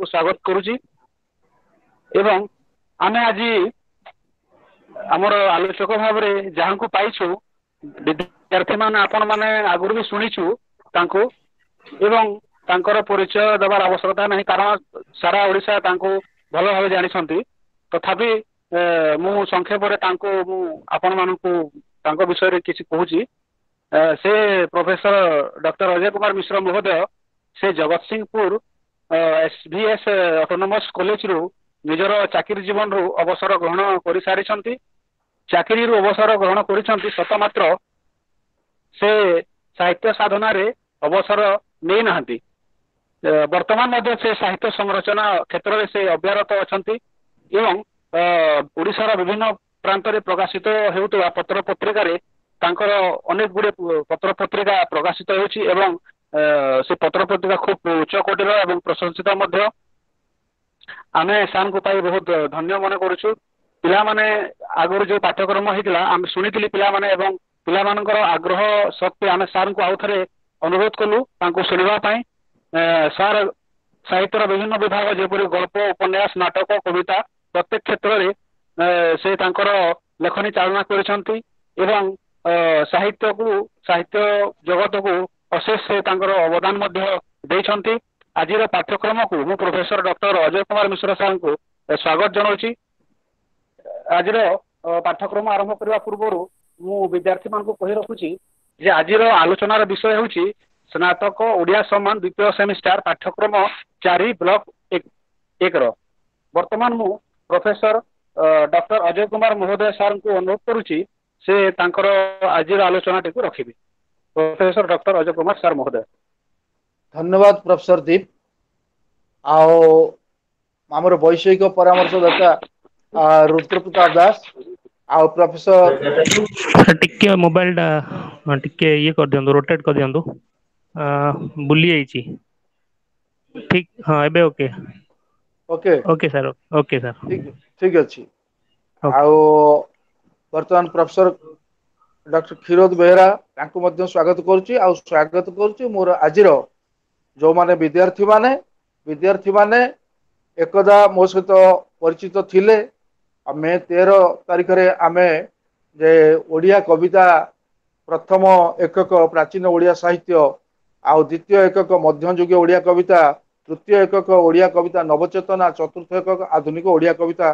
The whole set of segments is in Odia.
ସାର୍ଙ୍କୁ ସ୍ୱାଗତ କରୁଛି। ଏବଂ ଆମେ ଆଜି ଆମର ଆଲୋଚକ ଭାବରେ ଯାହାଙ୍କୁ ପାଇଛୁ, ବିଦ୍ୟାର୍ଥୀ ମାନେ ଆପଣ ମାନେ ଆଗରୁ ବି ଶୁଣିଛୁ ତାଙ୍କୁ, ଏବଂ ତାଙ୍କର ପରିଚୟ ଦେବାର ଆବଶ୍ୟକତା ନାହିଁ, କାରଣ ସାରା ଓଡ଼ିଶା ତାଙ୍କୁ ଭଲ ଭାବେ ଜାଣିଛନ୍ତି। ତଥାପି ମୁଁ ସଂକ୍ଷେପରେ ତାଙ୍କୁ ମୁଁ ଆପଣମାନଙ୍କୁ ତାଙ୍କ ବିଷୟରେ କିଛି କହୁଛି। ସେ ପ୍ରଫେସର ଡକ୍ଟର ଅଜୟ କୁମାର ମିଶ୍ର ମହୋଦୟ, ସେ ଜଗତସିଂହପୁର SVS autonomous କଲେଜରୁ ନିଜର ଚାକିରି ଜୀବନରୁ ଅବସର ଗ୍ରହଣ କରିସାରିଛନ୍ତି। ଚାକିରିରୁ ଅବସର ଗ୍ରହଣ କରିଛନ୍ତି ସତ, ମାତ୍ର ସେ ସାହିତ୍ୟ ସାଧନାରେ ଅବସର ନେଇନାହାନ୍ତି। ବର୍ତ୍ତମାନ ମଧ୍ୟ ସେ ସାହିତ୍ୟ ସଂରଚନା କ୍ଷେତ୍ରରେ ସେ ଅବ୍ୟାରତ ଅଛନ୍ତି ଏବଂ ଓଡ଼ିଶାର ବିଭିନ୍ନ ପ୍ରାନ୍ତରେ ପ୍ରକାଶିତ ହେଉଥିବା ପତ୍ର ପତ୍ରିକାରେ ତାଙ୍କର ଅନେକ ଗୁଡ଼ିଏ ପତ୍ର ପତ୍ରିକା ପ୍ରକାଶିତ ହେଉଛି ଏବଂ ସେ ପତ୍ର ପତ୍ରିକା ଖୁବ ଉଚ୍ଚ କୋଟିର ଏବଂ ପ୍ରଶଂସିତ ମଧ୍ୟ। ଆମେ ସାର୍ଙ୍କୁ ପାଇ ବହୁତ ଧନ୍ୟ ମନେ କରୁଛୁ। ପିଲାମାନେ ଆଗରୁ ଯୋଉ ପାଠ୍ୟକ୍ରମ ହେଇଥିଲା ଆମେ ଶୁଣିଥିଲି ପିଲାମାନେ, ଏବଂ ପିଲାମାନଙ୍କର ଆଗ୍ରହ ସତ୍ତ୍ୱେ ଆମେ ସାର୍ଙ୍କୁ ଆଉ ଥରେ ଅନୁରୋଧ କଲୁ ତାଙ୍କୁ ଶୁଣିବା ପାଇଁ। ସାର୍ ସାହିତ୍ୟର ବିଭିନ୍ନ ବିଭାଗ ଯେପରି ଗଳ୍ପ, ଉପନ୍ୟାସ, ନାଟକ, କବିତା ପ୍ରତ୍ୟେକ କ୍ଷେତ୍ରରେ ସେ ତାଙ୍କର ଲେଖନୀ ଚାଳନା କରିଛନ୍ତି ଏବଂ ସାହିତ୍ୟକୁ, ସାହିତ୍ୟ ଜଗତକୁ ଅଶେଷ ସେ ତାଙ୍କର ଅବଦାନ ମଧ୍ୟ ଦେଇଛନ୍ତି। ଆଜିର ପାଠ୍ୟକ୍ରମକୁ ମୁଁ ପ୍ରଫେସର ଡକ୍ଟର ଅଜୟ କୁମାର ମିଶ୍ର ସାର୍ଙ୍କୁ ସ୍ୱାଗତ ଜଣାଉଛି। ଆଜିର ପାଠ୍ୟକ୍ରମ ଆରମ୍ଭ କରିବା ପୂର୍ବରୁ ମୁଁ ବିଦ୍ୟାର୍ଥୀମାନଙ୍କୁ କହି ରଖୁଛି ଯେ ଆଜିର ଆଲୋଚନାର ବିଷୟ ହେଉଛି ସ୍ନାତକ ଓଡ଼ିଆ ସମ୍ମାନ ଦ୍ୱିତୀୟ ସେମିଷ୍ଟାର ପାଠ୍ୟକ୍ରମ 4 ବ୍ଲକ 1ର। ବର୍ତ୍ତମାନ ମୁଁ ପ୍ରଫେସର ଡକ୍ଟର ଅଜୟ କୁମାର ମହୋଦୟ ସାର୍ଙ୍କୁ ଅନୁରୋଧ କରୁଛି ସେ ତାଙ୍କର ଆଜିର ଆଲୋଚନାଟିକୁ ରଖିବେ। Professor doctor Ajay Kumar sir ମହୋଦୟ। ଧନ୍ୟବାଦ ପ୍ରଫେସର ଦୀପ। ଆଉ ଆମର ବୈଷୟିକ ପରାମର୍ଶଦାତା ରୁଦ୍ର ପ୍ରତାପ ଦାସ ଆଉ ପ୍ରଫେସର, ଟିକେ ମୋବାଇଲଟା ଟିକେ ଇଏ କରିଦିଅନ୍ତୁ, ରୋଟେଟ କରିଦିଅନ୍ତୁ, ବୁଲି ଯାଇଛି। ଠିକ, ହଁ ଏବେ okay. Okay, okay sir, okay sir, ଠିକ ଅଛି। ଆଉ ବର୍ତ୍ତମାନ ପ୍ରଫେସର ଡକ୍ଟର କ୍ଷୀରୋଦ ବେହେରା ତାଙ୍କୁ ମଧ୍ୟ ସ୍ୱାଗତ କରୁଛି। ଆଉ ସ୍ୱାଗତ କରୁଛି ମୋର ଆଜିର ଯୋଉମାନେ ବିଦ୍ୟାର୍ଥୀମାନେ ଏକଦା ମୋ ସହିତ ପରିଚିତ ଥିଲେ। ଆଉ ମେ 13 ତାରିଖରେ ଆମେ ଯେ ଓଡ଼ିଆ କବିତା ପ୍ରଥମ ଏକକ ପ୍ରାଚୀନ ଓଡ଼ିଆ ସାହିତ୍ୟ, ଆଉ ଦ୍ୱିତୀୟ ଏକକ ମଧ୍ୟଯୁଗୀୟ ଓଡ଼ିଆ କବିତା, ତୃତୀୟ ଏକକ ଓଡ଼ିଆ କବିତା ନବଚେତନା, ଚତୁର୍ଥ ଏକକ ଆଧୁନିକ ଓଡ଼ିଆ କବିତା,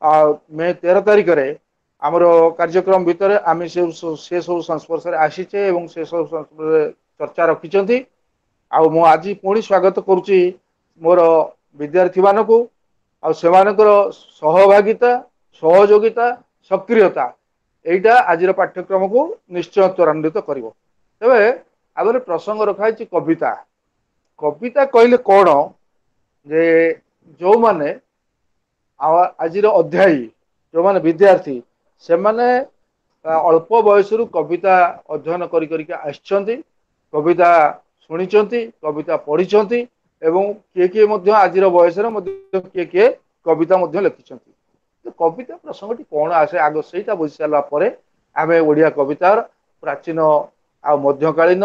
ଆଉ ମେ 13 ତାରିଖରେ ଆମର କାର୍ଯ୍ୟକ୍ରମ ଭିତରେ ଆମେ ସେ ସବୁ ସଂସ୍ପର୍ଶରେ ଆସିଛେ ଏବଂ ସେ ସବୁ ସଂସ୍ପର୍ଶରେ ଚର୍ଚ୍ଚା ରଖିଛନ୍ତି। ଆଉ ମୁଁ ଆଜି ପୁଣି ସ୍ୱାଗତ କରୁଛି ମୋର ବିଦ୍ୟାର୍ଥୀମାନଙ୍କୁ ଆଉ ସେମାନଙ୍କର ସହଭାଗିତା, ସହଯୋଗିତା, ସକ୍ରିୟତା ଏଇଟା ଆଜିର ପାଠ୍ୟକ୍ରମକୁ ନିଶ୍ଚୟ ତ୍ୱରାନ୍ୱିତ କରିବ। ତେବେ ଆଗରେ ପ୍ରସଙ୍ଗ ରଖାହେଇଛି କବିତା। କବିତା କହିଲେ କଣ, ଯେ ଯୋଉମାନେ ଆଜିର ଅଧ୍ୟାୟୀ, ଯୋଉମାନେ ବିଦ୍ୟାର୍ଥୀ, ସେମାନେ ଅଳ୍ପ ବୟସରୁ କବିତା ଅଧ୍ୟୟନ କରି କରିକି ଆସିଛନ୍ତି, କବିତା ଶୁଣିଛନ୍ତି, କବିତା ପଢିଛନ୍ତି ଏବଂ କିଏ କିଏ ମଧ୍ୟ ଆଜିର ବୟସରେ ମଧ୍ୟ କିଏ କିଏ କବିତା ମଧ୍ୟ ଲେଖିଛନ୍ତି। କବିତା ପ୍ରସଙ୍ଗଟି କଣ ଆସେ ଆଗ ସେଇଟା ବୁଝି ସାରିଲା ପରେ ଆମେ ଓଡ଼ିଆ କବିତାର ପ୍ରାଚୀନ ଆଉ ମଧ୍ୟକାଳୀନ,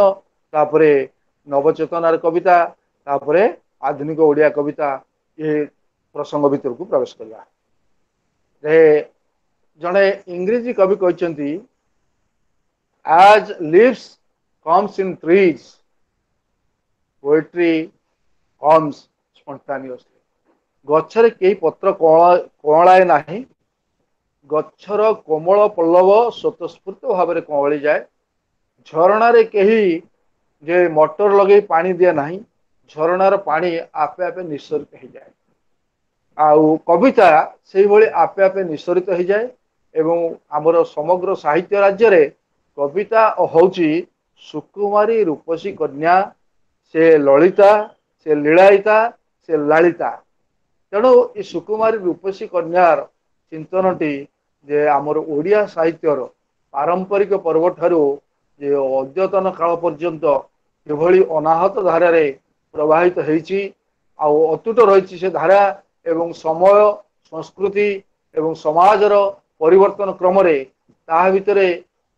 ତାପରେ ନବଚେତନାର କବିତା, ତାପରେ ଆଧୁନିକ ଓଡ଼ିଆ କବିତା ଏ ପ୍ରସଙ୍ଗ ଭିତରକୁ ପ୍ରବେଶ କରିବା। ଜଣେ ଇଂରେଜୀ କବି କହିଛନ୍ତି, as leaves comes in trees, poetry comes spontaneously। ଗଛରେ କେହି ପତ୍ର କଅଁଳାଏ ନାହିଁ, ଗଛର କୋମଳ ପଲ୍ଲବ ସ୍ୱତଃସ୍ଫୂର୍ତ୍ତ ଭାବରେ କଅଁଳି ଯାଏ। ଝରଣାରେ କେହି ଯେ ମଟର ଲଗେଇ ପାଣି ଦିଏ ନାହିଁ, ଝରଣାର ପାଣି ଆପେ ଆପେ ନିଃସରିତ ହେଇଯାଏ। ଆଉ କବିତା ସେଇଭଳି ଆପେ ଆପେ ନିଃସରିତ ହେଇଯାଏ। ଏବଂ ଆମର ସମଗ୍ର ସାହିତ୍ୟ ରାଜ୍ୟରେ କବିତା ହଉଛି ସୁକୁମାରୀ ରୂପସୀ କନ୍ୟା, ସେ ଲଳିତା, ସେ ଲୀଳାୟିତା, ସେ ଲାଳିତା। ତେଣୁ ଏ ସୁକୁମାରୀ ରୂପସୀ କନ୍ୟାର ଚିନ୍ତନଟି ଯେ ଆମର ଓଡ଼ିଆ ସାହିତ୍ୟର ପାରମ୍ପରିକ ପର୍ବ ଠାରୁ ଯେ ଅଦ୍ୟତନ କାଳ ପର୍ଯ୍ୟନ୍ତ କିଭଳି ଅନାହତ ଧାରାରେ ପ୍ରବାହିତ ହେଇଛି ଆଉ ଅତୁଟ ରହିଛି ସେ ଧାରା, ଏବଂ ସମୟ, ସଂସ୍କୃତି ଏବଂ ସମାଜର ପରିବର୍ତ୍ତନ କ୍ରମରେ ତାହା ଭିତରେ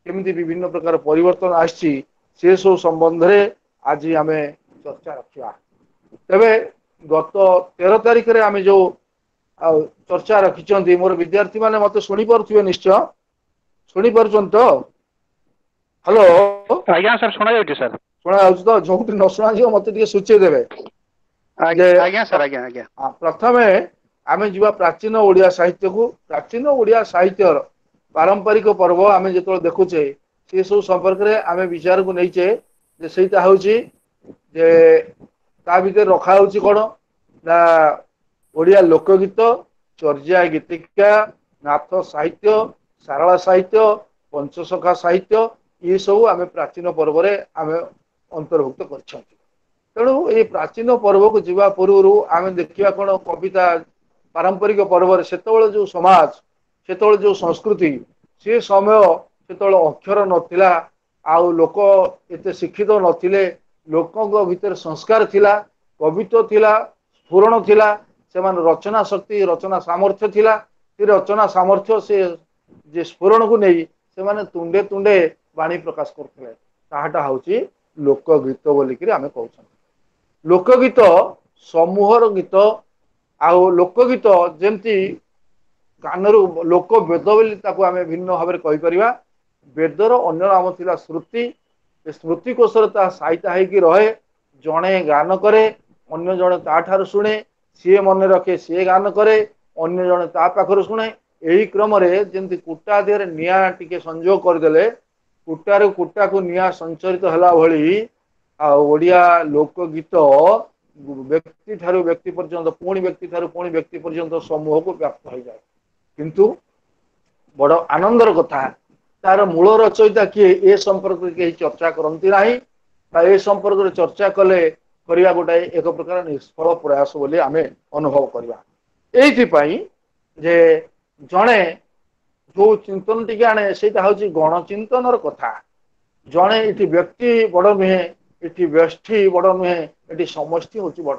କେମିତି ବିଭିନ୍ନ ପ୍ରକାର ପରିବର୍ତ୍ତନ ଆସିଛି, ସେସବୁ ସମ୍ବନ୍ଧରେ ଆଜି ଆମେ ଚର୍ଚ୍ଚା ରଖିବା। ତେବେ ଗତ 13 ତାରିଖରେ ଆମେ ଯୋଉ ଆଉ ଚର୍ଚ୍ଚା ରଖିଛନ୍ତି, ମୋର ବିଦ୍ୟାର୍ଥୀ ମାନେ ମତେ ଶୁଣି ପାରୁଥିବେ ନିଶ୍ଚୟ, ଶୁଣି ପାରୁଛନ୍ତି ତ? ହ୍ୟାଲୋ। ଆଜ୍ଞା ସାର୍, ଶୁଣା ଯାଉଛି ସାର୍। ଶୁଣା ଯାଉଛି ତ? ଯୋଉଠି ନ ଶୁଣାଯିବ ମତେ ଟିକେ ସୂଚେଇ ଦେବେ। ଆଜ୍ଞା ସାର୍, ଆଜ୍ଞା ଆଜ୍ଞା। ପ୍ରଥମେ ଆମେ ଯିବା ପ୍ରାଚୀନ ଓଡ଼ିଆ ସାହିତ୍ୟକୁ। ପ୍ରାଚୀନ ଓଡ଼ିଆ ସାହିତ୍ୟର ପାରମ୍ପରିକ ପର୍ବ ଆମେ ଯେତେବେଳେ ଦେଖୁଛେ, ସେ ସବୁ ସମ୍ପର୍କରେ ଆମେ ବିଚାରକୁ ନେଇଛେ ଯେ ସେଇଟା ହଉଛି ଯେ ତା ଭିତରେ ରଖା ହଉଛି କଣ ନା ଓଡ଼ିଆ ଲୋକଗୀତ, ଚର୍ଯା ଗୀତିକା, ନାଥ ସାହିତ୍ୟ, ସାରଳା ସାହିତ୍ୟ, ପଞ୍ଚସଖା ସାହିତ୍ୟ, ଏସବୁ ଆମେ ପ୍ରାଚୀନ ପର୍ବରେ ଆମେ ଅନ୍ତର୍ଭୁକ୍ତ କରିଛନ୍ତି। ତେଣୁ ଏଇ ପ୍ରାଚୀନ ପର୍ବକୁ ଯିବା ପୂର୍ବରୁ ଆମେ ଦେଖିବା କଣ କବିତା ପାରମ୍ପରିକ ପର୍ବରେ ସେତେବେଳେ ଯୋଉ ସମାଜ, ସେତେବେଳେ ଯୋଉ ସଂସ୍କୃତି, ସେ ସମୟ ସେତେବେଳେ ଅକ୍ଷର ନଥିଲା, ଆଉ ଲୋକ ଏତେ ଶିକ୍ଷିତ ନଥିଲେ, ଲୋକଙ୍କ ଭିତରେ ସଂସ୍କାର ଥିଲା, କବିତ୍ୱ ଥିଲା, ସ୍ଫୁରଣ ଥିଲା, ସେମାନେ ରଚନା ଶକ୍ତି, ରଚନା ସାମର୍ଥ୍ୟ ଥିଲା। ସେ ରଚନା ସାମର୍ଥ୍ୟ, ସେ ଯେ ସ୍ଫୁରଣକୁ ନେଇ ସେମାନେ ତୁଣ୍ଡେ ତୁଣ୍ଡେ ବାଣୀ ପ୍ରକାଶ କରୁଥିଲେ, ତାହାଟା ହଉଛି ଲୋକଗୀତ ବୋଲିକିରି ଆମେ କହୁଛନ୍ତି। ଲୋକଗୀତ ସମୂହର ଗୀତ। ଆଉ ଲୋକଗୀତ ଯେମିତି କାନରୁ ଲୋକ ବେଦ ବୋଲି ତାକୁ ଆମେ ଭିନ୍ନ ଭାବରେ କହିପାରିବା। ବେଦର ଅନ୍ୟ ନାମ ଥିଲା ଶ୍ରୁତି। ସ୍ମୃତି କୋଷରେ ତାହା ସାଇତା ହେଇକି ରହେ। ଜଣେ ଗାନ କରେ, ଅନ୍ୟ ଜଣେ ତା ଠାରୁ ଶୁଣେ, ସିଏ ମନେ ରଖେ, ସିଏ ଗାନ କରେ, ଅନ୍ୟ ଜଣେ ତା ପାଖରୁ ଶୁଣେ। ଏହି କ୍ରମରେ ଯେମିତି କୁଟା ଦେହରେ ନିଆଁ ଟିକେ ସଂଯୋଗ କରିଦେଲେ କୁଟାରୁ କୁଟାକୁ ନିଆଁ ସଞ୍ଚରିତ ହେଲା ଭଳି, ଆଉ ଓଡ଼ିଆ ଲୋକଗୀତ ବ୍ୟକ୍ତି ଠାରୁ ବ୍ୟକ୍ତି ପର୍ଯ୍ୟନ୍ତ, ପୁଣି ବ୍ୟକ୍ତି ଠାରୁ ପୁଣି ବ୍ୟକ୍ତି ପର୍ଯ୍ୟନ୍ତ ସମୂହକୁ ବ୍ୟାପ୍ତ ହେଇଯାଏ। କିନ୍ତୁ ବଡ ଆନନ୍ଦର କଥା, ତାର ମୂଳ ରଚୟିତା କିଏ ଏ ସମ୍ପର୍କରେ କେହି ଚର୍ଚ୍ଚା କରନ୍ତି ନାହିଁ, ବା ଏ ସମ୍ପର୍କରେ ଚର୍ଚ୍ଚା କଲେ କରିବା ଗୋଟାଏ ଏକ ପ୍ରକାର ନିଷ୍ଫଳ ପ୍ରୟାସ ବୋଲି ଆମେ ଅନୁଭବ କରିବା। ଏଇଥିପାଇଁ ଯେ ଜଣେ ଯୋଉ ଚିନ୍ତନ ଟିକେ ଆଣେ, ସେଇଟା ହଉଛି ଗଣଚିନ୍ତନର କଥା। ଜଣେ ଏଠି ବ୍ୟକ୍ତି ବଡ ନୁହେଁ, ଏଠି ବ୍ୟଷ୍ଟି ବଡ ନୁହେଁ, ଏଠି ସମଷ୍ଟି ହଉଛି ବଡ।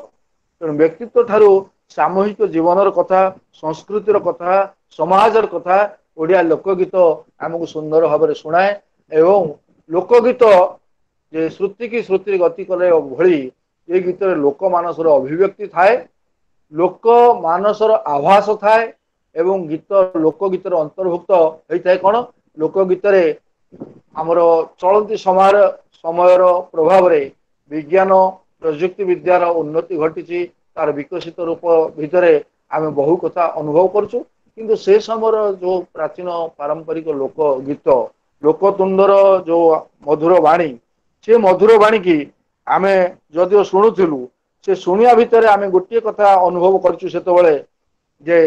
ତେଣୁ ବ୍ୟକ୍ତିତ୍ୱ ଠାରୁ ସାମୂହିକ ଜୀବନର କଥା, ସଂସ୍କୃତିର କଥା, ସମାଜର କଥା ଓଡ଼ିଆ ଲୋକଗୀତ ଆମକୁ ସୁନ୍ଦର ଭାବରେ ଶୁଣାଏ। ଏବଂ ଲୋକଗୀତ ଯେ ଶ୍ରୁତି କି ଶ୍ରୁତିରେ ଗତି କଲେ ଭଳି ଏ ଗୀତରେ ଲୋକମାନସର ଅଭିବ୍ୟକ୍ତି ଥାଏ, ଲୋକ ମାନସର ଆଭାସ ଥାଏ, ଏବଂ ଗୀତ ଲୋକଗୀତର ଅନ୍ତର୍ଭୁକ୍ତ ହେଇଥାଏ କଣ? ଲୋକଗୀତରେ ଆମର ଚଳନ୍ତି ସମୟର ପ୍ରଭାବରେ ବିଜ୍ଞାନ ପ୍ରଯୁକ୍ତି ବିଦ୍ୟାର ଉନ୍ନତି ଘଟିଛି, ତାର ବିକଶିତ ରୂପ ଭିତରେ ଆମେ ବହୁ କଥା ଅନୁଭବ କରୁଛୁ। କିନ୍ତୁ ସେ ସମୟର ଯୋଉ ପ୍ରାଚୀନ ପାରମ୍ପରିକ ଲୋକ ଗୀତ, ଲୋକତୁଣ୍ଡର ଯୋଉ ମଧୁର ବାଣୀ, ସେ ମଧୁର ବାଣୀ କି ଆମେ ଯଦିଓ ଶୁଣୁଥିଲୁ, ସେ ଶୁଣିବା ଭିତରେ ଆମେ ଗୋଟିଏ କଥା ଅନୁଭବ କରିଛୁ ସେତେବେଳେ, ଯେ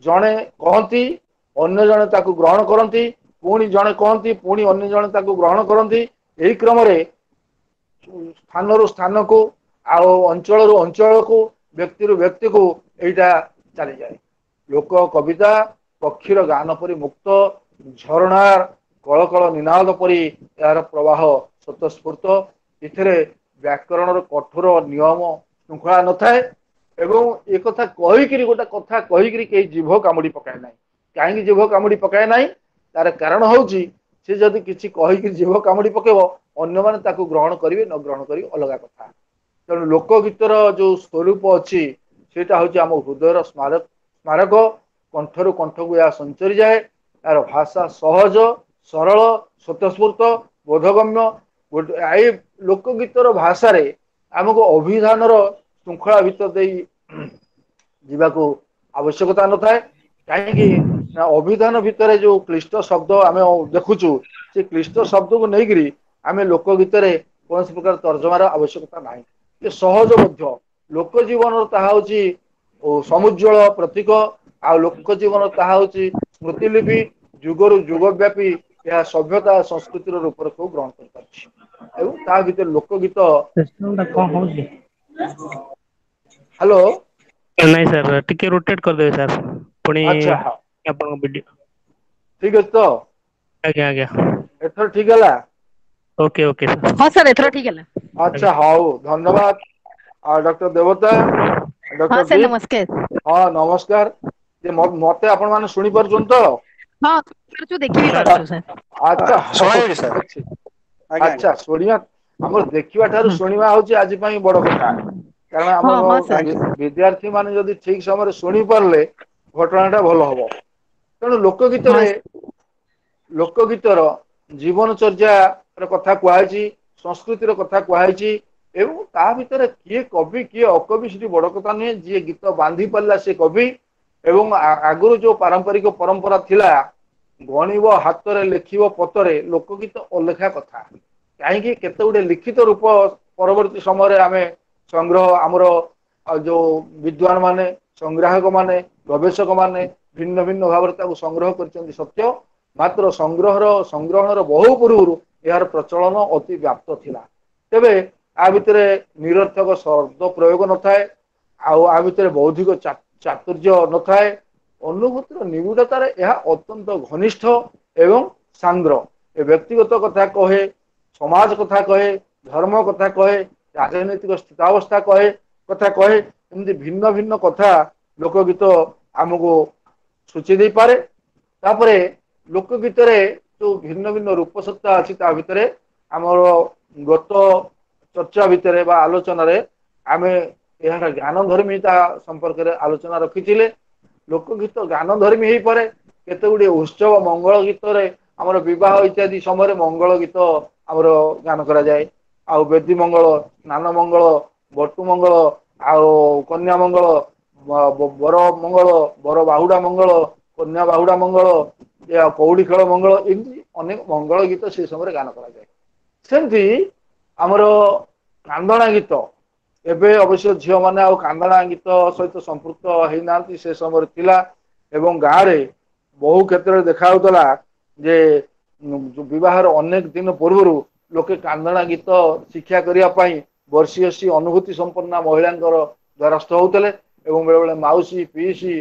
ଜଣେ କହନ୍ତି, ଅନ୍ୟ ଜଣେ ତାକୁ ଗ୍ରହଣ କରନ୍ତି, ପୁଣି ଜଣେ କହନ୍ତି, ପୁଣି ଅନ୍ୟ ଜଣେ ତାକୁ ଗ୍ରହଣ କରନ୍ତି। ଏହି କ୍ରମରେ ସ୍ଥାନରୁ ସ୍ଥାନକୁ ଆଉ ଅଞ୍ଚଳରୁ ଅଞ୍ଚଳକୁ, ବ୍ୟକ୍ତିରୁ ବ୍ୟକ୍ତିକୁ ଏଇଟା ଚାଲିଯାଏ। ଲୋକ କବିତା ପକ୍ଷୀର ଗାନ ପରି ମୁକ୍ତ, ଝରଣା କଳକଳ ନିନାଦ ପରି ଏହାର ପ୍ରବାହ ସ୍ୱତଃସ୍ଫୂର୍ତ୍ତ। ଏଥିରେ ବ୍ୟାକରଣର କଠୋର ନିୟମ ଶୃଙ୍ଖଳା ନଥାଏ, ଏବଂ ଏକଥା କହିକିରି, ଗୋଟେ କଥା କହିକିରି କେହି ଜିଭ କାମୁଡି ପକାଏ ନାହିଁ। କାହିଁକି ଜିଭ କାମୁଡି ପକାଏ ନାହିଁ? ତାର କାରଣ ହଉଛି ସେ ଯଦି କିଛି କହିକି ଜିଭ କାମୁଡି ପକେଇବ, ଅନ୍ୟମାନେ ତାକୁ ଗ୍ରହଣ କରିବେ ନ ଗ୍ରହଣ କରିବେ ଅଲଗା କଥା। ତେଣୁ ଲୋକଗୀତର ଯୋଉ ସ୍ୱରୂପ ଅଛି, ସେଇଟା ହଉଛି ଆମ ହୃଦୟର ସ୍ମାରକ। କଣ୍ଠରୁ କଣ୍ଠକୁ ଏହା ସଞ୍ଚରି ଯାଏ। ଏହାର ଭାଷା ସହଜ, ସରଳ, ସ୍ୱତଃସ୍ଫୂର୍ତ୍ତ, ବୋଧଗମ୍ୟ। ଏଇ ଲୋକଗୀତର ଭାଷାରେ ଆମକୁ ଅଭିଧାନର ଶୃଙ୍ଖଳା ଭିତର ଦେଇ ଯିବାକୁ ଆବଶ୍ୟକତା ନଥାଏ। କାହିଁକି ନା ଅଭିଧାନ ଭିତରେ ଯୋଉ କ୍ଲିଷ୍ଟ ଶବ୍ଦ ଆମେ ଦେଖୁଛୁ, ସେ କ୍ଲିଷ୍ଟ ଶବ୍ଦକୁ ନେଇକିରି ଆମେ ଲୋକଗୀତରେ କୌଣସି ପ୍ରକାର ତର୍ଜମାର ଆବଶ୍ୟକତା ନାହିଁ। ଏ ସହଜ ମଧ୍ୟ ଲୋକ ଜୀବନର ତାହା ହଉଛି ସମୁଜ୍ଜଳ ପ୍ରତୀକ, ଆଉ ଲୋକ ଜୀବନ ତାହା ହଉଛି ସ୍ମୃତିଲିପି। ଯୁଗରୁ ଯୁଗ ବ୍ୟାପୀ ଏହା ସଭ୍ୟତା ସଂସ୍କୃତିର ରୂପରେଖକୁ ଗ୍ରହଣ କରିପାରିଛି, ଏବଂ ତା ଭିତରେ ଲୋକଗୀତ। କଣ ହଉଛି? ହ୍ୟାଲୋ। ନାଇଁ ସାର୍, ଟିକେ ରୋଟେଟ କରିଦେବେ ସାର୍ ପୁଣି। ଆଚ୍ଛା, ଆପଣଙ୍କ ଭିଡିଓ। ଠିକ ଅଛି ତ? ଆଜ୍ଞା ଆଜ୍ଞା। ଏଥର ଠିକ ହେଲା? Okay okay. ହଁ ସାର୍, ଏଥର ଠିକ ହେଲା। ଆଚ୍ଛା, ହଉ, ଧନ୍ୟବାଦ। ଆଉ ଡକ୍ଟର ଦେବତା, ଡକ୍ଟର, ହଁ ନମସ୍କାର। ହଁ ନମସ୍କାର। ଯେ ମତେ ଆପଣ ମାନେ ଶୁଣି ପାରୁଛନ୍ତି ତ? ହଁ, ଦେଖି ବି ପାରୁଛୁ ସାର୍। ଆଚ୍ଛା ଆଚ୍ଛା, ଶୁଣିବା ଆମର ଦେଖିବା ଠାରୁ ଶୁଣିବା ହଉଛି ଆଜି ପାଇଁ ବଡ କଥା। କାରଣ ହଁ ଆମର ହଁ ସାର୍। ବିଦ୍ୟାର୍ଥୀ ମାନେ ଯଦି ଠିକ ସମୟରେ ଶୁଣି ପାରିଲେ ଘଟଣା ଟା ଭଲ ହବ। ତେଣୁ ଲୋକ ହଁ ଗୀତରେ ଲୋକ ଗୀତର ଜୀବନ ଚର୍ଯ୍ୟା ର କଥା କୁହାଯାଇଛି, ସଂସ୍କୃତିର କଥା କୁହାଯାଇଛି ଏବଂ ତା ଭିତରେ କିଏ କବି କିଏ ଅକବି ସେଠି ବଡ କଥା ନୁହେଁ। ଯିଏ ଗୀତ ବାନ୍ଧି ପାରିଲା ସେ କବି। ଏବଂ ଆଗରୁ ଯୋଉ ପାରମ୍ପରିକ ପରମ୍ପରା ଥିଲା, ଗଣିବ ହାତରେ ଲେଖିବ ପତରେ, ଲୋକଗୀତ ଅଲେଖା କଥା। କାହିଁକି କେତେ ଗୁଡିଏ ଲିଖିତ ରୂପ ପରବର୍ତ୍ତୀ ସମୟରେ ଆମେ ସଂଗ୍ରହ ଆମର ଯୋଉ ବିଦ୍ୱାନ ମାନେ, ସଂଗ୍ରାହକ ମାନେ, ଗବେଷକ ମାନେ ଭିନ୍ନ ଭିନ୍ନ ଭାବରେ ତାକୁ ସଂଗ୍ରହ କରିଛନ୍ତି ସତ୍ୟ, ମାତ୍ର ସଂଗ୍ରହଣର ବହୁ ପୂର୍ବରୁ ଏହାର ପ୍ରଚଳନ ଅତି ବ୍ୟାପ୍ତ ଥିଲା। ତେବେ ଆ ଭିତରେ ନିରର୍ଥକ ଶବ୍ଦ ପ୍ରୟୋଗ ନଥାଏ, ଆଉ ଆ ଭିତରେ ବୌଦ୍ଧିକ ଚାତୁର୍ଯ୍ୟ ନଥାଏ। ଅନୁଭୂତିର ନିବିଡ଼ତାରେ ଏହା ଅତ୍ୟନ୍ତ ଘନିଷ୍ଠ ଏବଂ ସାନ୍ଦ୍ର। ଏ ବ୍ୟକ୍ତିଗତ କଥା କହେ, ସମାଜ କଥା କହେ, ଧର୍ମ କଥା କହେ, ରାଜନୈତିକ ସ୍ଥିତାବସ୍ଥା କହେ, କଥା କହେ। ଏମିତି ଭିନ୍ନ ଭିନ୍ନ କଥା ଲୋକଗୀତ ଆମକୁ ସୂଚେଇ ଦେଇପାରେ। ତାପରେ ଲୋକଗୀତରେ ଯୋଉ ଭିନ୍ନ ଭିନ୍ନ ରୂପସତ୍ତା ଅଛି ତା ଭିତରେ ଆମର ଗତ ଚର୍ଚ୍ଚା ଭିତରେ ବା ଆଲୋଚନାରେ ଆମେ ଏହାର ଜ୍ଞାନ ଧର୍ମିତା ସମ୍ପର୍କରେ ଆଲୋଚନା ରଖିଥିଲେ। ଲୋକଗୀତ ଗାନ ଧର୍ମୀ ହେଇପାରେ। କେତେ ଗୁଡିଏ ଉତ୍ସବ ମଙ୍ଗଳ ଗୀତରେ ଆମର ବିବାହ ଇତ୍ୟାଦି ସମୟରେ ମଙ୍ଗଳ ଗୀତ ଆମର ଗାନ କରାଯାଏ। ଆଉ ବେଦୀ ମଙ୍ଗଳ, ସ୍ନାନ ମଙ୍ଗଳ, ବଟୁ ମଙ୍ଗଳ, ଆଉ କନ୍ୟା ମଙ୍ଗଳ, ବର ମଙ୍ଗଳ, ବର ବାହୁଡା ମଙ୍ଗଳ, କନ୍ୟା ବାହୁଡା ମଙ୍ଗଳ, କଉଡି ଖେଳ ମଙ୍ଗଳ, ଏମିତି ଅନେକ ମଙ୍ଗଳ ଗୀତ ସେ ସମୟରେ ଗାନ କରାଯାଏ। ସେମିତି ଆମର କାନ୍ଦଣା ଗୀତ, ଏବେ ଅବଶ୍ୟ ଝିଅ ମାନେ ଆଉ କାନ୍ଦଣା ଗୀତ ସହିତ ସମ୍ପୃକ୍ତ ହେଇନାହାନ୍ତି, ସେ ସମୟରେ ଥିଲା। ଏବଂ ଗାଁରେ ବହୁ କ୍ଷେତ୍ରରେ ଦେଖା ହଉଥିଲା ଯେ ବିବାହର ଅନେକ ଦିନ ପୂର୍ବରୁ ଲୋକେ କାନ୍ଦଣା ଗୀତ ଶିକ୍ଷା କରିବା ପାଇଁ ବର୍ଷୀୟସୀ ଅନୁଭୂତି ସମ୍ପନ୍ନା ମହିଳାଙ୍କର ଦ୍ୱାରସ୍ଥ ହଉଥିଲେ ଏବଂ ବେଳେ ବେଳେ ମାଉସୀ, ପିଇସୀ,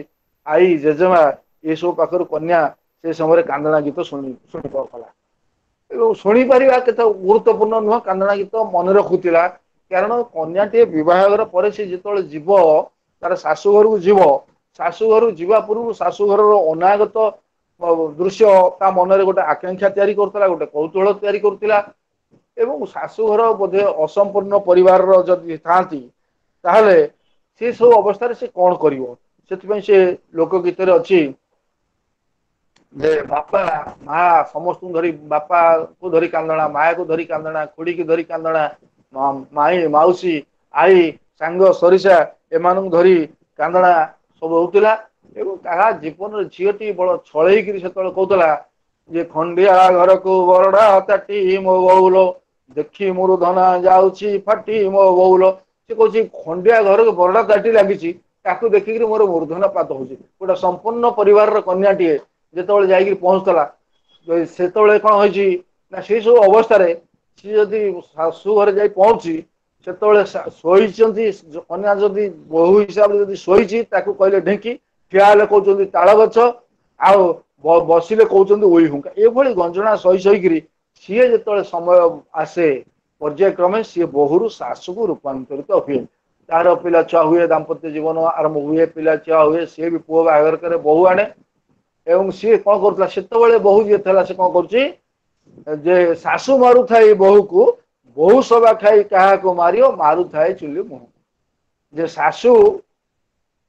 ଆଈ, ଜେଜେମା ଏସବୁ ପାଖରୁ କନ୍ୟା ସେ ସମୟରେ କାନ୍ଦଣା ଗୀତ ଶୁଣି ଶୁଣି ପାରୁଥିଲା। ଏବଂ ଶୁଣିପାରିବା କେତେ ଗୁରୁତ୍ୱପୂର୍ଣ୍ଣ ନୁହଁ, କାନ୍ଦଣା ଗୀତ ମନେ ରଖୁଥିଲା। କାରଣ କନ୍ୟାଟିଏ ବିବାହଘର ପରେ ସେ ଯେତେବେଳେ ଯିବ ତାର ଶାଶୁ ଘରକୁ ଯିବ, ଶାଶୁ ଘରକୁ ଯିବା ପୂର୍ବରୁ ଶାଶୁଘରର ଅନାଗତ ଦୃଶ୍ୟ ତା ମନରେ ଗୋଟେ ଆକାଂକ୍ଷା ତିଆରି କରୁଥିଲା, ଗୋଟେ କୌତୁହଳ ତିଆରି କରୁଥିଲା। ଏବଂ ଶାଶୁଘର ବୋଧେ ଅସମ୍ପୂର୍ଣ୍ଣ ପରିବାରର ଯଦି ଥାଆନ୍ତି, ତାହେଲେ ସେ ସବୁ ଅବସ୍ଥାରେ ସେ କଣ କରିବ, ସେଥିପାଇଁ ସେ ଲୋକ ଗୀତରେ ଅଛି ଯେ ବାପା ମା ସମସ୍ତଙ୍କୁ ଧରି, ବାପାକୁ ଧରି କାନ୍ଦଣା, ମାଆକୁ ଧରି କାନ୍ଦଣା, ଖୁଡିକି ଧରି କାନ୍ଦଣା, ମାଇଁ, ମାଉସୀ, ଆଈ, ସାଙ୍ଗ ସରିସା ଏମାନଙ୍କୁ ଧରି କାନ୍ଦଣା ସବୁ ହଉଥିଲା। ଏବଂ ତାହା ଜୀବନରେ ଝିଅଟି ବଡ ଛଳେଇକିରି ସେତେବେଳେ କହୁଥିଲା ଯେ ଖଣ୍ଡିଆ ଘରକୁ ବରଡା ତାଟି ମୋ ବୋଉଲ, ଦେଖି ମୂର୍ଧନା ଯାଉଛି ଫାଟି ମୋ ବୋଉଲ। ସେ କହୁଛି ଖଣ୍ଡିଆ ଘରକୁ ବରଡା ତାଟି ଲାଗିଛି, ତାକୁ ଦେଖିକିରି ମୋର ମୂର୍ଧନା ପାତ ହଉଛି। ଗୋଟେ ସମ୍ପୂର୍ଣ୍ଣ ପରିବାରର କନ୍ୟାଟିଏ ଯେତେବେଳେ ଯାଇକିରି ପହଞ୍ଚୁଥିଲା, ସେତେବେଳେ କଣ ହେଇଛି ନା ସେଇ ସବୁ ଅବସ୍ଥାରେ ସିଏ ଯଦି ଶାଶୁ ଘରେ ଯାଇ ପହଞ୍ଚି ସେତେବେଳେ ଶୋଇଛନ୍ତି, କନ୍ୟା ଯଦି ବୋହୂ ହିସାବରେ ଯଦି ଶୋଇଛି ତାକୁ କହିଲେ ଢେଙ୍କି, ଠିଆ ହେଲେ କହୁଛନ୍ତି ତାଳ ଗଛ, ଆଉ ବସିଲେ କହୁଛନ୍ତି ଉଇ ହୁଙ୍କା। ଏଭଳି ଗଞ୍ଜଣା ସହି ସହିକିରି ସିଏ ଯେତେବେଳେ ସମୟ ଆସେ ପର୍ଯ୍ୟାୟକ୍ରମେ ସିଏ ବୋହୂରୁ ଶାଶୁକୁ ରୂପାନ୍ତରିତ ହୁଏ। ତାର ପିଲା ଛୁଆ ହୁଏ, ଦାମ୍ପତ୍ୟ ଜୀବନ ଆରମ୍ଭ ହୁଏ, ପିଲା ଛୁଆ ହୁଏ, ସିଏ ବି ପୁଅ ବାହାଘର କରେ, ବୋହୂ ଆଣେ। ଏବଂ ସିଏ କଣ କରୁଥିଲା ସେତେବେଳେ ବୋହୂ ଯିଏ ଥିଲା ସେ କଣ କରୁଛି ଯେ ଶାଶୁ ମାରୁଥାଏ ବୋହୂକୁ, ବୋହୂ ସବା ଖାଇ କାହାକୁ ମାରିବ, ମାରୁଥାଏ ଚୁଲି ମୁହଁ। ଯେ ଶାଶୁ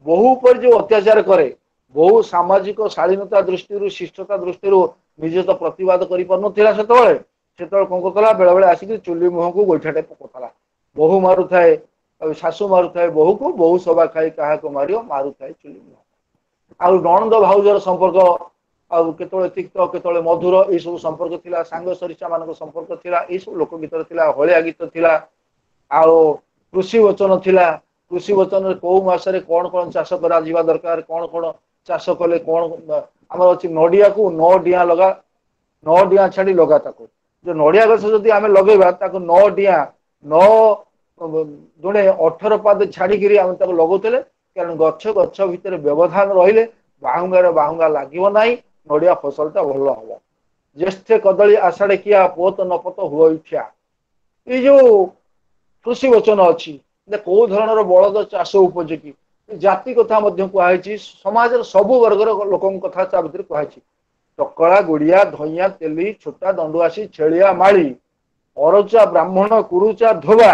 ବୋହୂ ଉପରେ ଯୋଉ ଅତ୍ୟାଚାର କରେ, ବହୁ ସାମାଜିକ ଶାଳୀନତା ଦୃଷ୍ଟିରୁ, ଶିଷ୍ଟତା ଦୃଷ୍ଟିରୁ ନିଜେ ତ ପ୍ରତିବାଦ କରିପାରୁନଥିଲା ସେତେବେଳେ। ସେତେବେଳେ କଣ କରୁଥିଲା, ବେଳେ ବେଳେ ଆସିକି ଚୁଲି ମୁହଁକୁ ଗୋଇଠାଟେ ପକଉଥିଲା। ବୋହୂ ମାରୁଥାଏ, ଶାଶୁ ମାରୁଥାଏ ବୋହୂକୁ, ବୋହୂ ସବା ଖାଇ କାହାକୁ ମାରିବ, ମାରୁଥାଏ ଚୁଲି ମୁହଁ। ଆଉ ନଣନ୍ଦ ଭାଉଜର ସମ୍ପର୍କ ଆଉ କେତେବେଳେ ତିକ୍ତ କେତେବେଳେ ମଧୁର, ଏଇ ସବୁ ସମ୍ପର୍କ ଥିଲା। ସାଙ୍ଗ ସରିସା ମାନଙ୍କ ସମ୍ପର୍କ ଥିଲା, ଏଇ ସବୁ ଲୋକ ଗୀତରେ ଥିଲା। ହଳିଆ ଗୀତ ଥିଲା, ଆଉ କୃଷି ବଚନ ଥିଲା। କୃଷି ବଚନରେ କୋଉ ମାସରେ କଣ କଣ ଚାଷ କରାଯିବା ଦରକାର, କଣ କଣ ଚାଷ କଲେ କଣ, ଆମର ଅଛି ନଡିଆକୁ ନଅ ଡିଆଁ ଲଗା, ନଅ ଡିଆଁ ଛାଡି ଲଗା ତାକୁ। ଯେ ନଡିଆ ଗଛ ଯଦି ଆମେ ଲଗେଇବା ତାକୁ ନଅ ଡିଆଁ, ନଅ ଜଣେ 18 ପାଦ ଛାଡିକିରି ଆମେ ତାକୁ ଲଗଉଥିଲେ। କାରଣ ଗଛ ଗଛ ଭିତରେ ବ୍ୟବଧାନ ରହିଲେ ବାହୁଙ୍ଗାରେ ବାହୁଙ୍ଗା ଲାଗିବ ନାହିଁ, ନଡିଆ ଫସଲ ଟା ଭଲ ହବ। ଜ୍ୟେଷ୍ଠ କଦଳୀ ଆଷାଢେ କିଆ, ପୋତ ନପତ ହୁଅ ଇଠିଆ। ଏଇ ଯୋଉ କୃଷି ବଚନ ଅଛି ଯେ କୋଉ ଧରଣର ବଳଦ ଚାଷ ଉପଯୋଗୀ, ଜାତି କଥା ମଧ୍ୟ କୁହାହେଇଛି, ସମାଜର ସବୁ ବର୍ଗର ଲୋକଙ୍କ କଥା ତା ଭିତରେ କୁହାହେଇଛି। ଟକଳା, ଗୁଡିଆ, ଧଇଁଆ, ତେଲି, ଛୋଟା, ଦଣ୍ଡୁଆସି, ଛେଳିଆ, ମାଳି, ଅରଚା, ବ୍ରାହ୍ମଣ, କୁରୁଚା, ଧୋବା,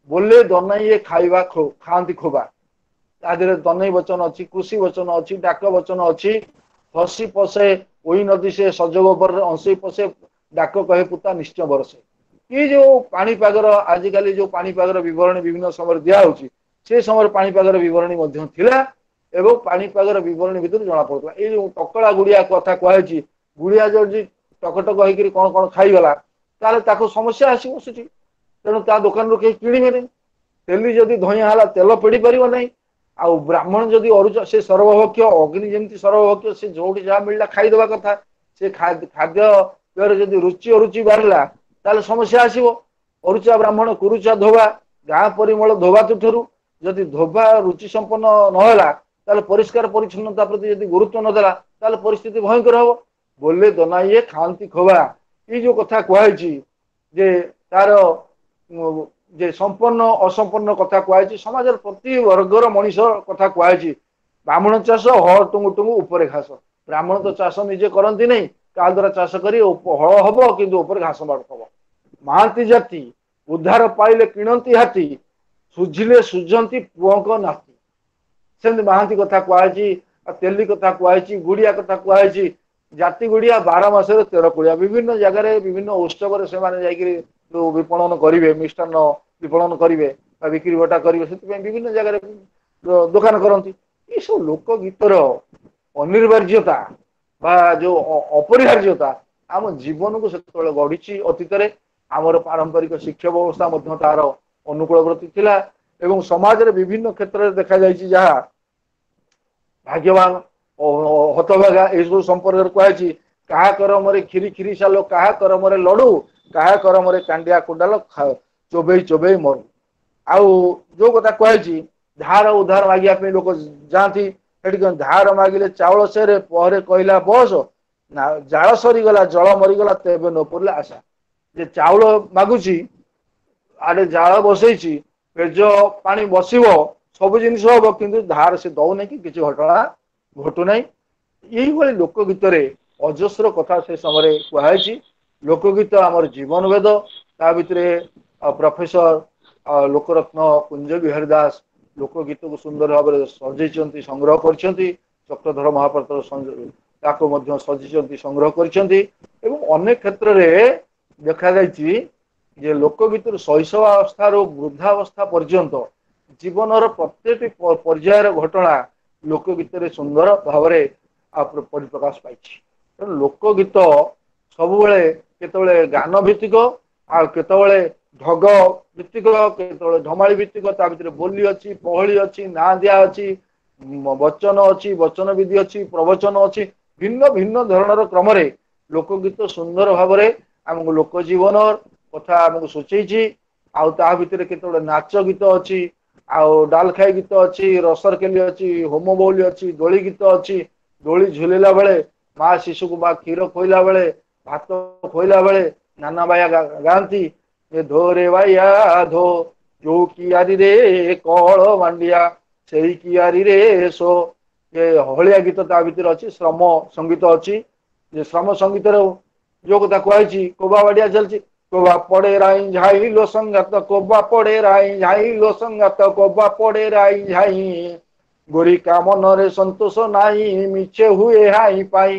ବୋଲେ ଦନାଇଏ ଖାଇବା ଖାଆନ୍ତି ଖୋବା। ତା ଦେହରେ ଦନେଇ ବଚନ ଅଛି, କୃଷି ବଚନ ଅଛି, ଡାକ ବଚନ ଅଛି। ହସି ପଶେ ଓଇ ନଦୀ ସେ ସଜ ଗୋବରରେ ଅଂଶେଇ ପଶେ, ଡାକ କହେ ପୁତା ନିଶ୍ଚୟ ବରସେ। ଏଇ ଯୋଉ ପାଣିପାଗର ଆଜିକାଲି ଯୋଉ ପାଣିପାଗର ବିବରଣୀ ବିଭିନ୍ନ ସମୟରେ ଦିଆହଉଛି, ସେ ସମୟରେ ପାଣିପାଗର ବିବରଣୀ ମଧ୍ୟ ଥିଲା ଏବଂ ପାଣିପାଗର ବିବରଣୀ ଭିତରୁ ଜଣା ପଡୁଥିଲା। ଏଇ ଯୋଉ ଟକଳା ଗୁଡିଆ କଥା କୁହାଯାଇଛି, ଗୁଡିଆ ଯଦି ଟକଟକ ହେଇକିରି କଣ କଣ ଖାଇଗଲା ତାହେଲେ ତାକୁ ସମସ୍ୟା ଆସିବ ସେଠି, ତେଣୁ ତା ଦୋକାନରୁ କେହି କିଣିବେନି। ତେଲି ଯଦି ଧଇଁଆ ହେଲା ତେଲ ପେଡି ପାରିବ ନାହିଁ। ଆଉ ବ୍ରାହ୍ମଣ ଯଦି ଅରୁଚ, ସେ ସର୍ବଭକ୍ଷ, ଅଗ୍ନି ଯେମିତି ସର୍ବଭକ୍ଷ, ସେ ଯୋଉଠି ଯାହା ମିଳିଲା ଖାଇଦବା କଥା। ସେ ଖାଦ୍ୟ ଯଦି ରୁଚି ଅରୁଚି ବାହାରିଲା ତାହେଲେ ସମସ୍ୟା ଆସିବ। ଅରୁଚା ବ୍ରାହ୍ମଣ କୁରୁଚା ଧୋବା, ଗାଁ ପରିମଳ ଧୋବା ତୁଠରୁ। ଯଦି ଧୋବା ରୁଚି ସମ୍ପନ୍ନ ନହେଲା ତାହେଲେ ପରିଷ୍କାର ପରିଚ୍ଛନ୍ନତା ପ୍ରତି ଯଦି ଗୁରୁତ୍ୱ ନଦେଲା ତାହେଲେ ପରିସ୍ଥିତି ଭୟଙ୍କର ହବ। ବୋଲେ ଦନାଇଏ ଖାଆନ୍ତି ଖୋବା। ଏଇ ଯୋଉ କଥା କୁହାଯାଇଛି ଯେ ତାର ଯେ ସମ୍ପନ୍ନ ଅସମ୍ପନ୍ନ କଥା କୁହାଯାଇଛି, ସମାଜର ପ୍ରତି ବର୍ଗର ମଣିଷ କଥା କୁହାଯାଇଛି। ବ୍ରାହ୍ମଣ ଚାଷ ହଳ ଟୁଙ୍ଗୁ ଟୁଙ୍ଗୁ ଉପରେ ଘାସ। ବ୍ରାହ୍ମଣ ତ ଚାଷ ନିଜେ କରନ୍ତି ନାହିଁ, କାହା ଦ୍ୱାରା ଚାଷ କରି ହଳ ହବ କିନ୍ତୁ ଉପରେ ଘାସ ମାଡୁଥିବ। ମହାନ୍ତି ଜାତି ଉଦ୍ଧାର ପାଇଲେ କିଣନ୍ତି ହାତୀ, ସୁଝିଲେ ସୁଝନ୍ତି ପୁଅଙ୍କ ନାତି। ସେମିତି ମହାନ୍ତି କଥା କୁହାଯାଇଛି, ତେଲି କଥା କୁହାଯାଇଛି, ଗୁଡିଆ କଥା କୁହାଯାଇଛି। ଜାତି ଗୁଡିଆ 12 ମାସରେ 13 କୁଳିଆ। ବିଭିନ୍ନ ଜାଗାରେ ବିଭିନ୍ନ ଉତ୍ସବରେ ସେମାନେ ଯାଇକିରି ଯୋଉ ବିପଣନ କରିବେ, ମିଷ୍ଟାନ୍ନ ବିପଣନ କରିବେ ବା ବିକ୍ରି ବଟା କରିବେ, ସେଥିପାଇଁ ବିଭିନ୍ନ ଜାଗାରେ ଦୋକାନ କରନ୍ତି। ଏସବୁ ଲୋକ ଗୀତର ଅନିବାର୍ଯ୍ୟତା ବା ଯୋଉ ଅପରିହାର୍ଯ୍ୟତା ଆମ ଜୀବନକୁ ସେତେବେଳେ ଗଢିଛି। ଅତୀତରେ ଆମର ପାରମ୍ପରିକ ଶିକ୍ଷା ବ୍ୟବସ୍ଥା ମଧ୍ୟ ତାର ଅନୁକୂଳବର୍ତ୍ତୀ ଥିଲା ଏବଂ ସମାଜରେ ବିଭିନ୍ନ କ୍ଷେତ୍ରରେ ଦେଖାଯାଇଛି ଯାହା ଭାଗ୍ୟବାନ ହତଭାଗା ଏସବୁ ସମ୍ପର୍କରେ କୁହାଯାଇଛି। କାହା କରମରେ କ୍ଷୀରି କ୍ଷୀରି ସାଲୋ, କାହା କରମରେ ଲଡୁ, କାହା କରମରେ କାଣ୍ଡିଆ କୁଣ୍ଡାଲ ଚୋବେଇ ଚୋବେଇ ମରୁ। ଆଉ ଯୋଉ କଥା କୁହାଯାଇଛି ଧାର ଉଧାର ମାଗିବା ପାଇଁ ଲୋକ ଯାଆନ୍ତି, ସେଠି କଣ ଧାର ମାଗିଲେ ଚାଉଳ ସେରେ ପରେ କହିଲା ବସ ନା, ଜାଳ ସରିଗଲା ଜଳ ମରିଗଲା ତେବେ ନ ପଡ଼ିଲେ ଆଶା। ଯେ ଚାଉଳ ମାଗୁଛି, ଆଡେ ଜାଳ ବସେଇଛି, ପେଜ ପାଣି ବସିବ, ସବୁ ଜିନିଷ ହବ, କିନ୍ତୁ ଧାର ସେ ଦଉନାହିଁ କି କିଛି ଘଟଣା ଘଟୁନାହିଁ। ଏଇଭଳି ଲୋକଗୀତରେ ଅଜସ୍ର କଥା ସେ ସମୟରେ କୁହାଯାଇଛି। ଲୋକଗୀତ ଆମର ଜୀବନ ବେଦ। ତା ଭିତରେ ପ୍ରଫେସର ଲୋକରତ୍ନ କୁଞ୍ଜ ବିହାରୀ ଦାସ ଲୋକଗୀତକୁ ସୁନ୍ଦର ଭାବରେ ସଜେଇଛନ୍ତି, ସଂଗ୍ରହ କରିଛନ୍ତି। ଚକ୍ରଧର ମହାପାତ୍ର ତାକୁ ମଧ୍ୟ ସଜେଇଛନ୍ତି, ସଂଗ୍ରହ କରିଛନ୍ତି। ଏବଂ ଅନେକ କ୍ଷେତ୍ରରେ ଦେଖାଯାଇଛି ଯେ ଲୋକଗୀତରୁ ଶୈଶବାବସ୍ଥାରୁ ବୃଦ୍ଧାବସ୍ଥା ପର୍ଯ୍ୟନ୍ତ ଜୀବନର ପ୍ରତ୍ୟେକଟି ପର୍ଯ୍ୟାୟର ଘଟଣା ଲୋକଗୀତରେ ସୁନ୍ଦର ଭାବରେ ପରିପ୍ରକାଶ ପାଇଛି। ତେଣୁ ଲୋକଗୀତ ସବୁବେଳେ କେତେବେଳେ ଗାନ ଭିତ୍ତିକ, ଆଉ କେତେବେଳେ ଢଗ ଭିତ୍ତିକ, କେତେବେଳେ ଢମାଳି ଭିତ୍ତିକ। ତା ଭିତରେ ବୋଲି ଅଛି, ପହଳି ଅଛି, ନାଁ ଦିଆ ଅଛି, ବଚନ ଅଛି, ବଚନ ବିଧି ଅଛି, ପ୍ରବଚନ ଅଛି। ଭିନ୍ନ ଭିନ୍ନ ଧରଣର କ୍ରମରେ ଲୋକଗୀତ ସୁନ୍ଦର ଭାବରେ ଆମକୁ ଲୋକ ଜୀବନ କଥା ଆମକୁ ସୂଚେଇଛି। ଆଉ ତା ଭିତରେ କେତେବେଳେ ନାଚ ଗୀତ ଅଛି, ଆଉ ଡାଲଖାଇ ଗୀତ ଅଛି, ରସରକେଲି ଅଛି, ହୋମ ବଉଲି ଅଛି, ଦୋଳି ଗୀତ ଅଛି। ଦୋଳି ଝୁଲିଲା ବେଳେ ମା ଶିଶୁକୁ ମା କ୍ଷୀର ଖୋଇଲା ବେଳେ, ଭାତ ଖୋଇଲା ବେଳେ ନାନା ବାୟା ଗାଆନ୍ତି। ଧୋରେ ବାଇଆ ଧୋ, ଯୋଉ କିଆରିରେ କଳ ମାଣ୍ଡିଆ ସେଇ କିଆରିରେ ସୋ। ଏ ହଳିଆ ଗୀତ ତା ଭିତରେ ଅଛି। ଶ୍ରମ ସଙ୍ଗୀତ ଅଛି। ଯେ ଶ୍ରମ ସଙ୍ଗୀତର ଯୋଉ କଥା କୁହାଯାଇଛି, କୋବା ବାଡିଆ ଚାଲିଛି, କୋବା ପଡେ ରାଇ ଝାଇ ଲୋ ସଙ୍ଗାତ, କୋବା ପଡେ ରାଇ ଝାଇ ଲୋ ସଙ୍ଗାତ, କୋବା ପଡେ ରାଇ ଝାଇ, ଗୋରି କା ମନରେ ସନ୍ତୋଷ ନାହିଁ, ମିଛେ ହୁଏ ହାଇ ପାଇ।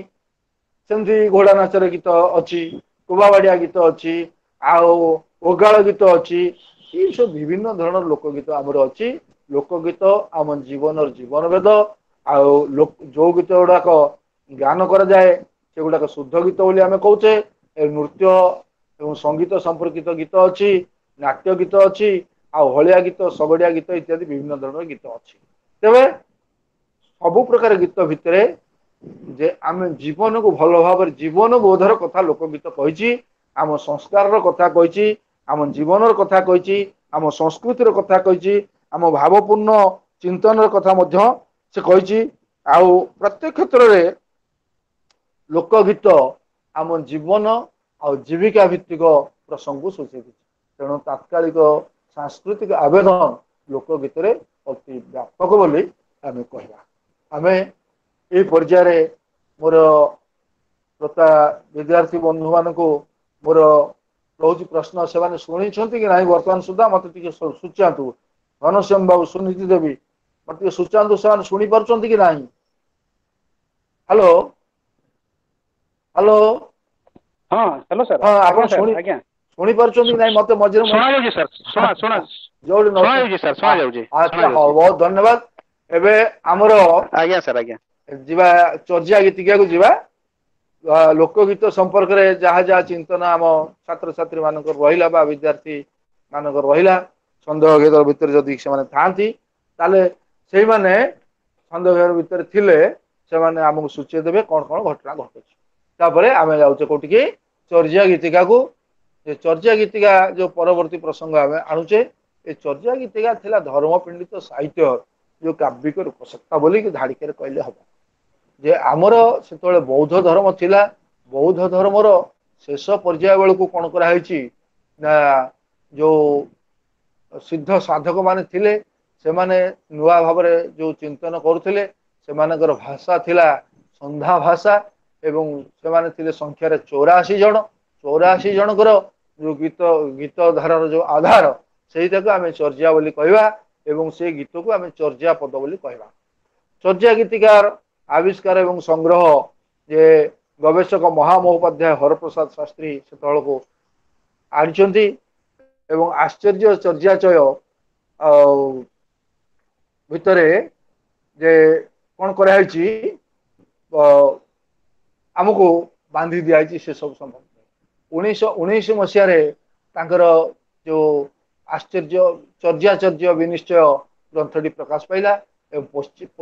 ସେମିତି ଘୋଡା ନାଚର ଗୀତ ଅଛି, କୋବା ବାଡିଆ ଗୀତ ଅଛି, ଆଉ ଓଗାଳ ଗୀତ ଅଛି। ଏଇ ସବୁ ବିଭିନ୍ନ ଧରଣର ଲୋକଗୀତ ଆମର ଅଛି। ଲୋକଗୀତ ଆମ ଜୀବନର ଜୀବନ ବେଦ। ଆଉ ଯୋଉ ଗୀତ ଗୁଡାକ ଗାନ କରାଯାଏ ସେଗୁଡାକ ଶୁଦ୍ଧ ଗୀତ ବୋଲି ଆମେ କହୁଛେ। ନୃତ୍ୟ ଏବଂ ସଙ୍ଗୀତ ସମ୍ପର୍କିତ ଗୀତ ଅଛି, ନାଟ୍ୟ ଗୀତ ଅଛି, ଆଉ ହଳିଆ ଗୀତ, ଶଗଡିଆ ଗୀତ ଇତ୍ୟାଦି ବିଭିନ୍ନ ଧରଣର ଗୀତ ଅଛି। ତେବେ ସବୁ ପ୍ରକାର ଗୀତ ଭିତରେ ଯେ ଆମେ ଜୀବନକୁ ଭଲ ଭାବରେ ଜୀବନ ବୋଧର କଥା ଲୋକଗୀତ କହିଛି, ଆମ ସଂସ୍କାରର କଥା କହିଛି, ଆମ ଜୀବନର କଥା କହିଛି, ଆମ ସଂସ୍କୃତିର କଥା କହିଛି, ଆମ ଭାବପୂର୍ଣ୍ଣ ଚିନ୍ତନର କଥା ମଧ୍ୟ ସେ କହିଛି। ଆଉ ପ୍ରତ୍ୟେକ କ୍ଷେତ୍ରରେ ଲୋକଗୀତ ଆମ ଜୀବନ ଆଉ ଜୀବିକା ଭିତ୍ତିକ ପ୍ରସଙ୍ଗକୁ ସୂଚେଇ ଦେଇଛି। ତେଣୁ ତାତ୍କାଳିକ ସାଂସ୍କୃତିକ ଆବେଦନ ଲୋକଗୀତରେ ଅତି ବ୍ୟାପକ ବୋଲି ଆମେ କହିବା। ଆମେ ଏଇ ପର୍ଯ୍ୟାୟରେ ମୋର ଶ୍ରୋତା ବିଦ୍ୟାର୍ଥୀ ବନ୍ଧୁମାନଙ୍କୁ ମୋର ରହୁଛି ପ୍ରଶ୍ନ, ସେମାନେ ଶୁଣିଛନ୍ତି କି ନାହିଁ ବର୍ତ୍ତମାନ ସୁଦ୍ଧା ମତେ ଟିକେ ସୂଚାନ୍ତୁ। ଘନଶ୍ୟାମ ବାବୁ, ସୁନୀତି ଦେବୀ, ମତେ ଟିକେ ସୂଚାନ୍ତୁ ସେମାନେ ଶୁଣି ପାରୁଛନ୍ତି କି ନାହିଁ। Hello hello. ହଁ ହ୍ୟାଲୋ ସାର୍। ହଁ, ଆପଣ ଶୁଣି ଆଜ୍ଞା ଶୁଣି ପାରୁଛନ୍ତି କି ନାହିଁ ମତେ ମଝିରେ ଶୁଣାଯାଉଛି ସାର୍, ଶୁଣା ଶୁଣା ଯୋଉଠି ଶୁଣାଯାଉଛି ସାର୍, ଶୁଣାଯାଉଛି। ଆଚ୍ଛା, ହଉ, ବହୁତ ଧନ୍ୟବାଦ। ଏବେ ଆମର ଆଜ୍ଞା ସାର୍, ଆଜ୍ଞା ଯିବା ଚର୍ଯା ଗୀତିକାକୁ ଯିବା। ଲୋକଗୀତ ସମ୍ପର୍କରେ ଯାହା ଯାହା ଚିନ୍ତନ ଆମ ଛାତ୍ରଛାତ୍ରୀ ମାନଙ୍କର ରହିଲା ବା ବିଦ୍ୟାର୍ଥୀ ମାନଙ୍କର ରହିଲା, ସନ୍ଦେହ ଘେର ଭିତରେ ଯଦି ସେମାନେ ଥାଆନ୍ତି ତାହେଲେ ସେଇମାନେ ସନ୍ଦେହ ଘେର ଭିତରେ ଥିଲେ ସେମାନେ ଆମକୁ ସୂଚେଇ ଦେବେ କଣ କଣ ଘଟଣା ଘଟୁଛି। ତାପରେ ଆମେ ଯାଉଛେ କୋଉଠିକି, ଚର୍ଯା ଗୀତିକାକୁ। ଯେ ଚର୍ଯା ଗୀତିକା ଯୋଉ ପରବର୍ତ୍ତୀ ପ୍ରସଙ୍ଗ ଆମେ ଆଣୁଛେ, ଏ ଚର୍ଯା ଗୀତିକା ଥିଲା ଧର୍ମପିଣ୍ଡିତ ସାହିତ୍ୟ ଯୋଉ କାବ୍ୟିକ ରୂପସତ୍ତା ବୋଲିକି ଧାଡ଼ିକରେ କହିଲେ ହବ। ଯେ ଆମର ସେତେବେଳେ ବୌଦ୍ଧ ଧର୍ମ ଥିଲା, ବୌଦ୍ଧ ଧର୍ମର ଶେଷ ପର୍ଯ୍ୟାୟ ବେଳକୁ କଣ କରାହେଇଛି ନା ଯୋଉ ସିଦ୍ଧ ସାଧକ ମାନେ ଥିଲେ ସେମାନେ ନୂଆ ଭାବରେ ଯୋଉ ଚିନ୍ତନ କରୁଥିଲେ ସେମାନଙ୍କର ଭାଷା ଥିଲା ସନ୍ଧା ଭାଷା, ଏବଂ ସେମାନେ ଥିଲେ ସଂଖ୍ୟାରେ 84 ଜଣ। 84 ଜଣଙ୍କର ଯୋଉ ଗୀତ ଧାରାର ଯୋଉ ଆଧାର ସେଇଟାକୁ ଆମେ ଚର୍ଯା ବୋଲି କହିବା, ଏବଂ ସେ ଗୀତକୁ ଆମେ ଚର୍ଯା ପଦ ବୋଲି କହିବା। ଚର୍ଯା ଗୀତିକାର ଆବିଷ୍କାର ଏବଂ ସଂଗ୍ରହ ଯେ ଗବେଷକ ମହାମହୋପାଧ୍ୟାୟ ହରପ୍ରସାଦ ଶାସ୍ତ୍ରୀ ସେତେବେଳକୁ ଆଣିଛନ୍ତି, ଏବଂ ଆଶ୍ଚର୍ଯ୍ୟ ଚର୍ଯାଚୟ ଆଉ ଭିତରେ ଯେ କଣ କରାହେଇଛି, ଆମକୁ ବାନ୍ଧି ଦିଆଯାଇଛି ସେ ସବୁ ସମ୍ପର୍କରେ। 1919 ମସିହାରେ ତାଙ୍କର ଯୋଉ ଆଶ୍ଚର୍ଯ୍ୟ ଚର୍ଯାଚର୍ଯ୍ୟ ବିନିଶ୍ଚୟ ଗ୍ରନ୍ଥଟି ପ୍ରକାଶ ପାଇଲା, ଏବଂ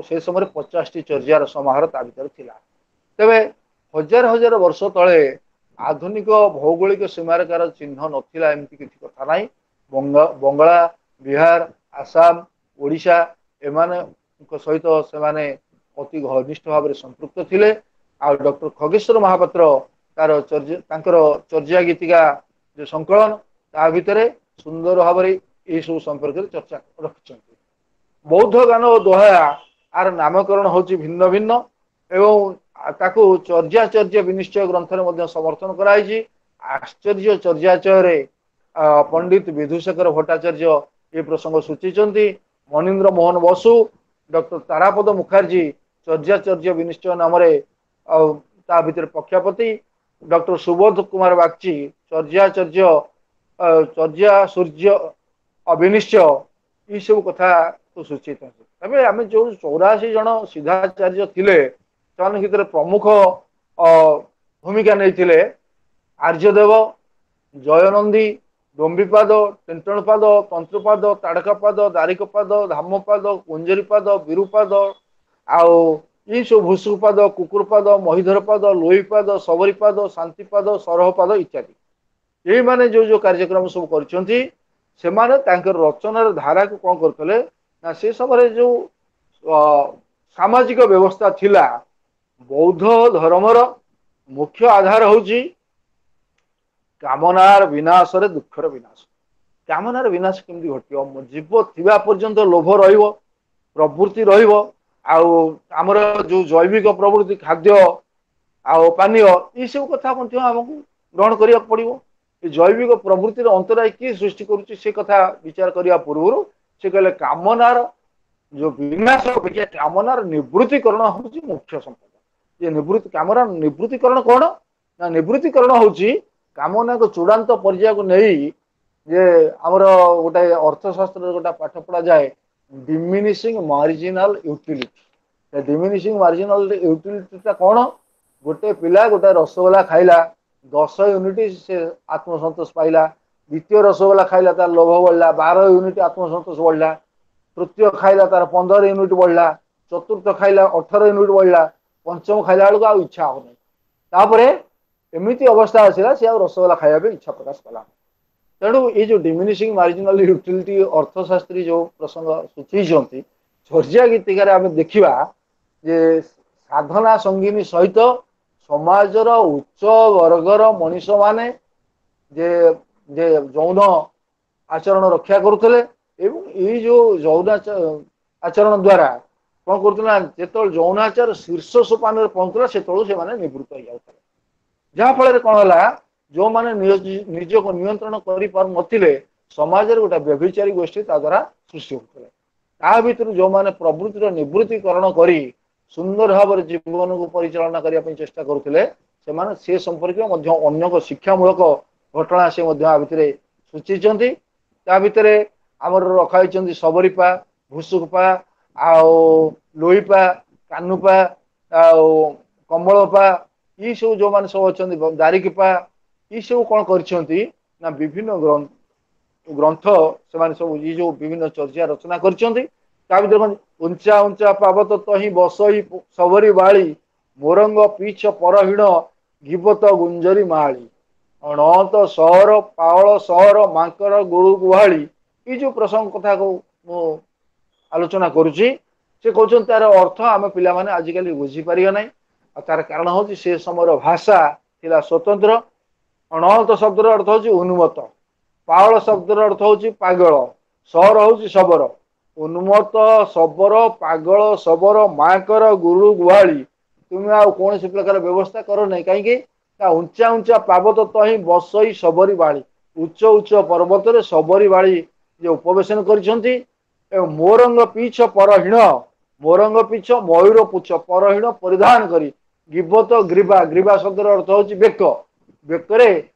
ସେ ସମୟରେ 50ଟି ଚର୍ଯାର ସମାହାର ତା ଭିତରେ ଥିଲା। ତେବେ ହଜାର ହଜାର ବର୍ଷ ତଳେ ଆଧୁନିକ ଭୌଗୋଳିକ ସୀମାରେଖାର ଚିହ୍ନ ନଥିଲା, ଏମିତି କିଛି କଥା ନାହିଁ। ବଙ୍ଗଳା, ବିହାର, ଆସାମ, ଓଡ଼ିଶା ଏମାନଙ୍କ ସହିତ ସେମାନେ ଅତି ଘନିଷ୍ଠ ଭାବରେ ସମ୍ପୃକ୍ତ ଥିଲେ। ଆଉ ଡକ୍ଟର ଖଗେଶ୍ୱର ମହାପାତ୍ର ତାଙ୍କର ଚର୍ଯା ଗୀତିକା ଯୋଉ ସଂକଳନ ତା ଭିତରେ ସୁନ୍ଦର ଭାବରେ ଏଇସବୁ ସମ୍ପର୍କରେ ଚର୍ଚ୍ଚା ରଖିଛନ୍ତି। ବୌଦ୍ଧ ଗାନ ଓ ଦୋହା ଆର ନାମକରଣ ହଉଛି ଭିନ୍ନ ଭିନ୍ନ, ଏବଂ ତାକୁ ଚର୍ଯାଚର୍ଯ୍ୟ ବିନିଶ୍ଚୟ ଗ୍ରନ୍ଥରେ ମଧ୍ୟ ସମର୍ଥନ କରାଯାଇଛି। ଆଶ୍ଚର୍ଯ୍ୟ ଚର୍ଯାଚୟରେ ପଣ୍ଡିତ ବିଧୁଶେଖର ଭଟ୍ଟାଚାର୍ଯ୍ୟ ଏ ପ୍ରସଙ୍ଗ ସୂଚେଇଛନ୍ତି। ମନୀନ୍ଦ୍ର ମୋହନ ବସୁ, ଡକ୍ଟର ତାରାପଦ ମୁଖାର୍ଜୀ ଚର୍ଯାଚର୍ଯ୍ୟ ବିନିଶ୍ଚୟ ନାମରେ ଆଉ ତା ଭିତରେ ପକ୍ଷପାତୀ, ଡକ୍ଟର ସୁବୋଧ କୁମାର ବାଗଚୀ ଚର୍ଯାଚର୍ଯ୍ୟ ଚର୍ଯା ସୂର୍ଯ୍ୟ ଅବିନିଶ୍ଚୟ ଏଇସବୁ କଥାକୁ ସୂଚେଇଥାନ୍ତି। ତେବେ ଆମେ ଯୋଉ 84 ଜଣ ସିଦ୍ଧାଚାର୍ଯ୍ୟ ଥିଲେ ସେମାନଙ୍କ ଭିତରେ ପ୍ରମୁଖ ଭୂମିକା ନେଇଥିଲେ ଆର୍ଯ୍ୟଦେବ, ଜୟନନ୍ଦୀ, ଡମ୍ବିପାଦ, ଟେଣ୍ଟଣପାଦ, ତନ୍ତ୍ରପାଦ, ତାଡ଼କାପାଦ, ଦାରିକପାଦ, ଧାମପାଦ, କୁଞ୍ଜରୀପାଦ, ବିରୁପାଦ, ଆଉ ଏଇସବୁ ଭୂଷୁପାଦ, କୁକୁରପାଦ, ମହିଧରପାଦ, ଲୋହିପାଦ, ସବରୀପାଦ, ଶାନ୍ତିପାଦ, ସରହପାଦ ଇତ୍ୟାଦି। ଏଇମାନେ ଯୋଉ ଯୋଉ କାର୍ଯ୍ୟକ୍ରମ ସବୁ କରିଛନ୍ତି ସେମାନେ ତାଙ୍କର ରଚନାର ଧାରାକୁ କଣ କରୁଥିଲେ ନା ସେ ସମୟରେ ଯୋଉ ସାମାଜିକ ବ୍ୟବସ୍ଥା ଥିଲା, ବୌଦ୍ଧ ଧର୍ମର ମୁଖ୍ୟ ଆଧାର ହଉଛି କାମନାର ବିନାଶରେ ଦୁଃଖର ବିନାଶ। କାମନାର ବିନାଶ କେମିତି ଘଟିବ? ଜୀବ ଥିବା ପର୍ଯ୍ୟନ୍ତ ଲୋଭ ରହିବ, ପ୍ରବୃତ୍ତି ରହିବ, ଆଉ ଆମର ଯୋଉ ଜୈବିକ ପ୍ରବୃତ୍ତି ଖାଦ୍ୟ ଆଉ ପାନୀୟ ଏଇସବୁ କଥା ମଧ୍ୟ ଆମକୁ ଗ୍ରହଣ କରିବାକୁ ପଡିବ। ଏ ଜୈବିକ ପ୍ରବୃତ୍ତିର ଅନ୍ତରାୟ କିଏ ସୃଷ୍ଟି କରୁଛି ସେ କଥା ବିଚାର କରିବା ପୂର୍ବରୁ ସେ କହିଲେ କାମନାର ଯୋଉ ବିନାଶ ଅପେକ୍ଷା କାମନାର ନିବୃତ୍ତିକରଣ ହଉଛି ମୁଖ୍ୟ ସମ୍ପଦ। ଏ ନିବୃତ୍ତି କାମନାର ନିବୃତ୍ତିକରଣ କଣ ନା ନିବୃତ୍ତିକରଣ ହଉଛି କାମନାକୁ ଚୂଡ଼ାନ୍ତ ପର୍ଯ୍ୟାୟକୁ ନେଇ, ଯେ ଆମର ଗୋଟେ ଅର୍ଥଶାସ୍ତ୍ରରେ ଗୋଟେ ପାଠ ପଢାଯାଏ diminishing marginal utility. Diminishing marginal ୟୁଟିଲିଟିଟା କଣ? ଗୋଟେ ପିଲା ଗୋଟେ ରସଗୋଲା ଖାଇଲା, 10 ୟୁନିଟ ସେ ଆତ୍ମସନ୍ତୋଷ ପାଇଲା, ଦ୍ୱିତୀୟ ରସଗୋଲା ଖାଇଲା ତାର ଲୋଭ ବଢିଲା, 12 ୟୁନିଟ ଆତ୍ମସନ୍ତୋଷ ବଢିଲା, ତୃତୀୟ ଖାଇଲା ତାର 15 ୟୁନିଟ ବଢିଲା, ଚତୁର୍ଥ ଖାଇଲା 18 ୟୁନିଟ ବଢିଲା, ପଞ୍ଚମ ଖାଇଲା ବେଳକୁ ଆଉ ଇଚ୍ଛା ହଉନି। ତାପରେ ଏମିତି ଅବସ୍ଥା ଆସିଲା ସେ ଆଉ ରସଗୋଲା ଖାଇବା ପାଇଁ ଇଚ୍ଛା ପ୍ରକାଶ କଲା। ତେଣୁ ଏଇ ଯୋଉ ଡିମିନିସିଂ ମାର୍ଜିନାଲ ୟୁଟିଲିଟି ଅର୍ଥଶାସ୍ତ୍ରୀ ଯୋଉ ପ୍ରସଙ୍ଗ ସୂଚେଇଛନ୍ତି, ଚର୍ଯା ଗୀତିକାରେ ଆମେ ଦେଖିବା ଯେ ସାଧନା ସଙ୍ଗିନୀ ସହିତ ସମାଜର ଉଚ୍ଚ ବର୍ଗର ମଣିଷମାନେ ଯେ ଯେ ଯୌନ ଆଚରଣ ରକ୍ଷା କରୁଥିଲେ, ଏବଂ ଏଇ ଯୋଉ ଯୌନ ଆଚରଣ ଦ୍ଵାରା କଣ କରୁଥିଲେ ନା ଯେତେବେଳେ ଯୌନାଚାର ଶୀର୍ଷ ସୋପାନରେ ପହଞ୍ଚୁଥିଲା ସେତେବେଳକୁ ସେମାନେ ନିବୃତ୍ତ ହେଇଯାଉଥିଲେ। ଯାହାଫଳରେ କଣ ହେଲା, ଯୋଉମାନେ ନିଜକୁ ନିୟନ୍ତ୍ରଣ କରିପାରୁନଥିଲେ, ସମାଜରେ ଗୋଟେ ବ୍ୟଭିଚାରୀ ଗୋଷ୍ଠୀ ତା ଦ୍ୱାରା ସୃଷ୍ଟି ହଉଥିଲେ। ତା ଭିତରୁ ଯୋଉମାନେ ପ୍ରବୃତ୍ତିର ନିବୃତ୍ତିକରଣ କରି ସୁନ୍ଦର ଭାବରେ ଜୀବନକୁ ପରିଚାଳନା କରିବା ପାଇଁ ଚେଷ୍ଟା କରୁଥିଲେ, ସେମାନେ ସେ ସମ୍ପର୍କୀୟ ମଧ୍ୟ ଅନେକ ଶିକ୍ଷାମୂଳକ ଘଟଣା ସେ ମଧ୍ୟ ଆ ଭିତରେ ସୂଚେଇଛନ୍ତି। ତା ଭିତରେ ଆମର ରଖା ହେଇଛନ୍ତି ସବରିପା, ଭୁସୁକପା, ଆଉ ଲୋଇପା, କାନୁପା, ଆଉ କମଳପା, ଏଇ ସବୁ ଯୋଉମାନେ ସବୁ ଅଛନ୍ତି, ଦାରିକିପା, ଏଇ ସବୁ କଣ କରିଛନ୍ତି ନା ବିଭିନ୍ନ ଗ୍ରନ୍ଥ ସେମାନେ ସବୁ ଏଇ ଯୋଉ ବିଭିନ୍ନ ଚର୍ଚ୍ଚା ରଚନା କରିଛନ୍ତି। ତା ଭିତରେ କଣ ଉଞ୍ଚା ଉଞ୍ଚା ପାବତ ତହିଁ ବସଇ ସବରି ବାଳି, ମୋରଙ୍ଗ ପିଛ ପରହୀଣ ଗିବତ ଗୁଞ୍ଜରି ମାଳି, ଅଣତ ସହର ପାଅଳ ସହର ମାଙ୍କର ଗୁରୁ ଗୁହାଳି। ଏଇ ଯୋଉ ପ୍ରସଙ୍ଗ କଥାକୁ ମୁଁ ଆଲୋଚନା କରୁଛି, ସେ କହୁଛନ୍ତି ତାର ଅର୍ଥ ଆମେ ପିଲାମାନେ ଆଜିକାଲି ବୁଝିପାରିବା ନାହିଁ। ଆଉ ତାର କାରଣ ହଉଛି ସେ ସମୟର ଭାଷା ଥିଲା ସ୍ୱତନ୍ତ୍ର। ଅଣତ ଶବ୍ଦର ଅର୍ଥ ହଉଛି ଉନ୍ମତ୍ତ, ପାଅଳ ଶବ୍ଦର ଅର୍ଥ ହଉଛି ପାଗଳ, ସହର ହଉଛି ଶବର। ଉନ୍ମତ୍ତ, ଶବର, ପାଗଳ, ଶବର, ମାଙ୍କର ଗୁରୁ ଗୁହାଳି, ତୁମେ ଆଉ କୌଣସି ପ୍ରକାର ବ୍ୟବସ୍ଥା କର ନାହିଁ। କାହିଁକି ନା ଉଞ୍ଚା ଉଞ୍ଚା ପାର୍ବତ ତହିଁ ବସଇ ଶବରୀ ବାଳି, ଉଚ୍ଚ ଉଚ୍ଚ ପର୍ବତରେ ଶବରୀ ବାଳି ଯେ ଉପବେଶନ କରିଛନ୍ତି। ଏବଂ ମୋରଙ୍ଗ ପିଛ ପରହୀଣ, ମୋରଙ୍ଗ ପିଛ ମୟୂର ପୁଛ ପରହୀଣ ପରିଧାନ କରି, ଗିବତ ଗ୍ରୀବା, ଗ୍ରୀବା ଶବ୍ଦର ଅର୍ଥ ହଉଛି ବେକ, ବେକରେ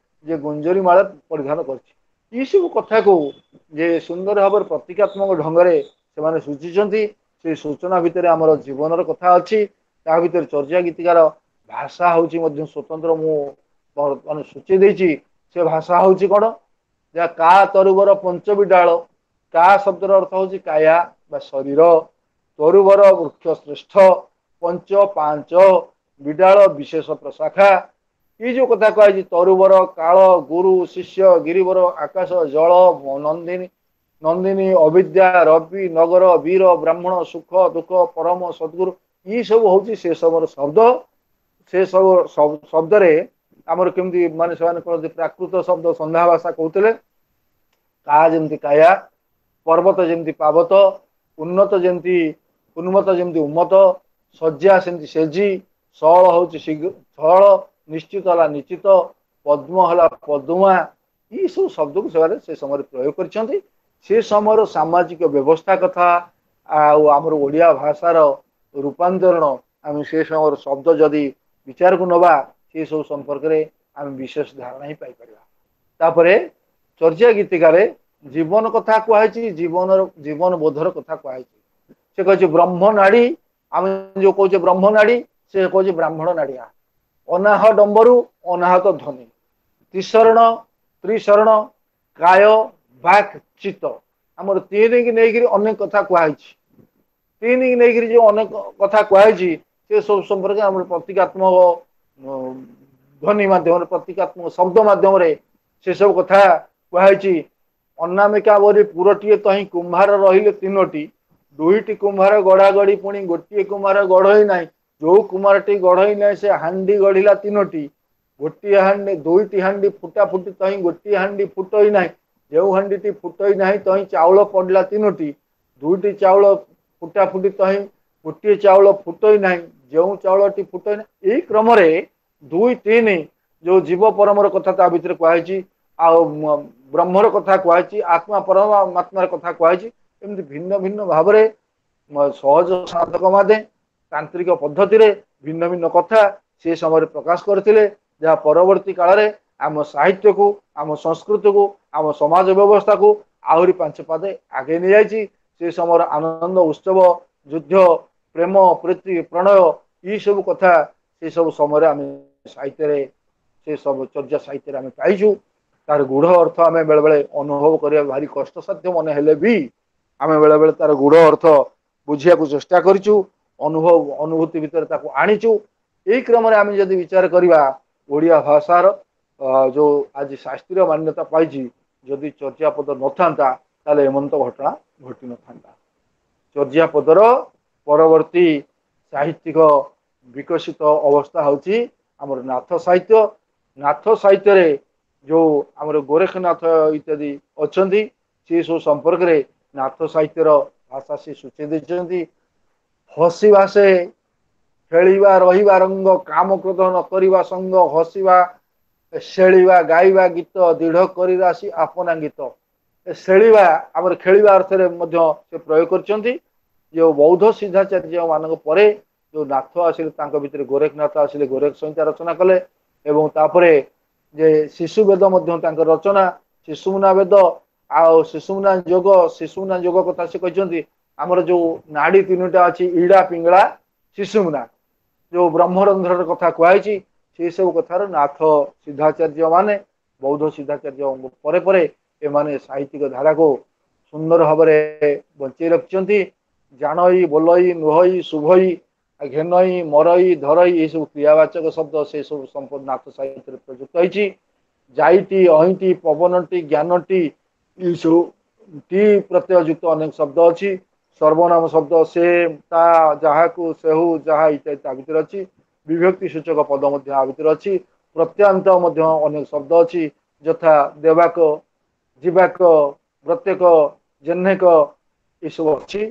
ଯେ ଗୁଞ୍ଜରି ମାଳ ପରିଧାନ କରିଛି। ଏଇସବୁ କଥାକୁ ଯେ ସୁନ୍ଦର ଭାବରେ ପ୍ରତୀକାତ୍ମକ ଢଙ୍ଗରେ ସେମାନେ ସୂଚିଛନ୍ତି। ସେଇ ସୂଚନା ଭିତରେ ଆମର ଜୀବନର କଥା ଅଛି। ତା ଭିତରେ ଚର୍ଚ୍ଚା ଗୀତିକାର ଭାଷା ହଉଛି ମଧ୍ୟ ସ୍ୱତନ୍ତ୍ର। ମୁଁ ମାନେ ସୂଚେଇ ଦେଇଛି ସେ ଭାଷା ହଉଛି କଣ, ଯାହା କା ତରୁବର ପଞ୍ଚବି ଡାଳ। କା ଶବ୍ଦର ଅର୍ଥ ହଉଛି କାୟା ବା ଶରୀର, ତରୁବର ବୃକ୍ଷ ଶ୍ରେଷ୍ଠ, ପଞ୍ଚ ପାଞ୍ଚ, ବିଡାଳ ବିଶେଷ ପ୍ରଶାଖା। ଏଇ ଯୋଉ କଥା କୁହାଯାଇଛି ତରୁବର, କାଳ, ଗୁରୁ, ଶିଷ୍ୟ, ଗିରିବର, ଆକାଶ, ଜଳ, ନନ୍ଦିନୀ, ନନ୍ଦିନୀ, ଅବିଦ୍ୟା, ରବି, ନଗର, ବୀର, ବ୍ରାହ୍ମଣ, ସୁଖ, ଦୁଃଖ, ପରମ, ସଦ୍ଗୁରୁ, ଏଇ ସବୁ ହଉଛି ସେ ସବୁର ଶବ୍ଦ। ସେ ସବୁ ଶବ୍ଦରେ ଆମର କେମିତି ମାନେ ସେମାନେ କହନ୍ତି ପ୍ରାକୃତ ଶବ୍ଦ ସନ୍ଧ୍ୟା ଭାଷା କହୁଥିଲେ। କା ଯେମିତି କାୟା, ପର୍ବତ ଯେମିତି ପାବତ, ଉନ୍ନତ ଯେମିତି ଉନ୍ମତ୍ତ ଯେମିତି ଉନ୍ମତ୍ତ, ଶଯ୍ୟା ସେମିତି ସେଜି, ସଅଳ ହଉଛି ସଅଳ, ନିଶ୍ଚିତ ହେଲା ନିଶ୍ଚିତ, ପଦ୍ମ ହେଲା ପଦ୍ମା। ଏଇ ସବୁ ଶବ୍ଦକୁ ସେମାନେ ସେ ସମୟରେ ପ୍ରୟୋଗ କରିଛନ୍ତି। ସେ ସମୟର ସାମାଜିକ ବ୍ୟବସ୍ଥା କଥା ଆଉ ଆମର ଓଡ଼ିଆ ଭାଷାର ରୂପାନ୍ତରଣ, ଆମେ ସେ ସମୟର ଶବ୍ଦ ଯଦି ବିଚାରକୁ ନବା, ସେ ସବୁ ସମ୍ପର୍କରେ ଆମେ ବିଶେଷ ଧାରଣା ହିଁ ପାଇପାରିବା। ତାପରେ ଚର୍ଚ୍ଚା ଗୀତିକାରେ ଜୀବନ କଥା କୁହାଯାଇଛି, ଜୀବନର ଜୀବନ ବୋଧର କଥା କୁହାଯାଇଛି। ସେ କହିଛି ବ୍ରହ୍ମ ନାଡି, ଆମେ ଯୋଉ କହୁଛେ ବ୍ରହ୍ମ ନାଡି, ସେ କହୁଛି ବ୍ରାହ୍ମଣ ନାଡିଆ। ଅନାହ ଡମ୍ବରୁ ଅନାହତ ଧ୍ୱନି, ତ୍ରିଶରଣ ତ୍ରିଶରଣ, କାୟ ବାକ୍ ଚିତ୍ତ, ଆମର ତିନିକି ନେଇକିରି ଅନେକ କଥା କୁହାଯାଇଛି। ତିନିକି ନେଇକିରି ଯୋଉ ଅନେକ କଥା କୁହାଯାଇଛି ସେ ସବୁ ସମ୍ପର୍କରେ ଆମର ପ୍ରତୀକାତ୍ମକ ଧ୍ୱନି ମାଧ୍ୟମରେ, ପ୍ରତୀକାତ୍ମକ ଶବ୍ଦ ମାଧ୍ୟମରେ ସେ ସବୁ କଥା କୁହାଯାଇଛି। ଅନାମିକା ବୋଲି ପୁରଟିଏ ତହିଁ କୁମ୍ଭାର ରହିଲେ ତିନୋଟି, ଦୁଇଟି କୁମ୍ଭାର ଗଢା ଗଢି ପୁଣି ଗୋଟିଏ କୁମ୍ଭାର ଗଢଇ ନାହିଁ। ଯୋଉ କୁମାରଟି ଗଢଇ ନାହିଁ ସେ ହାଣ୍ଡି ଗଢିଲା ତିନୋଟି, ଗୋଟିଏ ହାଣ୍ଡି ଦୁଇଟି ହାଣ୍ଡି ଫୁଟା ଫୁଟି ତହିଁ ଗୋଟିଏ ହାଣ୍ଡି ଫୁଟଇ ନାହିଁ। ଯେଉଁ ହାଣ୍ଡିଟି ଫୁଟଇ ନାହିଁ ତହିଁ ଚାଉଳ ପଡିଲା ତିନୋଟି, ଦୁଇଟି ଚାଉଳ ଫୁଟା ଫୁଟି ତହିଁ ଗୋଟିଏ ଚାଉଳ ଫୁଟଇ ନାହିଁ, ଯେଉଁ ଚାଉଳଟି ଫୁଟଇ ନାହିଁ। ଏଇ କ୍ରମରେ 2 3 ଯୋଉ ଜୀବ ପରମର କଥା ତା ଭିତରେ କୁହାଯାଇଛି, ଆଉ ବ୍ରହ୍ମର କଥା କୁହାଯାଇଛି, ଆତ୍ମା ପରମାତ୍ମାର କଥା କୁହାଯାଇଛି। ଏମିତି ଭିନ୍ନ ଭିନ୍ନ ଭାବରେ ସହଜ ସାଧକ ମାନେ ତାନ୍ତ୍ରିକ ପଦ୍ଧତିରେ ଭିନ୍ନ ଭିନ୍ନ କଥା ସେ ସମୟରେ ପ୍ରକାଶ କରିଥିଲେ, ଯାହା ପରବର୍ତ୍ତୀ କାଳରେ ଆମ ସାହିତ୍ୟକୁ, ଆମ ସଂସ୍କୃତିକୁ, ଆମ ସମାଜ ବ୍ୟବସ୍ଥାକୁ ଆହୁରି 5 ପାଦେ ଆଗେଇ ନେଇଯାଇଛି। ସେ ସମୟର ଆନନ୍ଦ ଉତ୍ସବ, ଯୁଦ୍ଧ, ପ୍ରେମ, ପ୍ରୀତି, ପ୍ରଣୟ, ଏଇ ସବୁ କଥା ସେ ସବୁ ସମୟରେ ଆମେ ସାହିତ୍ୟରେ, ସେ ସବୁ ଚର୍ଚ୍ଚା ସାହିତ୍ୟରେ ଆମେ ପାଇଛୁ। ତାର ଗୂଢ ଅର୍ଥ ଆମେ ବେଳେବେଳେ ଅନୁଭବ କରିବା ଭାରି କଷ୍ଟସାଧ୍ୟ ମନେ ହେଲେ ବି ଆମେ ବେଳେବେଳେ ତାର ଗୂଢ ଅର୍ଥ ବୁଝିବାକୁ ଚେଷ୍ଟା କରିଛୁ, ଅନୁଭବ ଅନୁଭୂତି ଭିତରେ ତାକୁ ଆଣିଛୁ। ଏଇ କ୍ରମରେ ଆମେ ଯଦି ବିଚାର କରିବା ଓଡ଼ିଆ ଭାଷାର ଯୋଉ ଆଜି ଶାସ୍ତ୍ରୀୟ ମାନ୍ୟତା ପାଇଛି, ଯଦି ଚର୍ଚ୍ଚାପଦ ନଥାନ୍ତା ତାହେଲେ ଏମନ୍ତ ଘଟଣା ଘଟି ନଥାନ୍ତା। ଚର୍ଚ୍ଚାପଦର ପରବର୍ତ୍ତୀ ସାହିତ୍ୟିକ ବିକଶିତ ଅବସ୍ଥା ହଉଛି ଆମର ନାଥ ସାହିତ୍ୟ। ନାଥ ସାହିତ୍ୟରେ ଯୋଉ ଆମର ଗୋରେଖନାଥ ଇତ୍ୟାଦି ଅଛନ୍ତି, ସେ ସବୁ ସମ୍ପର୍କରେ ନାଥ ସାହିତ୍ୟର ଭାଷା ସେ ସୂଚେଇ ଦେଇଛନ୍ତି। ହସିବା ସେ ଖେଳିବା ରହିବା ରଙ୍ଗ, କାମ କ୍ରୋଧ ନ କରିବା ସଙ୍ଗ, ହସିବା ଶେଳିବା ଗାଇବା ଗୀତ ଦୃଢ଼ କରି ରାଶି ଆପଣା ଗୀତ। ଶେଳିବା ଆମର ଖେଳିବା ଅର୍ଥରେ ମଧ୍ୟ ସେ ପ୍ରୟୋଗ କରିଛନ୍ତି। ଯେଉଁ ବୌଦ୍ଧ ସିଦ୍ଧାଚାର୍ଯ୍ୟ ମାନଙ୍କ ପରେ ଯୋଉ ନାଥ ଆସିଲେ, ତାଙ୍କ ଭିତରେ ଗୋରେଖନାଥ ଆସିଲେ, ଗୋରେଖ ସଂହିତା ରଚନା କଲେ। ଏବଂ ତାପରେ ଯେ ଶିଶୁ ବେଦ ମଧ୍ୟ ତାଙ୍କ ରଚନା, ଶିଶୁମୁନା ବେଦ ଆଉ ଶିଶୁମୁନା ଯୋଗ। ଶିଶୁମୁନା ଯୋଗ କଥା ସେ କହିଛନ୍ତି, ଆମର ଯୋଉ ନାଡି ତିନିଟା ଅଛି, ଇଡା ପିଙ୍ଗଳା ଶିଶୁମୁନା, ଯୋଉ ବ୍ରହ୍ମରନ୍ଧ୍ରର କଥା କୁହାଯାଇଛି, ସେଇ ସବୁ କଥାର ନାଥ ସିଦ୍ଧାଚାର୍ଯ୍ୟ ମାନେ ବୌଦ୍ଧ ସିଦ୍ଧାଚାର୍ଯ୍ୟ ପରେ ପରେ ଏମାନେ ସାହିତ୍ୟିକ ଧାରାକୁ ସୁନ୍ଦର ଭାବରେ ବଞ୍ଚେଇ ରଖିଛନ୍ତି। ଜାଣଇ ବୋଲଇ ନୁହଇ ଶୁଭଇ ଘେନଇ ମରଇ ଧରଇ, ଏସବୁ କ୍ରିୟାବାଚକ ଶବ୍ଦ, ସେ ସବୁ ସମ୍ପୂର୍ଣ୍ଣ ନାଥ ସାହିତ୍ୟରେ ପ୍ରଯୁକ୍ତ ହେଇଛି। ଯାଇଟି ଅହିଁଟି ପବନଟି ଜ୍ଞାନଟି, ଏସବୁ ଟି ପ୍ରତ୍ୟୟ ଯୁକ୍ତ ଅନେକ ଶବ୍ଦ ଅଛି। ସର୍ବନାମ ଶବ୍ଦ ସେ ତା ଯାହାକୁ ସେହୁ ଯାହା ଇତ୍ୟାଦି ତା ଭିତରେ ଅଛି। ବିଭକ୍ତି ସୂଚକ ପଦ ମଧ୍ୟ ଆ ଭିତରେ ଅଛି। ପ୍ରତ୍ୟାନ୍ତ ମଧ୍ୟ ଅନେକ ଶବ୍ଦ ଅଛି, ଯଥା ଦେବାକ ଯିବାକ ପ୍ରତ୍ୟେକ ଜେହ୍ନେକ, ଏସବୁ ଅଛି।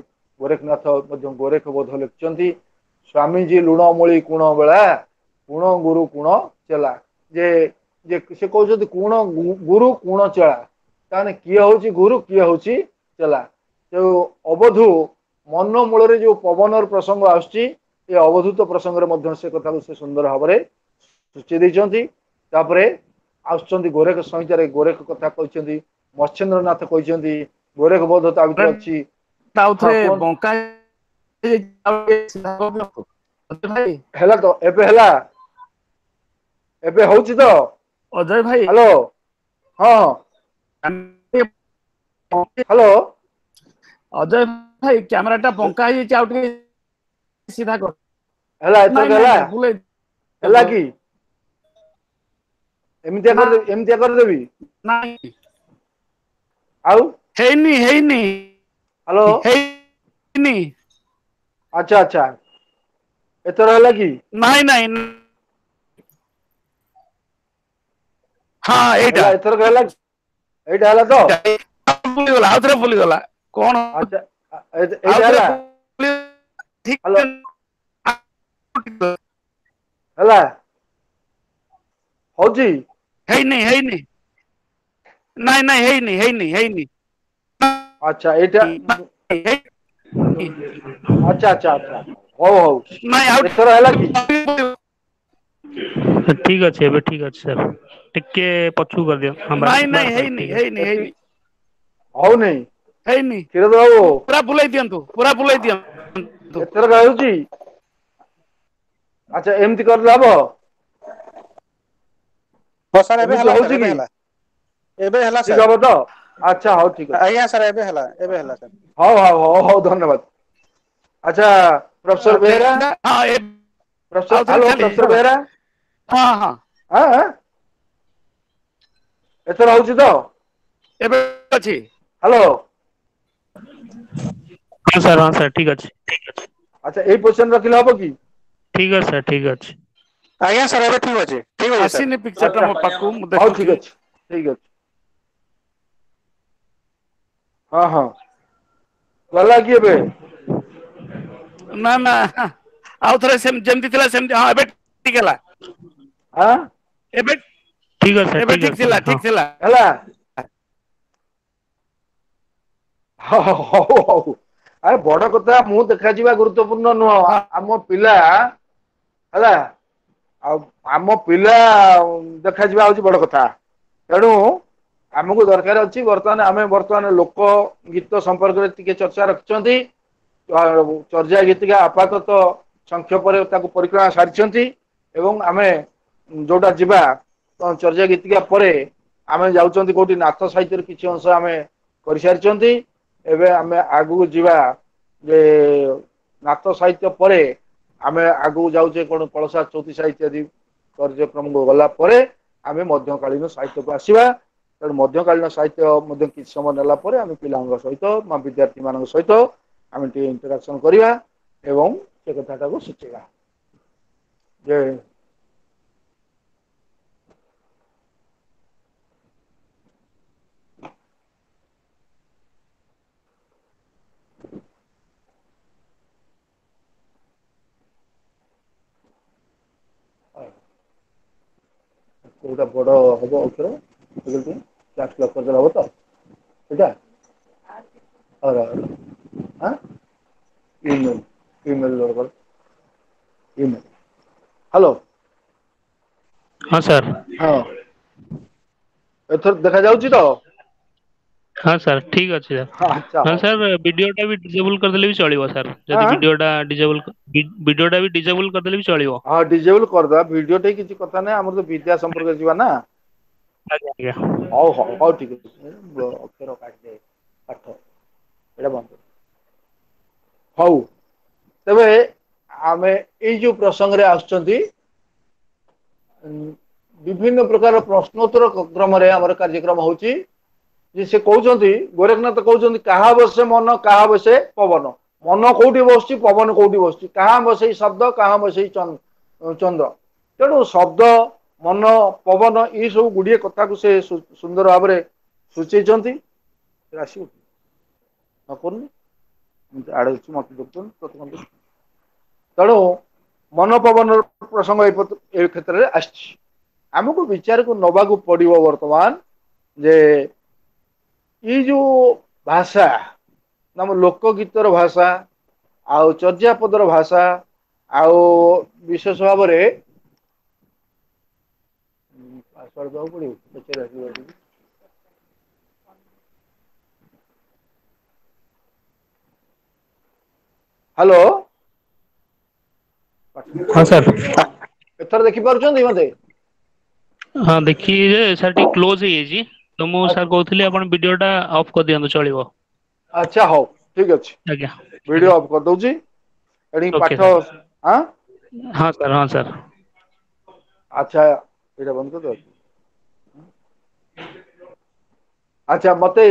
ଗୋରେଖନାଥ ମଧ୍ୟ ଗୋରେଖ ବୋଧ ଲେଖିଛନ୍ତି। ସ୍ୱାମୀଜୀ ଲୁଣ ମୂଳି କୁଣ ବେଳା କୁଣ ଗୁରୁ କୁଣ ଚେଲା। ଯେ ଯେ ସେ କହୁଛନ୍ତି କୁଣ ଗୁରୁ କୁଣ ଚେଳା, ତାହେଲେ କିଏ ହଉଛି ଗୁରୁ କିଏ ହଉଛି ଚେଲା। ଯୋଉ ଅବଧୁ ମନ ମୂଳରେ ଯୋଉ ପବନର ପ୍ରସଙ୍ଗ ଆସୁଛି, ଏ ଅବଧୂତ ପ୍ରସଙ୍ଗରେ ମଧ୍ୟ ସେ କଥାକୁ ସେ ସୁନ୍ଦର ଭାବରେ ସୂଚେଇ ଦେଇଛନ୍ତି। ତାପରେ ଆସୁଛନ୍ତି ଗୋରେଖ ସଂହିତାରେ ଗୋରେଖ କଥା କହିଛନ୍ତି, ମତ୍ସ୍ୟେନ୍ଦ୍ରନାଥ କହିଛନ୍ତି, ଗୋରେଖ ବୋଧ ତା ଭିତରେ ଅଛି। ବଙ୍କା ହେଲା ତ? ଏବେ ହେଲା? ଏବେ ହଉଛି ତ ଅଜୟ ଭାଇ? ହ୍ୟାଲୋ, ହଁ ହ୍ୟାଲୋ ଅଜୟ ଭାଇ, କ୍ୟାମେରା ଟା ବଙ୍କା ହେଇଯାଇଛି, ଆଉ ଟିକେ ସିଧା କର। ହେଲା ଏଥର? ହେଲା ହେଲା କି? ଏମିତିଆ କରିଦେବି, ଏମିତିଆ କରିଦେବି? ଆଉ ହେଇନି, ହେଇନି। ହ୍ୟାଲୋ, ହେଇନି। ଆଚ୍ଛା ଆଚ୍ଛା, ଏଥର ହେଲା କି? ନାଇଁ ନାଇଁ, ହଁ ଏଇଟା ଏଥର ହେଲା, ଏଇଟା ହେଲା ତ? ବୁଲିଗଲା, ଆଉ ଥରେ ବୁଲିଗଲା କଣ? ଆଚ୍ଛା, ଏଇଟା ହେଲା? ହ୍ୟାଲୋ, ହେଲା, ହଉଛି? ହେଇନି ହେଇନି, ନାଇଁ ନାଇଁ, ହେଇନି ହେଇନି ହେଇନି। ଆଚ୍ଛା ଏଇଟା, ଆଚ୍ଛା ଆଚ୍ଛା ଆଚ୍ଛା, ହଉ ହଉ। ନାଇଁ, ଆଉ ଏଥର ହେଲା କି? ଠିକ ଅଛି, ଏବେ ଠିକ ଅଛି ସାର୍, ଟିକେ ପଛକୁ କରିଦିଅ। ନାଇଁ ନାଇଁ, ହେଇନି ହେଇନି ହେଇନି। ହଉନି? ହେଇନି। କ୍ଷୀରୋଦ ବାବୁ, ପୁରା ବୁଲେଇ ଦିଅନ୍ତୁ, ପୁରା ବୁଲେଇ ଦିଅନ୍ତୁ। ଏଥର ହେଉଛି? ଆଚ୍ଛା, ଏମିତି କରିଲେ ହବ? ହଁ ସାର୍, ଏବେ ହେଲା, ଏବେ ହେଲା, ଏବେ ହେଲା। ଠିକ ହବ ତ? ଆଚ୍ଛା, ହଉ, ଠିକ ଅଛି। ଆଜ୍ଞା ସାର୍, ଏବେ ହେଲା, ଏବେ ହେଲା ସାର୍। ହଉ ହଉ ହଉ ହଉ, ଧନ୍ୟବାଦ। ଆଚ୍ଛା, professor Behera, professor, hello, professor Behera. ହଁ ହଁ, ଏଥର ହଉଛି ତ? ଏବେ ଅଛି। ହ୍ୟାଲୋ। ହଁ ସାର୍, ହଁ ସାର୍, ଠିକ ଅଛି। ଆଚ୍ଛା, ଏଇ ପୋଜିସନ ରଖିଲେ ହବ କି? ଠିକ ଅଛି ସାର୍, ଠିକ ଅଛି। ଆଜ୍ଞା ସାର୍, ଏବେ ଠିକ ଅଛି, ଠିକ ଅଛି। ଆସିନି ପିକ୍ଚରଟା ମୋ ପାଖକୁ, ମୁଁ ହଉ, ଠିକ ଅଛି, ଠିକ ଅଛି। ହଁ ହଁ, ଗଲା କି ଏବେ? ନା ନା, ଆଉ ଥରେ ଯେମିତି ଥିଲା ସେମିତି। ହଁ, ଏବେ ଠିକ ହେଲା। ହଁ, ଏବେ ଠିକ ଅଛି, ଏବେ ଠିକ ଥିଲା, ଠିକ ଥିଲା। ହେଲା, ହଉ ହଉ। ଆରେ ବଡ କଥା, ମୁଁ ଦେଖାଯିବା ଗୁରୁତ୍ୱପୂର୍ଣ୍ଣ ନୁହଁ, ଆମ ପିଲା ହେଲା, ଆଉ ଆମ ପିଲା ଦେଖାଯିବା ହଉଛି ବଡ କଥା। ତେଣୁ ଆମକୁ ଦରକାର ଅଛି ବର୍ତ୍ତମାନ, ଆମେ ବର୍ତ୍ତମାନ ଲୋକ ଗୀତ ସମ୍ପର୍କରେ ଟିକେ ଚର୍ଚ୍ଚା ରଖିଛନ୍ତି। ଚର୍ଯା ଗୀତିକା ଆପାତତଃ ସଂକ୍ଷେପରେ ତାକୁ ପରିକ୍ରମା ସାରିଛନ୍ତି, ଏବଂ ଆମେ ଯୋଉଟା ଯିବା ଚର୍ଯା ଗୀତିକା ପରେ ଆମେ ଯାଉଛନ୍ତି କୋଉଠି, ନାଥ ସାହିତ୍ୟରେ କିଛି ଅଂଶ ଆମେ କରିସାରିଛନ୍ତି। ଏବେ ଆମେ ଆଗକୁ ଯିବା ଯେ ନାଥ ସାହିତ୍ୟ ପରେ ଆମେ ଆଗକୁ ଯାଉଛେ କଣ, କଳସା ଚଉତିଶା ଇତ୍ୟାଦି କାର୍ଯ୍ୟକ୍ରମକୁ ଗଲା ପରେ ଆମେ ମଧ୍ୟକାଳୀନ ସାହିତ୍ୟକୁ ଆସିବା। ତେଣୁ ମଧ୍ୟକାଳୀନ ସାହିତ୍ୟ ମଧ୍ୟ କିଛି ସମୟ ନେଲା ପରେ ଆମେ ପିଲାଙ୍କ ସହିତ ବା ବିଦ୍ୟାର୍ଥୀ ମାନଙ୍କ ସହିତ ଆମେ ଟିକେ ଇଣ୍ଟରାକ୍ସନ କରିବା ଏବଂ ସେ କଥାଟାକୁ ସୂଚେଇବା ଯେ କୋଉଟା ବଡ ହବ ଅକ୍ଷର, କ୍ୟାପ୍ସ ଲକ୍ କରିଦେଲେ ହବ ତ? ଏଇଟା ଇମେଲ, ଇମେଲ, ଇମେଲ। ହ୍ୟାଲୋ। ହଁ ସାର୍। ହଁ, ଏଥର ଦେଖା ଯାଉଛି ତ? ହଁ ସାର୍, ଠିକ ଅଛି ସାର୍। ଆଚ୍ଛା। ହଁ ସାର୍, ଭିଡିଓଟା ବି ଡିଜେବଲ କରିଦେଲେ ବି ଚଳିବ ସାର୍। ଯଦି ଭିଡିଓଟା ଡିଜେବଲ, ଭିଡିଓଟା ବି ଡିଜେବଲ କରିଦେଲେ ବି ଚଳିବ। ହଁ, ଡିଜେବଲ କରିଦବା ଭିଡିଓ ଟା, କିଛି କଥା ନାହିଁ। ଆମର ତ ବିଦ୍ୟା ସମ୍ପର୍କରେ ଯିବା ନା। ଆଜ୍ଞା। ହଉ ହଉ ହଉ, ଠିକ ଅଛି। ଅକ୍ଷର କାଟିଦେ, ପାଠ ଏଇଟା ବନ୍ଦ। ହଉ, ତେବେ ଆମେ ଏଇ ଯୋଉ ପ୍ରସଙ୍ଗରେ ଆସୁଛନ୍ତି, ବିଭିନ୍ନ ପ୍ରକାର ପ୍ରଶ୍ନୋତ୍ତର କ୍ରମରେ ଆମର କାର୍ଯ୍ୟକ୍ରମ ହଉଛି ଯେ ସେ କହୁଛନ୍ତି, ଗୋରେଖନାଥ କହୁଛନ୍ତି, କାହା ବସେ ମନ, କାହା ବସେ ପବନ। ମନ କୋଉଠି ବସୁଛି, ପବନ କୋଉଠି ବସୁଛି? କାହା ବସେଇ ଶବ୍ଦ, କାହା ବସେଇ ଚନ୍ଦ୍ର। ତେଣୁ ଶବ୍ଦ, ମନ, ପବନ ଏଇ ସବୁ ଗୁଡିଏ କଥାକୁ ସେ ସୁନ୍ଦର ଭାବରେ ସୂଚେଇଛନ୍ତି। ଆସିବ ନ କରୁନି, ଆଡେ ଅଛି, ମତେ ଦେଖୁଛନ୍ତି। ତେଣୁ ମନ ପବନର ପ୍ରସଙ୍ଗ ଏ କ୍ଷେତ୍ରରେ ଆସିଛି। ଆମକୁ ବିଚାରକୁ ନବାକୁ ପଡିବ ବର୍ତ୍ତମାନ ଯେ ଏଇ ଯୋଉ ଭାଷା, ଆମ ଲୋକଗୀତର ଭାଷା ଆଉ ଚର୍ଯ୍ୟାପଦର ଭାଷା, ଆଉ ବିଶେଷ ଭାବରେ ପାସୱାର୍ଡ ଦେବାକୁ ପଡିବ। ହ୍ୟାଲୋ। ହଁ ସାର୍। ଏଥର ଦେଖିପାରୁଛନ୍ତି ମତେ? ହଁ, ଦେଖି ଯେ ସାର୍, ଟିକେ କ୍ଲୋଜ ହେଇଯାଇଛି ତ। ମୁଁ ସାର୍ କହୁଥିଲି, ଆପଣ ଭିଡିଓ ଟା ଅଫ୍ କରିଦିଅନ୍ତୁ, ଚଳିବ। ଆଚ୍ଛା, ହଉ, ଠିକ ଅଛି। ଆଜ୍ଞା। ଭିଡିଓ ଅଫ୍ କରିଦଉଛି ଏଠି। ଓକେ। ପାଠ। ହଁ। ହଁ ସାର୍, ହଁ ସାର୍। ଆଚ୍ଛା, ଏଇଟା ବନ୍ଦ କରିଦବ। ଆଚ୍ଛା, ମତେ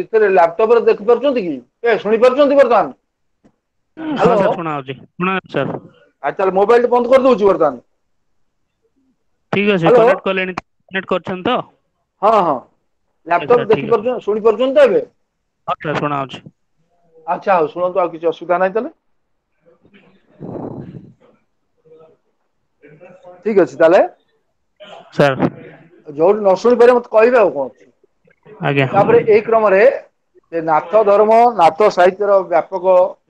ଏଥିରେ ଲାପଟପରେ ଦେଖିପାରୁଛନ୍ତି କି, ଏ ଶୁଣି ପାରୁଛନ୍ତି ବର୍ତ୍ତମାନ? ହଁ ସାର୍, ଶୁଣା ଯାଉଛି, ଶୁଣା ସାର୍। ଆଚ୍ଛା, ମୋବାଇଲ ବନ୍ଦ କରିଦଉଛି ବର୍ତ୍ତମାନ। ଠିକ ଅଛି। କନେକ୍ଟ କଲେଣି? କନେକ୍ଟ କରିଛନ୍ତି ତ? ହଁ, ଲାପଟପ୍ ଦେଖିପାରୁଛନ୍ତି, ଶୁଣି ପାରୁଛନ୍ତି ତ ଏବେ? ହଁ ସାର୍, ଶୁଣା ଯାଉଛି। ଆଚ୍ଛା, ହଉ, ଶୁଣନ୍ତୁ, ଆଉ କିଛି ଅସୁବିଧା ନାହିଁ ତାହେଲେ। ଠିକ ଅଛି ତାହେଲେ। ସାର୍। ଯୋଉଠି ନ ଶୁଣି ପାରିବେ ମତେ କହିବେ, ଆଉ କଣ ଅଛି। ଆଜ୍ଞା। ତାପରେ ଏଇ କ୍ରମରେ ନାଥ ଧର୍ମ, ନାଥ ସାହିତ୍ୟର ବ୍ୟାପକ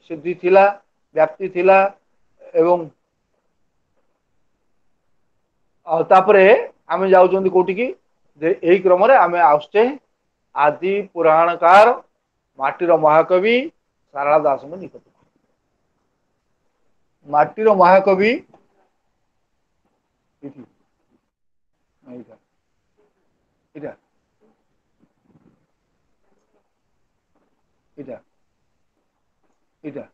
ସିଦ୍ଧି ଥିଲା, ବ୍ୟାପ୍ତି ଥିଲା। ଏବଂ ଆଉ ତାପରେ ଆମେ ଯାଉଛନ୍ତି କୋଉଠିକି ଯେ ଏଇ କ୍ରମରେ ଆମେ ଆସୁଛେ ଆଦି ପୁରାଣକାର ମାଟିର ମହାକବି ସାରଳା ଦାସଙ୍କ ନିକଟକୁ। ମାଟିର ମହାକବି ଏଇଟା, ଏଇଟା, ଏଇଟା, ଏଇଟା।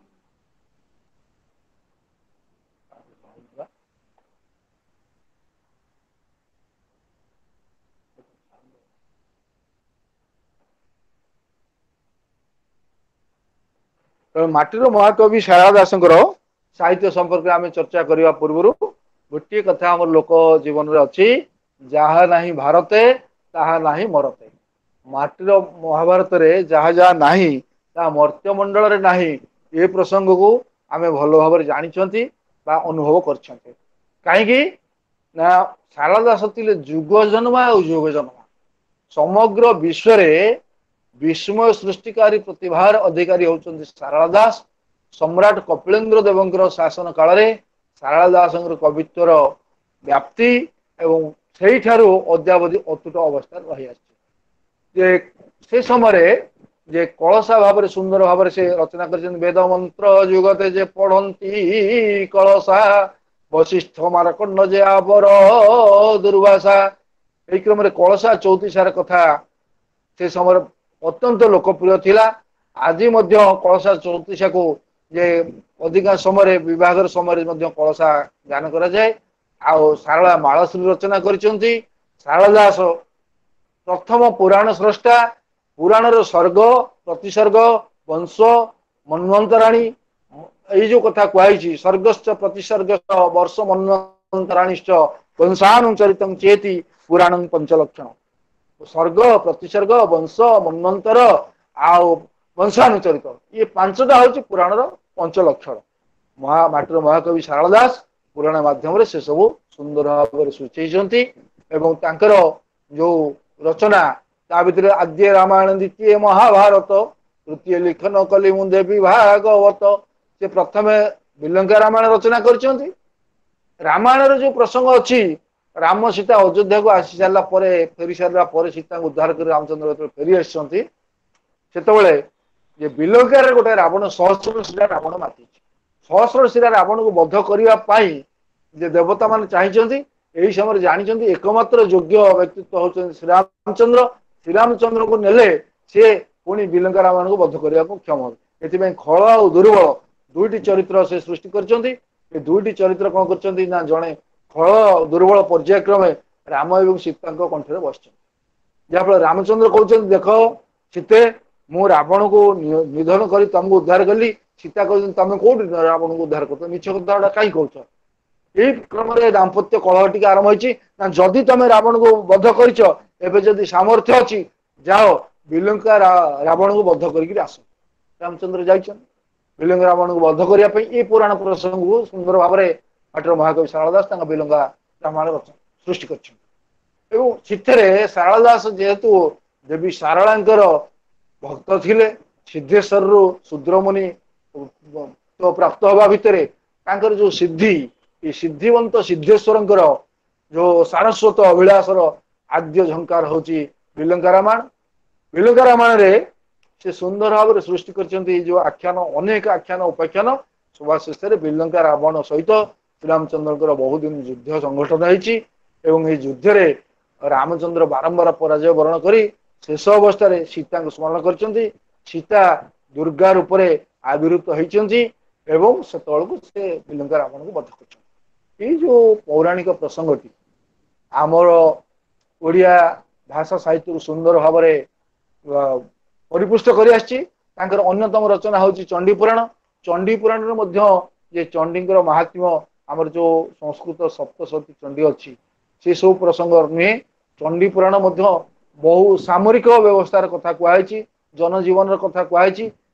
ମାଟିର ମହାକବି ସାରଳା ଦାସଙ୍କର ସାହିତ୍ୟ ସମ୍ପର୍କରେ ଆମେ ଚର୍ଚ୍ଚା କରିବା ପୂର୍ବରୁ ଗୋଟିଏ କଥା ଆମର ଲୋକ ଜୀବନରେ ଅଛି, ଯାହା ନାହିଁ ଭାରତେ ତାହା ନାହିଁ ମରତେ। ମାଟିର ମହାଭାରତରେ ଯାହା ଯାହା ନାହିଁ ତାହା ମର୍ତ୍ତ୍ୟମଣ୍ଡଳରେ ନାହିଁ। ଏ ପ୍ରସଙ୍ଗକୁ ଆମେ ଭଲ ଭାବରେ ଜାଣିଛନ୍ତି ବା ଅନୁଭବ କରିଛନ୍ତି। କାହିଁକି ନା ସାରଳା ଦାସ ଥିଲେ ଯୁଗ ଜନ୍ମା ଆଉ ଯୁଗ ଜନ୍ମା। ସମଗ୍ର ବିଶ୍ୱରେ ବିସ୍ମୟ ସୃଷ୍ଟିକାରୀ ପ୍ରତିଭାର ଅଧିକାରୀ ହଉଛନ୍ତି ସାରଳା ଦାସ। ସମ୍ରାଟ କପିଳେନ୍ଦ୍ର ଦେବଙ୍କର ଶାସନ କାଳରେ ସାରଳା ଦାସଙ୍କର କବିତ୍ୱର ବ୍ୟାପ୍ତି ଏବଂ ସେଇଠାରୁ ଅଦ୍ୟାବଧି ଅତୁଟ ଅବସ୍ଥାରେ ରହିଆସିଛି। ଯେ ସେ ସମୟରେ ଯେ କଳସା ଭାବରେ ସୁନ୍ଦର ଭାବରେ ସେ ରଚନା କରିଛନ୍ତି, ବେଦ ମନ୍ତ୍ର ଯୁଗତେ ଯେ ପଢନ୍ତି କଳସା, ବଶିଷ୍ଠ ମାରକଣ୍ଡ ଯେ ଆବର ଦୁର୍ବାସା। ଏଇ କ୍ରମରେ କଳସା ଚଉତିଶାର କଥା ସେ ସମୟରେ ଅତ୍ୟନ୍ତ ଲୋକପ୍ରିୟ ଥିଲା। ଆଜି ମଧ୍ୟ କଳସା ଚଉତିଶାକୁ ଯେ ଅଧିକାଂଶ ସମୟରେ ବିବାହର ସମୟରେ ମଧ୍ୟ କଳସା ଗାନ କରାଯାଏ। ଆଉ ସାରଳା ମାଳଶ୍ରୀ ରଚନା କରିଛନ୍ତି। ସାରଳା ଦାସ ପ୍ରଥମ ପୁରାଣ ସ୍ରଷ୍ଟା। ପୁରାଣର ସର୍ଗ, ପ୍ରତିସର୍ଗ, ବଂଶ, ମନ୍ୱନ୍ତରାଣୀ, ଏଇ ଯୋଉ କଥା କୁହାଯାଇଛି, ସର୍ଗଶ୍ଚ ପ୍ରତିସର୍ଗ ବର୍ଷ ମନ୍ୱନ୍ତରାଣୀଶ୍ଚ ବଂଶାନୁଚରିତଂ ଚେତି ପୁରାଣ ପଞ୍ଚଲକ୍ଷଣ। ସର୍ଗ, ପ୍ରତିସର୍ଗ, ବଂଶ, ମନ୍ୱନ୍ତର ଆଉ ବଂଶାନୁଚରିତ, ଇଏ ପାଞ୍ଚଟା ହଉଛି ପୁରାଣର ପଞ୍ଚଲକ୍ଷଣ। ମହା ମାଟିର ମହାକବି ସାରଳା ଦାସ ପୁରାଣ ମାଧ୍ୟମରେ ସେ ସବୁ ସୁନ୍ଦର ଭାବରେ ସୂଚେଇଛନ୍ତି। ଏବଂ ତାଙ୍କର ଯୋଉ ରଚନା ତା ଭିତରେ ଆଦ୍ୟ ରାମାୟଣ, ଦ୍ୱିତୀୟ ମହାଭାରତ, ତୃତୀୟ ଲିଖନ କଲି ମୁଁ ଦେବୀ ଭାଗବତ। ସେ ପ୍ରଥମେ ବିଲଙ୍କା ରାମାୟଣ ରଚନା କରିଛନ୍ତି। ରାମାୟଣର ଯୋଉ ପ୍ରସଙ୍ଗ ଅଛି, ରାମ ସୀତା ଅଯୋଧ୍ୟାକୁ ଆସି ସାରିଲା ପରେ, ଫେରି ସାରିଲା ପରେ, ସୀତାଙ୍କୁ ଉଦ୍ଧାର କରି ରାମଚନ୍ଦ୍ର ଯେତେବେଳେ ଫେରି ଆସିଛନ୍ତି, ସେତେବେଳେ ଯେ ବିଲଙ୍କାରେ ଗୋଟେ ରାବଣ ସହସ୍ର ଶିରା ରାବଣ ମାତିଛି। ସହସ୍ର ଶିରା ରାବଣକୁ ବଧ କରିବା ପାଇଁ ଯେ ଦେବତା ମାନେ ଚାହିଁଛନ୍ତି, ଏହି ସମୟରେ ଜାଣିଛନ୍ତି ଏକମାତ୍ର ଯୋଗ୍ୟ ବ୍ୟକ୍ତିତ୍ୱ ହଉଛନ୍ତି ଶ୍ରୀରାମଚନ୍ଦ୍ର। ଶ୍ରୀରାମଚନ୍ଦ୍ରଙ୍କୁ ନେଲେ ସିଏ ପୁଣି ବିଲଙ୍କା ରାବଣକୁ ବଧ କରିବାକୁ କ୍ଷମ ହେବେ। ଏଥିପାଇଁ ଖଳ ଆଉ ଦୁର୍ବଳ ଦୁଇଟି ଚରିତ୍ର ସେ ସୃଷ୍ଟି କରିଛନ୍ତି। ଏ ଦୁଇଟି ଚରିତ୍ର କଣ କରିଛନ୍ତି ନା, ଜଣେ ଖଳ ଦୁର୍ବଳ ପର୍ଯ୍ୟାୟକ୍ରମେ ରାମ ଏବଂ ସୀତାଙ୍କ କଣ୍ଠରେ ବସିଛନ୍ତି। ଯାହାଫଳରେ ରାମଚନ୍ଦ୍ର କହୁଛନ୍ତି, ଦେଖ ସୀତେ, ମୁଁ ରାବଣକୁ ନିଧନ କରି ତମକୁ ଉଦ୍ଧାର କଲି। ସୀତା କହୁଛନ୍ତି, ତମେ କୋଉଠି ରାବଣକୁ ଉଦ୍ଧାର କରୁଛ, ମିଛ କଥା ଗୁଡା କାହିଁ କହୁଛ? ଏଇ କ୍ରମରେ ଦାମ୍ପତ୍ୟ କଳହ ଟିକେ ଆରମ୍ଭ ହେଇଛି। ନା, ଯଦି ତମେ ରାବଣକୁ ବଧ କରିଛ, ଏବେ ଯଦି ସାମର୍ଥ୍ୟ ଅଛି, ଯାଅ ବିଲଙ୍କା ରାବଣକୁ ବଧ କରିକି ଆସ। ରାମଚନ୍ଦ୍ର ଯାଇଛନ୍ତି ବିଲଙ୍କା ରାବଣକୁ ବଧ କରିବା ପାଇଁ। ଏଇ ପୁରାଣ ପ୍ରସଙ୍ଗକୁ ସୁନ୍ଦର ଭାବରେ ଭାଟର ମହାକବି ଶାରଳା ଦାସ ତାଙ୍କ ବିଲଙ୍କା ରାମାୟଣ ରଚନା ସୃଷ୍ଟି କରିଛନ୍ତି। ଏବଂ ସେଥିରେ ଶାରଳା ଦାସ ଯେହେତୁ ଦେବୀ ଶାରଳାଙ୍କର ଭକ୍ତ ଥିଲେ, ସିଦ୍ଧେଶ୍ୱରରୁ ଶୂଦ୍ରମୁନି ପ୍ରାପ୍ତ ହବା ଭିତରେ ତାଙ୍କର ଯୋଉ ସିଦ୍ଧି, ଏ ସିଦ୍ଧିବନ୍ତ ସିଦ୍ଧେଶ୍ୱରଙ୍କର ଯୋଉ ସାରସ୍ୱତ ଅଭିଳାଷର ଆଦ୍ୟ ଝଙ୍କାର ହଉଛି ବିଲଙ୍କା ରାମାୟଣ। ବିଲଙ୍କା ରାମାୟଣରେ ସେ ସୁନ୍ଦର ଭାବରେ ସୃଷ୍ଟି କରିଛନ୍ତି ଏଇ ଯୋଉ ଆଖ୍ୟାନ, ଅନେକ ଆଖ୍ୟାନ ଉପାଖ୍ୟାନ। ସଭା ଶେଷରେ ବିଲଙ୍କା ରାବଣ ସହିତ ଶ୍ରୀରାମଚନ୍ଦ୍ରଙ୍କର ବହୁ ଦିନ ଯୁଦ୍ଧ ସଂଗଠନ ହେଇଛି ଏବଂ ଏଇ ଯୁଦ୍ଧରେ ରାମଚନ୍ଦ୍ର ବାରମ୍ବାର ପରାଜୟ ବରଣ କରି ଶେଷ ଅବସ୍ଥାରେ ସୀତାଙ୍କୁ ସ୍ମରଣ କରିଛନ୍ତି। ସୀତା ଦୁର୍ଗା ରୂପରେ ଆବିର୍ଭୂତ ହେଇଛନ୍ତି ଏବଂ ସେତେବେଳକୁ ସେ ବିଲଙ୍କା ରାବଣକୁ ବଧ କରିଛନ୍ତି। ଏଇ ଯୋଉ ପୌରାଣିକ ପ୍ରସଙ୍ଗଟି ଆମର ଓଡ଼ିଆ ଭାଷା ସାହିତ୍ୟକୁ ସୁନ୍ଦର ଭାବରେ ପରିପୁଷ୍ଟ କରି ଆସିଛି। ତାଙ୍କର ଅନ୍ୟତମ ରଚନା ହଉଛି ଚଣ୍ଡୀ ପୁରାଣ। ଚଣ୍ଡୀ ପୁରାଣରେ ମଧ୍ୟ ଯେ ଚଣ୍ଡୀଙ୍କର ମାହାତ୍ମ୍ୟ, ଆମର ଯୋଉ ସଂସ୍କୃତ ସପ୍ତସତୀ ଚଣ୍ଡୀ ଅଛି, ସେ ସବୁ ପ୍ରସଙ୍ଗ ନୁହେଁ। ଚଣ୍ଡୀ ପୁରାଣ ମଧ୍ୟ ବହୁ ସାମରିକ ବ୍ୟବସ୍ଥାର କଥା କୁହାଯାଇଛି, ଜନଜୀବନର କଥା କୁହାଯାଇଛି।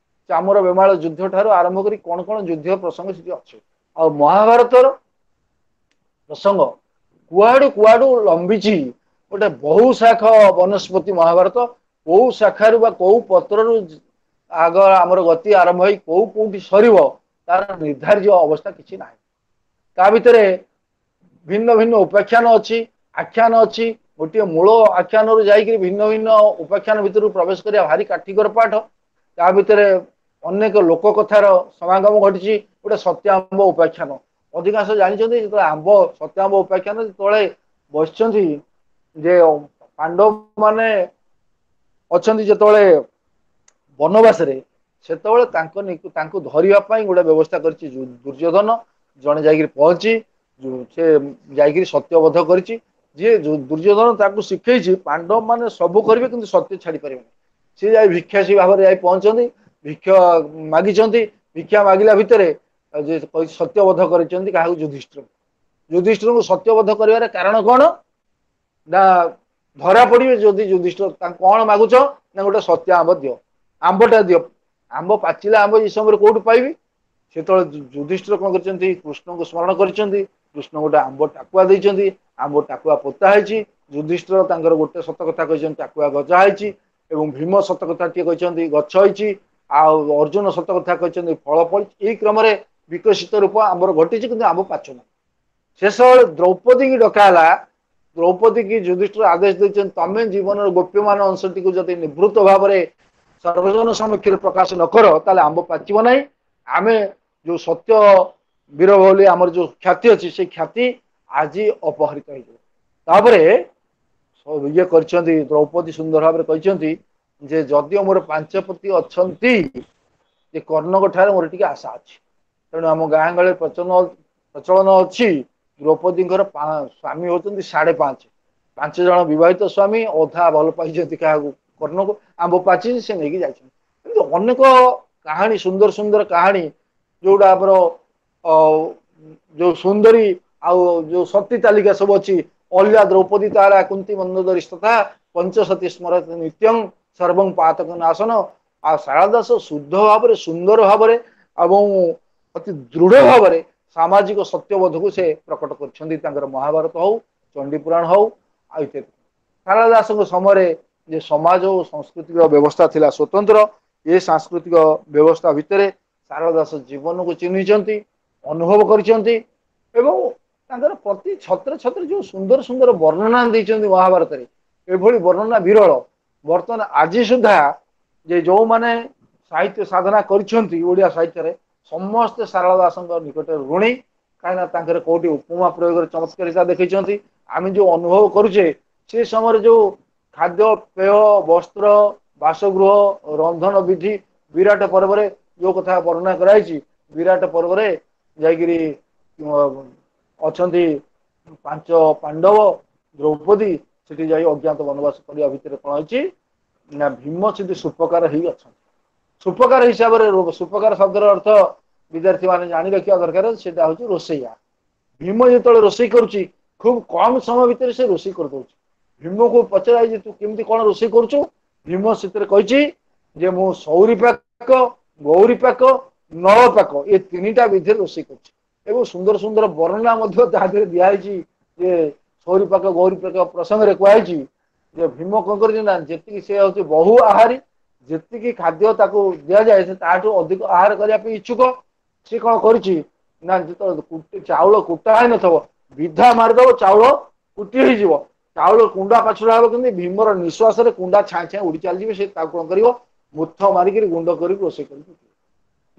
ଚାମର ବେମାଳ ଯୁଦ୍ଧ ଠାରୁ ଆରମ୍ଭ କରି କଣ କଣ ଯୁଦ୍ଧ ପ୍ରସଙ୍ଗ ସେଠି ଅଛି। ଆଉ ମହାଭାରତର ପ୍ରସଙ୍ଗ କୁଆଡୁ କୁଆଡୁ ଲମ୍ବିଛି, ଗୋଟେ ବହୁ ଶାଖ ବନସ୍ପତି ମହାଭାରତ। କୋଉ ଶାଖାରୁ ବା କୋଉ ପତ୍ରରୁ ଆଗ ଆମର ଗତି ଆରମ୍ଭ ହେଇ କୋଉ କୋଉଠି ସରିବ, ତାର ନିର୍ଦ୍ଧାର୍ଯ୍ୟ ଅବସ୍ଥା କିଛି ନାହିଁ। ତା ଭିତରେ ଭିନ୍ନ ଭିନ୍ନ ଉପାଖ୍ୟାନ ଅଛି, ଆଖ୍ୟାନ ଅଛି। ଗୋଟିଏ ମୂଳ ଆଖ୍ୟାନରୁ ଯାଇକିରି ଭିନ୍ନ ଭିନ୍ନ ଉପାଖ୍ୟାନ ଭିତରକୁ ପ୍ରବେଶ କରିବା ଭାରି କାଠିକର ପାଠ। ତା ଭିତରେ ଅନେକ ଲୋକ କଥାର ସମାଗମ ଘଟିଛି। ଗୋଟେ ସତ୍ୟାମ୍ବ ଉପାଖ୍ୟାନ ଅଧିକାଂଶ ଜାଣିଛନ୍ତି। ଯେତେବେଳେ ଆମ୍ବ ସତ୍ୟାମ୍ବ ଉପାଖ୍ୟାନ, ଯେତେବେଳେ ବସିଛନ୍ତି ଯେ ପାଣ୍ଡବ ମାନେ ଅଛନ୍ତି ଯେତେବେଳେ ବନବାସରେ, ସେତେବେଳେ ତାଙ୍କୁ ଧରିବା ପାଇଁ ଗୋଟେ ବ୍ୟବସ୍ଥା କରିଛି ଦୁର୍ଯ୍ୟୋଧନ। ଜଣେ ଯାଇକିରି ପହଞ୍ଚି ସେ ଯାଇକିରି ସତ୍ୟବଧ କରିଛି। ଯିଏ ଦୁର୍ଯ୍ୟୋଧନ ତାକୁ ଶିଖେଇଛି, ପାଣ୍ଡବ ମାନେ ସବୁ କରିବେ କିନ୍ତୁ ସତ୍ୟ ଛାଡି ପାରିବେନି। ସିଏ ଯାଇ ଭିକ୍ଷାସୀ ଭାବରେ ଯାଇ ପହଞ୍ଚନ୍ତି, ଭିକ୍ଷା ମାଗିଛନ୍ତି। ଭିକ୍ଷା ମାଗିଲା ଭିତରେ ଯେ ସତ୍ୟବଧ କରିଛନ୍ତି କାହାକୁ? ଯୁଧିଷ୍ଠିର। ଯୁଧିଷ୍ଠିରଙ୍କୁ ସତ୍ୟବଧ କରିବାର କାରଣ କଣ ନା, ଧରା ପଡିବେ ଯଦି ଯୁଧିଷ୍ଠିର। ତାଙ୍କୁ କଣ ମାଗୁଛ ନା, ଗୋଟେ ସତ୍ୟ ଆମ୍ବ ଦିଅ, ଆମ୍ବଟା ଦିଅ। ଆମ୍ବ ପାଚିଲା ଆମ୍ବ ଏଇ ସମୟରେ କୋଉଠୁ ପାଇବି? ସେତେବେଳେ ଯୁଧିଷ୍ଠିର କଣ କରିଛନ୍ତି? କୃଷ୍ଣଙ୍କୁ ସ୍ମରଣ କରିଛନ୍ତି। କୃଷ୍ଣ ଗୋଟେ ଆମ୍ବ ଟାକୁଆ ଦେଇଛନ୍ତି, ଆମ୍ବ ଟାକୁଆ ପୋତା ହେଇଛି। ଯୁଧିଷ୍ଠିର ତାଙ୍କର ଗୋଟେ ସତ କଥା କହିଛନ୍ତି, ଟାକୁଆ ଗଜା ହେଇଛି। ଏବଂ ଭୀମ ସତ କଥା ଟିଏ କହିଛନ୍ତି, ଗଛ ହେଇଛି। ଆଉ ଅର୍ଜୁନ ସତ କଥା କହିଛନ୍ତି, ଫଳ ଫଳିଛି। ଏଇ କ୍ରମରେ ବିକଶିତ ରୂପ ଆମ୍ବର ଘଟିଛି, କିନ୍ତୁ ଆମ୍ବ ପାଚୁନି। ଶେଷ ଦ୍ରୌପଦୀକି ଡକା ହେଲା। ଦ୍ରୌପଦୀ କି ଯୁଧିଷ୍ଠିର ଆଦେଶ ଦେଇଛନ୍ତି, ତମେ ଜୀବନର ଗୋପ୍ୟମାନ ଅଂଶଟିକୁ ଯଦି ନିବୃତ୍ତ ଭାବରେ ସର୍ବଜନ ସମକ୍ଷରେ ପ୍ରକାଶ ନ କର, ତାହେଲେ ଆମ୍ବ ପାଚିବ ନାହିଁ। ଆମେ ଯୋଉ ସତ୍ୟ ବୀର ବୋଲି ଆମର ଯୋଉ ଖ୍ୟାତି ଅଛି, ସେଇ ଖ୍ୟାତି ଆଜି ଅପହରିତ ହେଇଯିବ। ତାପରେ ଇଏ କରିଛନ୍ତି, ଦ୍ରୌପଦୀ ସୁନ୍ଦର ଭାବରେ କହିଛନ୍ତି ଯେ ଯଦିଓ ମୋର ପାଞ୍ଚପତି ଅଛନ୍ତି, ଯେ କର୍ଣ୍ଣଙ୍କ ଠାରେ ମୋର ଟିକେ ଆଶା ଅଛି। ତେଣୁ ଆମ ଗାଁ ଗହଳିରେ ପ୍ରଚଳନ ଅଛି, ଦ୍ରୌପଦୀଙ୍କର ସ୍ୱାମୀ ହଉଛନ୍ତି 5.5, 5 ଜଣ ବିବାହିତ ସ୍ୱାମୀ, ଅଧା ଭଲ ପାଇଛନ୍ତି କାହାକୁ? କର୍ଣ୍ଣକୁ। ଆମ୍ବ ପାଚିଛି, ସେ ନେଇକି ଯାଇଛନ୍ତି। ଏମିତି ଅନେକ କାହାଣୀ, ସୁନ୍ଦର ସୁନ୍ଦର କାହାଣୀ, ଯୋଉଟା ଆମର ଯୋଉ ସୁନ୍ଦରୀ ଆଉ ଯୋଉ ସତୀ ତାଲିକା ସବୁ ଅଛି। ଅଲ୍ୟା ଦ୍ରୌପଦୀ ତାରା କୁନ୍ତି ମନ୍ଦୋଦରୀ ତଥା ପଞ୍ଚସତୀ ସ୍ମରତି ନିତ୍ୟଂ ସର୍ବଂ ପାତକ ନାଶନ। ଆଉ ଶାରଳା ଦାସ ଶୁଦ୍ଧ ଭାବରେ, ସୁନ୍ଦର ଭାବରେ ଏବଂ ଅତି ଦୃଢ ଭାବରେ ସାମାଜିକ ସତ୍ୟବୋଧକୁ ସେ ପ୍ରକଟ କରିଛନ୍ତି। ତାଙ୍କର ମହାଭାରତ ହଉ, ଚଣ୍ଡୀ ପୁରାଣ ହଉ, ଆଉ ଇତ୍ୟାଦି। ସାରଳା ଦାସଙ୍କ ସମୟରେ ଯେ ସମାଜ ଓ ସାଂସ୍କୃତିକ ବ୍ୟବସ୍ଥା ଥିଲା ସ୍ୱତନ୍ତ୍ର, ଏ ସାଂସ୍କୃତିକ ବ୍ୟବସ୍ଥା ଭିତରେ ସାରଳା ଦାସ ଜୀବନକୁ ଚିହ୍ନିଛନ୍ତି, ଅନୁଭବ କରିଛନ୍ତି ଏବଂ ତାଙ୍କର ପ୍ରତି ଛତ୍ର ଛତ୍ର ଯୋଉ ସୁନ୍ଦର ସୁନ୍ଦର ବର୍ଣ୍ଣନା ଦେଇଛନ୍ତି ମହାଭାରତରେ, ଏଭଳି ବର୍ଣ୍ଣନା ବିରଳ। ବର୍ତ୍ତମାନ ଆଜି ସୁଦ୍ଧା ଯେ ଯୋଉମାନେ ସାହିତ୍ୟ ସାଧନା କରିଛନ୍ତି ଓଡ଼ିଆ ସାହିତ୍ୟରେ, ସମସ୍ତେ ସାରଳା ଦାସଙ୍କ ନିକଟରେ ଋଣୀ। କାହିଁକିନା ତାଙ୍କର କୋଉଠି ଉପମା ପ୍ରୟୋଗରେ ଚମତ୍କାରିତା ଦେଖେଇଛନ୍ତି। ଆମେ ଯୋଉ ଅନୁଭବ କରୁଛେ ସେ ସମୟରେ ଯୋଉ ଖାଦ୍ୟ ପେୟ, ବସ୍ତ୍ର, ବାସଗୃହ, ରନ୍ଧନ ବିଧି, ବିରାଟ ପର୍ବରେ ଯୋଉ କଥା ବର୍ଣ୍ଣନା କରାଯାଇଛି, ବିରାଟ ପର୍ବରେ ଯାଇକିରି ଅଛନ୍ତି 5 ପାଣ୍ଡବ, ଦ୍ରୌପଦୀ ସେଠି ଯାଇ ଅଜ୍ଞାତ ବନବାସ କରିବା ଭିତରେ କଣ ହେଇଛି ନା ଭୀମ ସେଠି ସୁପକାର ହେଇ ଅଛନ୍ତି। ସୁପକାର ହିସାବରେ, ସୁପକାର ଶବ୍ଦର ଅର୍ଥ ବିଦ୍ୟାର୍ଥୀ ମାନେ ଜାଣି ରଖିବା ଦରକାର, ସେଟା ହଉଛି ରୋଷେଇଆ। ଭୀମ ଯେତେବେଳେ ରୋଷେଇ କରୁଛି ଖୁବ କମ ସମୟ ଭିତରେ ସେ ରୋଷେଇ କରିଦଉଛି। ଭୀମକୁ ପଚରା ହେଇଛି ତୁ କେମିତି କଣ ରୋଷେଇ କରୁଛୁ? ଭୀମ ସେଥିରେ କହିଛି ଯେ ମୁଁ ସୌରୀ ପାକ, ଗୌରୀ ପାକ, ନଳ ପାକ ଏ 3ଟା ବିଧିରେ ରୋଷେଇ କରୁଛି। ଏବଂ ସୁନ୍ଦର ସୁନ୍ଦର ବର୍ଣ୍ଣନା ମଧ୍ୟ ତା ଦେହରେ ଦିଆହେଇଛି ଯେ ସୌରୀ ପାକ ଗୌରୀ ପାକ ପ୍ରସଙ୍ଗରେ କୁହାହେଇଛି ଯେ ଭୀମ କଣ କରିଛି ନା ଯେତିକି ସେ ହଉଛି ବହୁ ଆହାରୀ, ଯେତିକି ଖାଦ୍ୟ ତାକୁ ଦିଆଯାଏ ସେ ତାଠୁ ଅଧିକ ଆହାର କରିବା ପାଇଁ ଇଚ୍ଛୁକ। ସେ କଣ କରିଛି ନା ଯେତେବେଳେ ଚାଉଳ କୁଟା ହେଇନଥିବ ବିଧା ମାରିଦବ, ଚାଉଳ କୁଟି ହେଇଯିବ, ଚାଉଳ କୁଣ୍ଡା ପାଛୁଡା ହବ, କିନ୍ତୁ ଭୀମର ନିଶ୍ୱାସରେ କୁଣ୍ଡା ଛାଁ ଛାଁ ଉଡି ଚାଲିଯିବେ। ସେ ତାକୁ କଣ କରିବ, ମୁଥ ମାରିକିରି ଗୁଣ୍ଡ କରିକି ରୋଷେଇ କରିକି।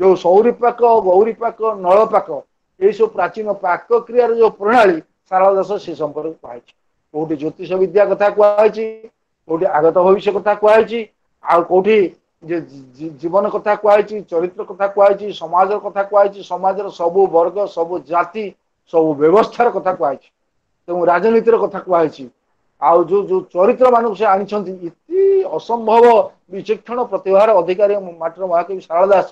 ଯୋଉ ସୌରୀ ପାକ, ଗୌରୀ ପାକ, ନଳ ପାକ ଏଇସବୁ ପ୍ରାଚୀନ ପାକ କ୍ରିୟାର ଯୋଉ ପ୍ରଣାଳୀ ସାରଳା ଦାସ ସେ ସମ୍ପର୍କରେ କୁହାଯାଇଛି। କୋଉଠି ଜ୍ୟୋତିଷ ବିଦ୍ୟା କଥା କୁହାଯାଇଛି, କୋଉଠି ଆଗତ ଭବିଷ୍ୟ କଥା କୁହାଯାଇଛି, ଆଉ କୋଉଠି ଯେ ଜୀବନ କଥା କୁହାଯାଇଛି, ଚରିତ୍ର କଥା କୁହାଯାଇଛି, ସମାଜର କଥା କୁହାଯାଇଛି, ସମାଜର ସବୁ ବର୍ଗ, ସବୁ ଜାତି, ସବୁ ବ୍ୟବସ୍ଥାର କଥା କୁହାଯାଇଛି, ତେଣୁ ରାଜନୀତିର କଥା କୁହାଯାଇଛି। ଆଉ ଯୋଉ ଯୋଉ ଚରିତ୍ର ମାନଙ୍କୁ ସେ ଆଣିଛନ୍ତି ଇତି ଅସମ୍ଭବ ବିଚକ୍ଷଣ ପ୍ରତିଭାର ଅଧିକାରୀ ମାଟିର ମହାକବି ସାରଳା ଦାସ।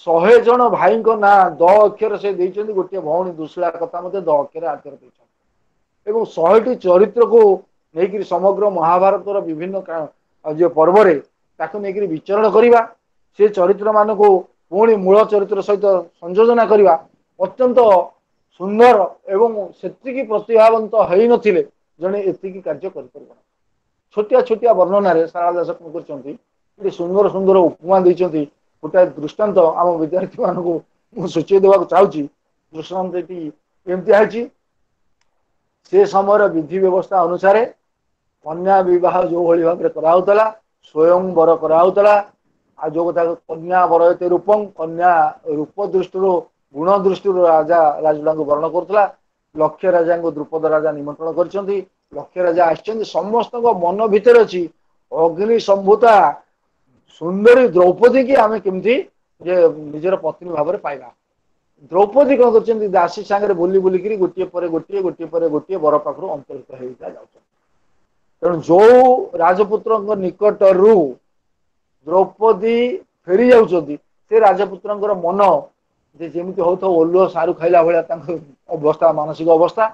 100 ଜଣ ଭାଇଙ୍କ ନାଁ ଦ ଅକ୍ଷର ସେ ଦେଇଛନ୍ତି, ଗୋଟିଏ ଭଉଣୀ ଦୁଶଳା କଥା ମଧ୍ୟ ଦ ଅକ୍ଷର ଆକ୍ଷର ଦେଇଛନ୍ତି। ଏବଂ 100ଟି ଚରିତ୍ରକୁ ନେଇକରି ସମଗ୍ର ମହାଭାରତର ବିଭିନ୍ନ ଯୋଉ ପର୍ବରେ ତାକୁ ନେଇକରି ବିଚରଣ କରିବା, ସେ ଚରିତ୍ର ମାନଙ୍କୁ ପୁଣି ମୂଳ ଚରିତ୍ର ସହିତ ସଂଯୋଜନା କରିବା ଅତ୍ୟନ୍ତ ସୁନ୍ଦର। ଏବଂ ସେତିକି ପ୍ରତିଭାବନ୍ତ ହେଇନଥିଲେ ଜଣେ ଏତିକି କାର୍ଯ୍ୟ କରିପାରିବ। ଛୋଟିଆ ଛୋଟିଆ ବର୍ଣ୍ଣନାରେ ସାରଳା ଦାସ କଣ କରିଛନ୍ତି, ଗୋଟେ ସୁନ୍ଦର ସୁନ୍ଦର ଉପମା ଦେଇଛନ୍ତି। ଗୋଟାଏ ଦୃଷ୍ଟାନ୍ତ ଆମ ବିଦ୍ୟାର୍ଥୀ ମାନଙ୍କୁ ମୁଁ ସୂଚେଇ ଦେବାକୁ ଚାହୁଁଛି। ଦୃଷ୍ଟାନ୍ତଟି ଏମିତି ହେଇଛି, ସେ ସମୟର ବିଧି ବ୍ୟବସ୍ଥା ଅନୁସାରେ କନ୍ୟା ବିବାହ ଯୋଉ ଭଳି ଭାବରେ କରାହଉଥିଲା, ସ୍ୱୟଂବର କରାହଉଥିଲା। ଆଉ ଯୋଉ କଥା କନ୍ୟା ବରୟତେ ରୂପଂ, କନ୍ୟା ରୂପ ଦୃଷ୍ଟିରୁ ଗୁଣ ଦୃଷ୍ଟିରୁ ରାଜା ରାଜୁଡାଙ୍କୁ ବରଣ କରୁଥିଲା। ଲକ୍ଷ୍ୟ ରାଜାଙ୍କୁ ଦ୍ରୁପଦ ରାଜା ନିମନ୍ତ୍ରଣ କରିଛନ୍ତି, ଲକ୍ଷ୍ୟ ରାଜା ଆସିଛନ୍ତି। ସମସ୍ତଙ୍କ ମନ ଭିତରେ ଅଛି ଅଗ୍ନି ସମ୍ଭୂତା ସୁନ୍ଦରୀ ଦ୍ରୌପଦୀ କି ଆମେ କେମିତି ଯେ ନିଜର ପତ୍ନୀ ଭାବରେ ପାଇବା। ଦ୍ରୌପଦୀ କଣ କରିଛନ୍ତି, ଦାସୀ ସାଙ୍ଗରେ ବୁଲି ବୁଲିକିରି ଗୋଟିଏ ପରେ ଗୋଟିଏ ଗୋଟିଏ ପରେ ଗୋଟିଏ ବର ପାଖରୁ ଅନ୍ତର୍ହିତ ହେଇକା ଯାଉଛନ୍ତି। ତେଣୁ ଯୋଉ ରାଜପୁତ୍ରଙ୍କ ନିକଟରୁ ଦ୍ରୌପଦୀ ଫେରି ଯାଉଛନ୍ତି, ସେ ରାଜପୁତ୍ରଙ୍କର ମନ ଯେ ଯେମିତି ହଉଥିବ ଓଲୁଅ ସାରୁ ଖାଇଲା ଭଳିଆ ତାଙ୍କ ଅବସ୍ଥା, ମାନସିକ ଅବସ୍ଥା।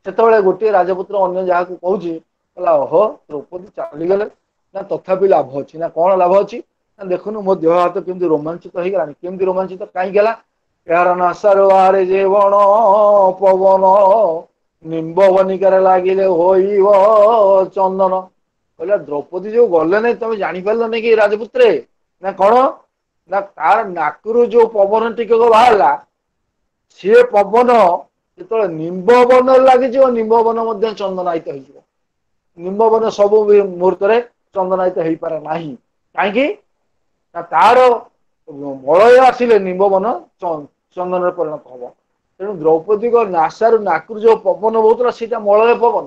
ସେତେବେଳେ ଗୋଟିଏ ରାଜପୁତ୍ର ଅନ୍ୟ ଯାହାକୁ କହୁଛି, କହିଲା ଓହୋ ଦ୍ରୌପଦୀ ଚାଲିଗଲେ ନା, ତଥାପି ଲାଭ ଅଛି ନା। କଣ ଲାଭ ଅଛି ନା, ଦେଖୁନୁ ମୋ ଦେହ ହାତ କେମିତି ରୋମାଞ୍ଚିତ ହେଇଗଲାଣି। କେମିତି ରୋମାଞ୍ଚିତ କାହିଁକି ହେଲା, ଏହାର ନାସାରୁ ବାହାରେ ଯେ ବଣ ପବନ, ନିମ୍ବ ବନିକାରେ ଲାଗିଲେ ହୋଇବ ଚନ୍ଦନ। କହିଲା ଦ୍ରୌପଦୀ ଯୋଉ ଗଲେ ନାଇଁ, ତମେ ଜାଣିପାରିଲ ନାଇଁ କି ରାଜପୁତ୍ରେ ନା କଣ? ନା ତାର ନାକରୁ ଯୋଉ ପବନ ଟିକକ ବାହାରିଲା, ସିଏ ପବନ ଯେତେବେଳେ ନିମ୍ବ ବନରେ ଲାଗିଯିବ, ନିମ୍ବ ବନ ମଧ୍ୟ ଚନ୍ଦନାୟିତ ହେଇଯିବ। ନିମ୍ବ ବନ ସବୁ ମୁହୂର୍ତ୍ତରେ ଚନ୍ଦନାୟିତ ହେଇପାରେ ନାହିଁ। କାହିଁକି ନା ତାର ମଳୟ ଆସିଲେ ନିମ୍ବ ବନ ଚନ୍ଦନରେ ପରିଣତ ହବ। ତେଣୁ ଦ୍ରୌପଦୀଙ୍କ ନାସାରୁ ନାକରୁ ଯୋଉ ପବନ ବହୁଥିଲା ସେଇଟା ମଳୟ ପବନ।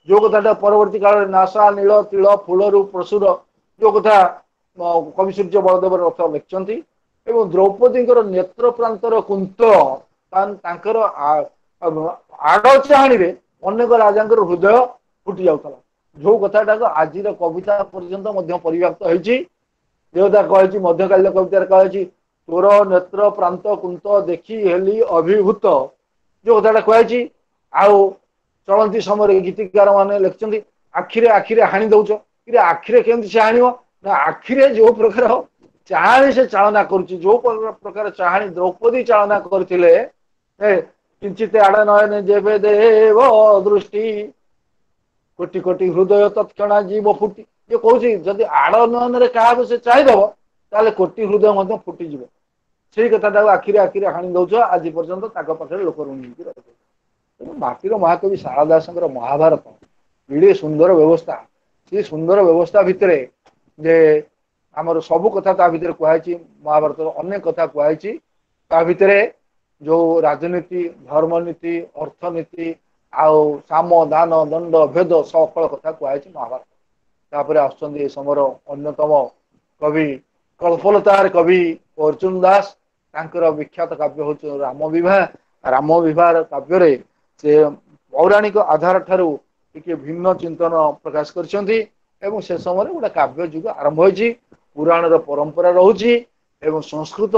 ଯୋଉ କଥାଟା ପରବର୍ତ୍ତୀ କାଳରେ ନାସା ନୀଳ ତିଳ ଫୁଲରୁ ପ୍ରସୁର, ଯୋଉ କଥା କବି ସୂର୍ଯ୍ୟ ବଳଦେବ ରଥ ଲେଖିଛନ୍ତି। ଏବଂ ଦ୍ରୌପଦୀଙ୍କର ନେତ୍ର ପ୍ରାନ୍ତର କୁନ୍ତ, ତାଙ୍କର ଆଡ଼ ଚାହାଣୀରେ ଅନେକ ରାଜାଙ୍କର ହୃଦୟ ଫୁଟି ଯାଉଥିଲା। ଯୋଉ କଥାଟାକୁ ଆଜିର କବିତା ପର୍ଯ୍ୟନ୍ତ ମଧ୍ୟ ପରିବ୍ୟାପ୍ତ ହେଇଛି। ଦେବତା କହିଛି, ମଧ୍ୟକାଳୀନ କବିତାରେ କୁହାଯାଇଛି, ତୋର ନେତ୍ର ପ୍ରାନ୍ତ କୁନ୍ତ ଦେଖି ହେଲି ଅଭିଭୂତ, ଯୋଉ କଥାଟା କୁହାଯାଇଛି। ଆଉ ଚଳନ୍ତି ସମୟରେ ଗୀତିକାର ମାନେ ଲେଖିଛନ୍ତି, ଆଖିରେ ଆଖିରେ ହାଣି ଦଉଛ। କିନ୍ତୁ ଆଖିରେ କେମିତି ସେ ହାଣିବ ନା, ଆଖିରେ ଯୋଉ ପ୍ରକାର ଚାହାଣୀ ସେ ଚାଳନା କରୁଛି, ଯୋଉ ପ୍ରକାର ଚାହାଣୀ ଦ୍ରୌପଦୀ ଚାଳନା କରିଥିଲେ, କିଞ୍ଚିତ ଆଡ ନୟନ ଯେବେ ଦେବ ଦୃଷ୍ଟି, କୋଟି କୋଟି ହୃଦୟ ତତ୍କ୍ଷଣା ଜୀବ ଫୁଟି। ଇଏ କହୁଛି ଯଦି ଆଡ଼ ନୟନରେ କାହାକୁ ସେ ଚାହିଁଦବ ତାହେଲେ କୋଟି ହୃଦୟ ମଧ୍ୟ ଫୁଟିଯିବ। ସେଇ କଥାଟାକୁ ଆଖିରେ ଆଖିରେ ହାଣି ଦଉଛ, ଆଜି ପର୍ଯ୍ୟନ୍ତ ତାଙ୍କ ପାଖରେ ଲୋକ ଋଣୀ ହେଇକି ରହିବେ। ତେଣୁ ମାଟିର ମହାକବି ଶାରଳା ଦାସଙ୍କର ମହାଭାରତ ଏଡ଼େ ସୁନ୍ଦର ବ୍ୟବସ୍ଥା, ସେ ସୁନ୍ଦର ବ୍ୟବସ୍ଥା ଭିତରେ ଯେ ଆମର ସବୁ କଥା ତା ଭିତରେ କୁହାଯାଇଛି, ମହାଭାରତର ଅନେକ କଥା କୁହାଯାଇଛି। ତା ଭିତରେ ଯୋଉ ରାଜନୀତି, ଧର୍ମନୀତି, ଅର୍ଥନୀତି ଆଉ ସାମ ଦାନ ଦଣ୍ଡ ଭେଦ ସକଳ କଥା କୁହାଯାଇଛି ମହାଭାରତ। ତାପରେ ଆସୁଛନ୍ତି ଏ ସମୟର ଅନ୍ୟତମ କବି, କଳ୍ପଲତାର କବି ଅର୍ଜୁନ ଦାସ। ତାଙ୍କର ବିଖ୍ୟାତ କାବ୍ୟ ହଉଛି ରାମ ବିବାହ। ରାମ ବିବାହ କାବ୍ୟରେ ସେ ପୌରାଣିକ ଆଧାର ଠାରୁ ଟିକେ ଭିନ୍ନ ଚିନ୍ତନ ପ୍ରକାଶ କରିଛନ୍ତି ଏବଂ ସେ ସମୟରେ ଗୋଟେ କାବ୍ୟ ଯୁଗ ଆରମ୍ଭ ହୋଇଛି। ପୁରାଣର ପରମ୍ପରା ରହୁଛି ଏବଂ ସଂସ୍କୃତ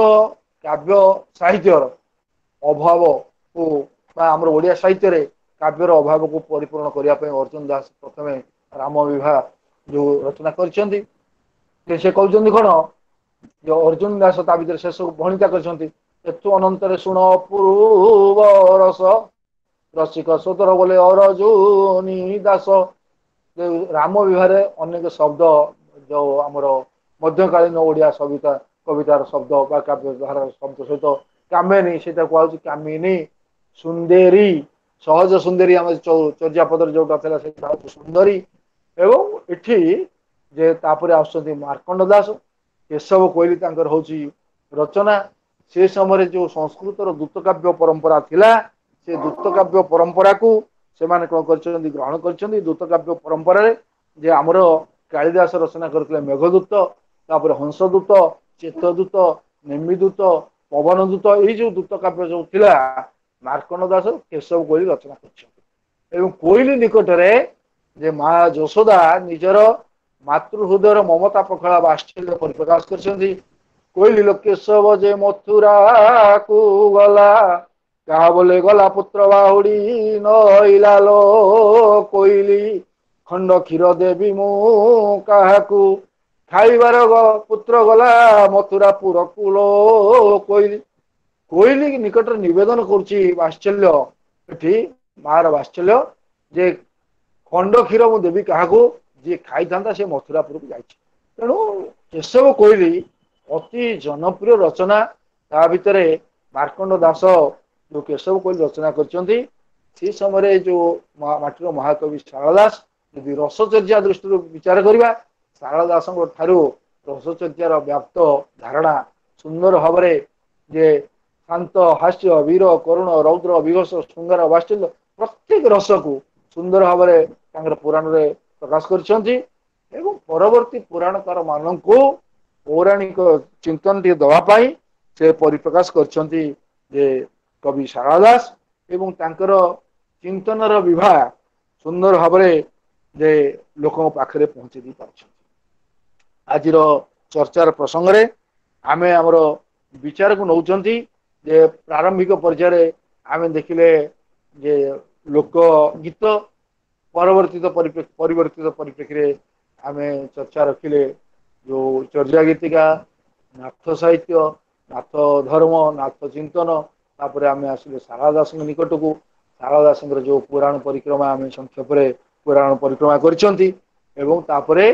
କାବ୍ୟ ସାହିତ୍ୟର ଅଭାବକୁ ବା ଆମର ଓଡ଼ିଆ ସାହିତ୍ୟରେ କାବ୍ୟର ଅଭାବକୁ ପରିପୂରଣ କରିବା ପାଇଁ ଅର୍ଜୁନ ଦାସ ପ୍ରଥମେ ରାମ ବିବାହ ଯୋଉ ରଚନା କରିଛନ୍ତି। ସେ କହୁଛନ୍ତି କଣ, ଯୋଉ ଅର୍ଜୁନ ଦାସ ତା ଭିତରେ ଶେଷକୁ ଭଣିତା କରିଛନ୍ତି, ଏଥୁ ଅନନ୍ତରେ ଶୁଣ ପୂର୍ବ ରସ ରସିକ ସୋଦର ବୋଲେ ଅରଜୁନି ଦାସ। ରାମ ବିବାହରେ ଅନେକ ଶବ୍ଦ ଯୋଉ ଆମର ମଧ୍ୟକାଳୀନ ଓଡ଼ିଆ ସବିତା କବିତାର ଶବ୍ଦ ବା କାବ୍ୟ ଧାରାର ଶବ୍ଦ ସହିତ କାମେନି, ସେଇଟା କୁହାଯାଉଛି କାମିନୀ, ସୁନ୍ଦେରୀ, ସହଜ ସୁନ୍ଦରୀ, ଆମ ଚର୍ଯ୍ୟାପଦରେ ଯୋଉଟା ଥିଲା ସେଇଟା ହଉଛି ସୁନ୍ଦରୀ। ଏବଂ ଏଠି ଯେ ତାପରେ ଆସୁଛନ୍ତି ମାର୍କଣ୍ଡ ଦାସ, କେଶବ କୋଇଲି ତାଙ୍କର ହଉଛି ରଚନା। ସେ ସମୟରେ ଯୋଉ ସଂସ୍କୃତର ଦୂତକାବ୍ୟ ପରମ୍ପରା ଥିଲା, ସେ ଦୂତକାବ୍ୟ ପରମ୍ପରାକୁ ସେମାନେ କଣ କରିଛନ୍ତି, ଗ୍ରହଣ କରିଛନ୍ତି। ଦୂତକାବ୍ୟ ପରମ୍ପରାରେ ଯେ ଆମର କାଳିଦାସ ରଚନା କରିଥିଲେ ମେଘଦୂତ, ତାପରେ ହଂସଦୂତ, ଚେତଦୂତ, ନେମିଦୂତ, ପବନଦୂତ, ଏଇ ଯୋଉ ଦୂତକାବ୍ୟ ଯୋଉ ଥିଲା ମାର୍କଣ୍ଡ ଦାସ କେଶବ କୋଇଲି ରଚନା କରିଛନ୍ତି। ଏବଂ କୋଇଲି ନିକଟରେ ଯେ ମା ଯଶୋଦା ନିଜର ମାତୃ ହୃଦୟର ମମତା ପଖଳା ବାତ୍ସଲ୍ୟ ପରିପ୍ରକାଶ କରିଛନ୍ତି। କୋଇଲି କେଶବ ଯେ ମଥୁରାକୁ ଗଲା, କାହା ବୋଲେ ଗଲା ପୁତ୍ର ବାହୁଡି ନଇଲା ଲୋ କୋଇଲି, ଖଣ୍ଡ କ୍ଷୀର ଦେବି ମୁଁ କାହାକୁ, ଖାଇବାର ପୁତ୍ର ଗଲା ମଥୁରା ପୁରକୁ ଲୋ କୋଇଲି। କୋଇଲି ନିକଟରେ ନିବେଦନ କରୁଛି ବାତ୍ସଲ୍ୟ, ଏଠି ମାର ବାତ୍ସଲ୍ୟ ଯେ ଖଣ୍ଡ କ୍ଷୀର ମୁଁ ଦେବି କାହାକୁ, ଯିଏ ଖାଇଥାନ୍ତା ସେ ମଥୁରାପୁରକୁ ଯାଇଛି। ତେଣୁ କେଶବ କୋଇଲି ଅତି ଜନପ୍ରିୟ ରଚନା। ତା ଭିତରେ ମାର୍କଣ୍ଡ ଦାସ ଯୋଉ କେଶବ କୋଇଲି ରଚନା କରିଛନ୍ତି, ସେ ସମୟରେ ଯୋଉ ମାଟିର ମହାକବି ଶାରଳା ଦାସ, ଯଦି ରସଚର୍ଯ୍ୟା ଦୃଷ୍ଟିରୁ ବିଚାର କରିବା, ଶାରଳା ଦାସଙ୍କ ଠାରୁ ରସଚର୍ଯ୍ୟାର ବ୍ୟାପ୍ତ ଧାରଣା ସୁନ୍ଦର ଭାବରେ ଯେ ଶାନ୍ତ, ହାସ୍ୟ, ବୀର, କରୁଣ, ରୌଦ୍ର, ବିଭତ୍ସ, ଶୃଙ୍ଗାର, ବାତ୍ସଲ୍ୟ ପ୍ରତ୍ୟେକ ରସକୁ ସୁନ୍ଦର ଭାବରେ ତାଙ୍କର ପୁରାଣରେ ପ୍ରକାଶ କରିଛନ୍ତି। ଏବଂ ପରବର୍ତ୍ତୀ ପୁରାଣକାର ମାନଙ୍କୁ ପୌରାଣିକ ଚିନ୍ତନ ଟିକେ ଦେବା ପାଇଁ ସେ ପରିପ୍ରକାଶ କରିଛନ୍ତି ଯେ କବି ଶାରଳା ଦାସ। ଏବଂ ତାଙ୍କର ଚିନ୍ତନର ବିବାହ ସୁନ୍ଦର ଭାବରେ ଯେ ଲୋକଙ୍କ ପାଖରେ ପହଞ୍ଚି ଦେଇ ପାରୁଛନ୍ତି। ଆଜିର ଚର୍ଚ୍ଚାର ପ୍ରସଙ୍ଗରେ ଆମେ ଆମର ବିଚାରକୁ ନଉଛନ୍ତି ଯେ ପ୍ରାରମ୍ଭିକ ପର୍ଯ୍ୟାୟରେ ଆମେ ଦେଖିଲେ ଯେ ଲୋକ ଗୀତ, ପରବର୍ତ୍ତିତ ପରିବର୍ତ୍ତିତ ପରିପ୍ରେକ୍ଷୀରେ ଆମେ ଚର୍ଚ୍ଚା ରଖିଲେ ଯୋଉ ଚର୍ଯା ଗୀତିକା, ନାଥ ସାହିତ୍ୟ, ନାଥ ଧର୍ମ, ନାଥ ଚିନ୍ତନ। ତାପରେ ଆମେ ଆସିଲେ ଶାରଳା ଦାସଙ୍କ ନିକଟକୁ। ଶାରଳା ଦାସଙ୍କର ଯୋଉ ପୁରାଣ ପରିକ୍ରମା ଆମେ ସଂକ୍ଷେପରେ ପୁରାଣ ପରିକ୍ରମା କରିଛନ୍ତି। ଏବଂ ତାପରେ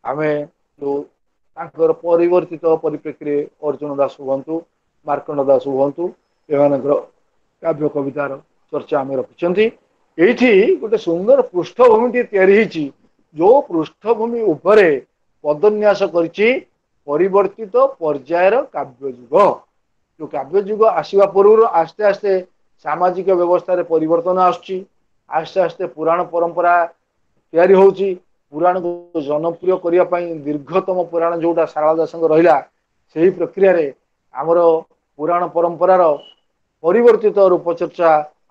ଆମେ ଯୋଉ ତାଙ୍କର ପରିବର୍ତ୍ତିତ ପରିପ୍ରେକ୍ଷୀରେ ଅର୍ଜୁନ ଦାସ ହୁଅନ୍ତୁ, ମାର୍କଣ୍ଡ ଦାସ ହୁଅନ୍ତୁ, ଏମାନଙ୍କର କାବ୍ୟ କବିତାର ଚର୍ଚ୍ଚା ଆମେ ରଖିଛନ୍ତି। ଏଇଠି ଗୋଟେ ସୁନ୍ଦର ପୃଷ୍ଠଭୂମି ତିଆରି ହେଇଛି, ଯୋଉ ପୃଷ୍ଠଭୂମି ଉପରେ ପଦନ୍ୟାସ କରିଛି ପରିବର୍ତ୍ତିତ ପର୍ଯ୍ୟାୟର କାବ୍ୟ ଯୁଗ। ଯୋଉ କାବ୍ୟ ଯୁଗ ଆସିବା ପୂର୍ବରୁ ଆସ୍ତେ ଆସ୍ତେ ସାମାଜିକ ବ୍ୟବସ୍ଥାରେ ପରିବର୍ତ୍ତନ ଆସୁଛି, ଆସ୍ତେ ଆସ୍ତେ ପୁରାଣ ପରମ୍ପରା ତିଆରି ହଉଛି। ପୁରାଣକୁ ଜନପ୍ରିୟ କରିବା ପାଇଁ ଦୀର୍ଘତମ ପୁରାଣ ଯୋଉଟା ଶାରଳା ଦାସଙ୍କ ରହିଲା, ସେଇ ପ୍ରକ୍ରିୟାରେ ଆମର ପୁରାଣ ପରମ୍ପରାର ପରିବର୍ତ୍ତିତ ରୂପଚର୍ଚ୍ଚା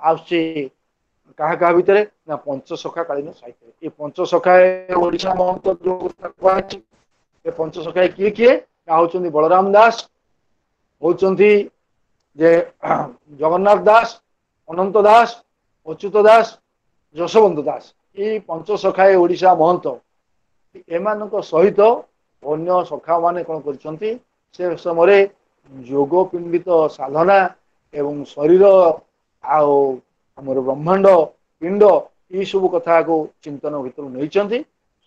ଆସୁଛି। କାହା କାହା ଭିତରେ ନା ପଞ୍ଚସଖା କାଳୀନ ସାହିତ୍ୟ। ଏ ପଞ୍ଚସଖା ଓଡିଶା ମହନ୍ତ ଯୋଉ କୁହାଯାଇଛି, ଏ ପଞ୍ଚସଖା କିଏ କିଏ ନା ହଉଛନ୍ତି ବଳରାମ ଦାସ, ହଉଛନ୍ତି ଯେ ଜଗନ୍ନାଥ ଦାସ, ଅନନ୍ତ ଦାସ, ଅଚ୍ୟୁତ ଦାସ, ଯଶୋବନ୍ତ ଦାସ। ଏଇ ପଞ୍ଚସଖାଏ ଓଡିଶା ମହନ୍ତ। ଏମାନଙ୍କ ସହିତ ଅନ୍ୟ ସଖା ମାନେ କଣ କରିଛନ୍ତି, ସେ ସମୟରେ ଯୋଗ ପିଣ୍ଡିତ ସାଧନା ଏବଂ ଶରୀର ଆଉ ଆମର ବ୍ରହ୍ମାଣ୍ଡ ପିଣ୍ଡ ଏଇସବୁ କଥାକୁ ଚିନ୍ତନ ଭିତରୁ ନେଇଛନ୍ତି।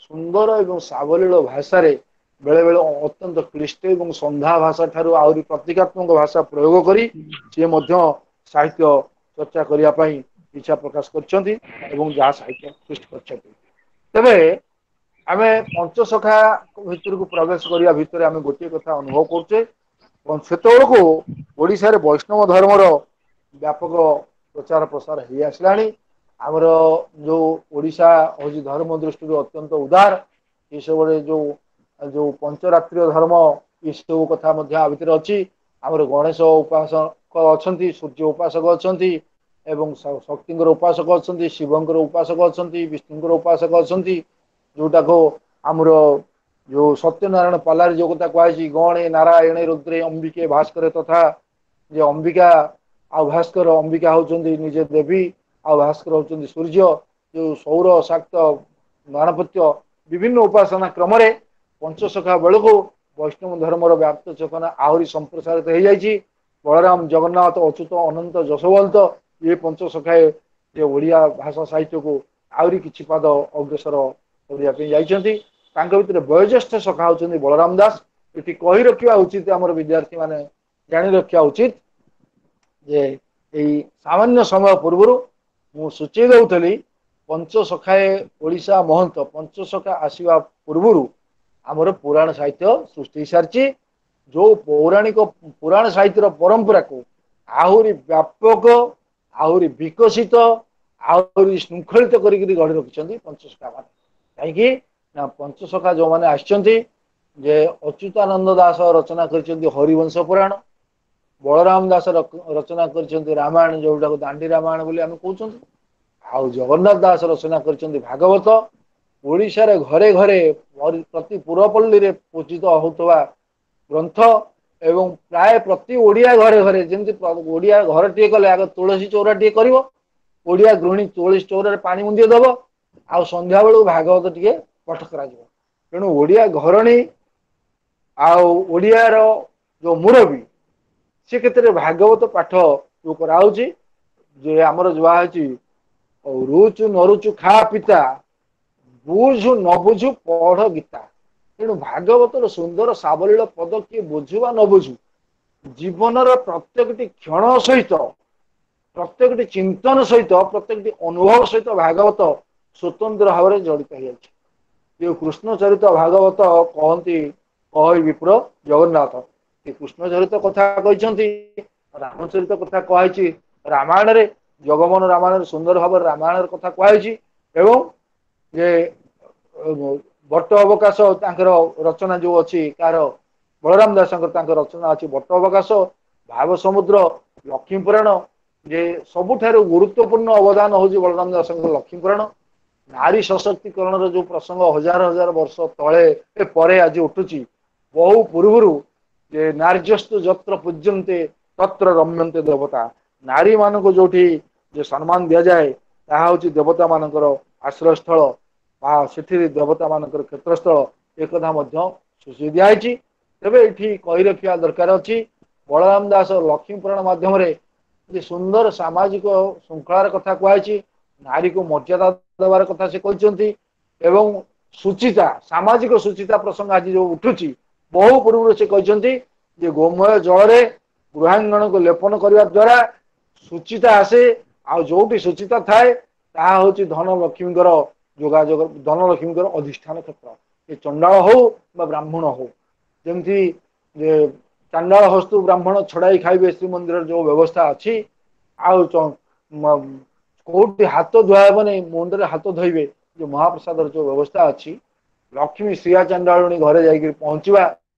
ସୁନ୍ଦର ଏବଂ ସାବଲୀଳ ଭାଷାରେ ବେଳେ ବେଳେ ଅତ୍ୟନ୍ତ କ୍ଲିଷ୍ଟ ଏବଂ ସନ୍ଧ୍ୟା ଭାଷା ଠାରୁ ଆହୁରି ପ୍ରତୀକାତ୍ମକ ଭାଷା ପ୍ରୟୋଗ କରି ସିଏ ମଧ୍ୟ ସାହିତ୍ୟ ଚର୍ଚ୍ଚା କରିବା ପାଇଁ ଇଚ୍ଛା ପ୍ରକାଶ କରିଛନ୍ତି ଏବଂ ଯାହା ସାହିତ୍ୟ ସୃଷ୍ଟି କରିଛନ୍ତି। ତେବେ ଆମେ ପଞ୍ଚସଖା ଭିତରକୁ ପ୍ରବେଶ କରିବା ଭିତରେ ଆମେ ଗୋଟିଏ କଥା ଅନୁଭବ କରୁଛେ, ସେତେବେଳକୁ ଓଡ଼ିଶାରେ ବୈଷ୍ଣବ ଧର୍ମର ବ୍ୟାପକ ପ୍ରଚାର ପ୍ରସାର ହେଇ ଆସିଲାଣି। ଆମର ଯୋଉ ଓଡ଼ିଶା ହଉଛି ଧର୍ମ ଦୃଷ୍ଟିରୁ ଅତ୍ୟନ୍ତ ଉଦାର, ଏସବୁରେ ଯୋଉ ଯୋଉ ପଞ୍ଚରାତ୍ରୀୟ ଧର୍ମ ଏସବୁ କଥା ମଧ୍ୟ ଆ ଭିତରେ ଅଛି। ଆମର ଗଣେଶ ଉପାସକ ଅଛନ୍ତି, ସୂର୍ଯ୍ୟ ଉପାସକ ଅଛନ୍ତି, ଏବଂ ଶକ୍ତିଙ୍କର ଉପାସକ ଅଛନ୍ତି, ଶିବଙ୍କର ଉପାସକ ଅଛନ୍ତି, ବିଷ୍ଣୁଙ୍କର ଉପାସକ ଅଛନ୍ତି। ଯୋଉଟାକୁ ଆମର ଯୋଉ ସତ୍ୟନାରାୟଣ ପାଲାରେ ଯୋଉ କଥା କୁହାଯାଇଛି, ଗଣେ ନାରାୟଣେ ରୁଦ୍ରେ ଅମ୍ବିକେ ଭାସ୍କର ତଥା, ଯେ ଅମ୍ବିକା ଆଉ ଭାସ୍କର, ଅମ୍ବିକା ହଉଛନ୍ତି ନିଜେ ଦେବୀ ଆଉ ଭାସ୍କର ହଉଛନ୍ତି ସୂର୍ଯ୍ୟ। ଯୋଉ ସୌର ଶାକ୍ତ ଗଣପତ୍ୟ ବିଭିନ୍ନ ଉପାସନା କ୍ରମରେ ପଞ୍ଚସଖା ବେଳକୁ ବୈଷ୍ଣବ ଧର୍ମର ବ୍ୟାପ୍ତ ଚେତନା ଆହୁରି ସମ୍ପ୍ରସାରିତ ହେଇଯାଇଛି। ବଳରାମ, ଜଗନ୍ନାଥ, ଅଚ୍ୟୁତ, ଅନନ୍ତ, ଯଶୋବନ୍ତ ଇଏ ପଞ୍ଚସଖାଏ ଯେ ଓଡ଼ିଆ ଭାଷା ସାହିତ୍ୟକୁ ଆହୁରି କିଛି ପାଦ ଅଗ୍ରସର କରିବା ପାଇଁ ଯାଇଛନ୍ତି। ତାଙ୍କ ଭିତରେ ବୟୋଜ୍ୟେଷ୍ଠ ସଖା ହଉଛନ୍ତି ବଳରାମ ଦାସ। ଏଠି କହି ରଖିବା ଉଚିତ, ଆମର ବିଦ୍ୟାର୍ଥୀ ମାନେ ଜାଣି ରଖିବା ଉଚିତ ଯେ ଏଇ ସାମାନ୍ୟ ସମୟ ପୂର୍ବରୁ ମୁଁ ସୂଚେଇ ଦଉଥିଲି, ପଞ୍ଚସଖାଏ ଓଡ଼ିଶା ମହନ୍ତ ପଞ୍ଚସଖା ଆସିବା ପୂର୍ବରୁ ଆମର ପୁରାଣ ସାହିତ୍ୟ ସୃଷ୍ଟି ହେଇସାରିଛି। ଯୋଉ ପୌରାଣିକ ପୁରାଣ ସାହିତ୍ୟର ପରମ୍ପରାକୁ ଆହୁରି ବ୍ୟାପକ, ଆହୁରି ବିକଶିତ, ଆହୁରି ଶୃଙ୍ଖଳିତ କରିକିରି ଗଢି ରଖିଛନ୍ତି ପଞ୍ଚସଖା ମାନେ। କାହିଁକି ନା ପଞ୍ଚସଖା ଯୋଉମାନେ ଆସିଛନ୍ତି, ଯେ ଅଚ୍ୟୁତାନନ୍ଦ ଦାସ ରଚନା କରିଛନ୍ତି ହରିବଂଶ ପୁରାଣ, ବଳରାମ ଦାସ ରଚନା କରିଛନ୍ତି ରାମାୟଣ, ଯୋଉଟାକୁ ଦାଣ୍ଡି ରାମାୟଣ ବୋଲି ଆମେ କହୁଛନ୍ତି, ଆଉ ଜଗନ୍ନାଥ ଦାସ ରଚନା କରିଛନ୍ତି ଭାଗବତ। ଓଡ଼ିଶାରେ ଘରେ ଘରେ ପ୍ରତି ପୁରପଲ୍ଲୀରେ ପୂଜିତ ହଉଥିବା ଗ୍ରନ୍ଥ ଏବଂ ପ୍ରାୟ ପ୍ରତି ଓଡ଼ିଆ ଘରେ ଘରେ, ଯେମିତି ଓଡ଼ିଆ ଘରଟିଏ କଲେ ଆଗ ତୁଳସୀ ଚଉରାଟିଏ କରିବ, ଓଡ଼ିଆ ଗୃହିଣୀ ତୁଳସୀ ଚଉରାରେ ପାଣି ମୁନ୍ଦିଏ ଦବ, ଆଉ ସନ୍ଧ୍ୟା ବେଳକୁ ଭାଗବତ ଟିକେ ପାଠ କରାଯିବ। ତେଣୁ ଓଡ଼ିଆ ଘରଣୀ ଆଉ ଓଡ଼ିଆର ଯୋଉ ମୁରବୀ ସେ କ୍ଷେତ୍ରରେ ଭାଗବତ ପାଠ ଯୋଉ କରାହଉଛି, ଯେ ଆମର ଯାହା ହେଇଛି ରୁଚୁ ନରୁଚୁ ଖା ପିତା, ବୁଝୁ ନ ବୁଝୁ ପଢ ଗୀତା। ତେଣୁ ଭାଗବତର ସୁନ୍ଦର ସାବଲୀଳ ପଦ କିଏ ବୁଝୁ ବା ନ ବୁଝୁ, ଜୀବନର ପ୍ରତ୍ୟେକଟି କ୍ଷଣ ସହିତ, ପ୍ରତ୍ୟେକଟି ଚିନ୍ତନ ସହିତ, ପ୍ରତ୍ୟେକଟି ଅନୁଭବ ସହିତ ଭାଗବତ ସ୍ୱତନ୍ତ୍ର ଭାବରେ ଜଡ଼ିତ ହେଇଯାଇଛି। ଯୋଉ କୃଷ୍ଣ ଚରିତ ଭାଗବତ କହନ୍ତି କହଇ ବିପ୍ର ଜଗନ୍ନାଥ, ଏ କୃଷ୍ଣ ଚରିତ କଥା କହିଛନ୍ତି, ରାମଚରିତ କଥା କୁହାଯାଇଛି ରାମାୟଣରେ, ଜଗମୋହନ ରାମାୟଣରେ ସୁନ୍ଦର ଭାବରେ ରାମାୟଣର କଥା କୁହାଯାଇଛି। ଏବଂ ଯେ ବଟ ଅବକାଶ ତାଙ୍କର ରଚନା ଯୋଉ ଅଛି, କାହାର ବଳରାମ ଦାସଙ୍କର ତାଙ୍କ ରଚନା ଅଛି ବଟ ଅବକାଶ, ଭାବ ସମୁଦ୍ର, ଲକ୍ଷ୍ମୀ ପୁରାଣ। ଯେ ସବୁଠାରୁ ଗୁରୁତ୍ୱପୂର୍ଣ୍ଣ ଅବଦାନ ହଉଛି ବଳରାମ ଦାସଙ୍କର ଲକ୍ଷ୍ମୀ ପୁରାଣ। ନାରୀ ସଶକ୍ତିକରଣର ଯୋଉ ପ୍ରସଙ୍ଗ ହଜାର ହଜାର ବର୍ଷ ତଳେ ପରେ ଆଜି ଉଠୁଛି, ବହୁ ପୂର୍ବରୁ ଯେ ନାର୍ଯ୍ୟସ୍ତୁ ଯତ୍ର ପୂଜ୍ୟନ୍ତେ ତତ୍ର ରମ୍ୟନ୍ତେ ଦେବତା, ନାରୀ ମାନଙ୍କୁ ଯୋଉଠି ଯେ ସମ୍ମାନ ଦିଆଯାଏ ତାହା ହଉଛି ଦେବତା ମାନଙ୍କର ଆଶ୍ରୟସ୍ଥଳ ବା ସେଥିରେ ଦେବତା ମାନଙ୍କର କ୍ଷେତ୍ରସ୍ଥଳ, ଏକଥା ମଧ୍ୟ ସୂଚେଇ ଦିଆହେଇଛି। ତେବେ ଏଠି କହି ରଖିବା ଦରକାର ଅଛି, ବଳରାମ ଦାସ ଲକ୍ଷ୍ମୀ ପୁରାଣ ମାଧ୍ୟମରେ ଯେ ସୁନ୍ଦର ସାମାଜିକ ଶୃଙ୍ଖଳାର କଥା କୁହାଯାଇଛି, ନାରୀକୁ ମର୍ଯ୍ୟାଦା ଦେବାର କଥା ସେ କହିଛନ୍ତି, ଏବଂ ସୁଚିତା ସାମାଜିକ ସୁଚିତା ପ୍ରସଙ୍ଗ ଆଜି ଯୋଉ ଉଠୁଛି, ବହୁ ପୂର୍ବରୁ ସେ କହିଛନ୍ତି ଯେ ଗୋମୟ ଜଳରେ ଗୃହାଙ୍ଗଣକୁ ଲେପନ କରିବା ଦ୍ୱାରା ସୁଚିତା ଆସେ, ଆଉ ଯୋଉଠି ସୁଚିତା ଥାଏ ତାହା ହଉଛି ଧନ ଲକ୍ଷ୍ମୀଙ୍କର ଯୋଗାଯୋଗ, ଧନ ଲକ୍ଷ୍ମୀଙ୍କର ଅଧିଷ୍ଠାନ କ୍ଷେତ୍ର। ଏ ଚଣ୍ଡାଳ ହଉ ବା ବ୍ରାହ୍ମଣ ହଉ, ଯେମିତି ଯେ ଚାଣ୍ଡାଳ ହସ୍ତୁ ବ୍ରାହ୍ମଣ ଛଡାଇ ଖାଇବେ ଶ୍ରୀମନ୍ଦିରର ଯୋଉ ବ୍ୟବସ୍ଥା ଅଛି, ଆଉ କୋଉଠି ହାତ ଧୁଆ ହେବନି, ମୁଣ୍ଡରେ ହାତ ଧୋଇବେ, ଯୋଉ ମହାପ୍ରସାଦର ଯୋଉ ବ୍ୟବସ୍ଥା ଅଛି, ଲକ୍ଷ୍ମୀ ଶ୍ରୀୟା ଚଣ୍ଡାଳୁଣୀ ଘରେ ଯାଇକରି ପହଞ୍ଚିବା,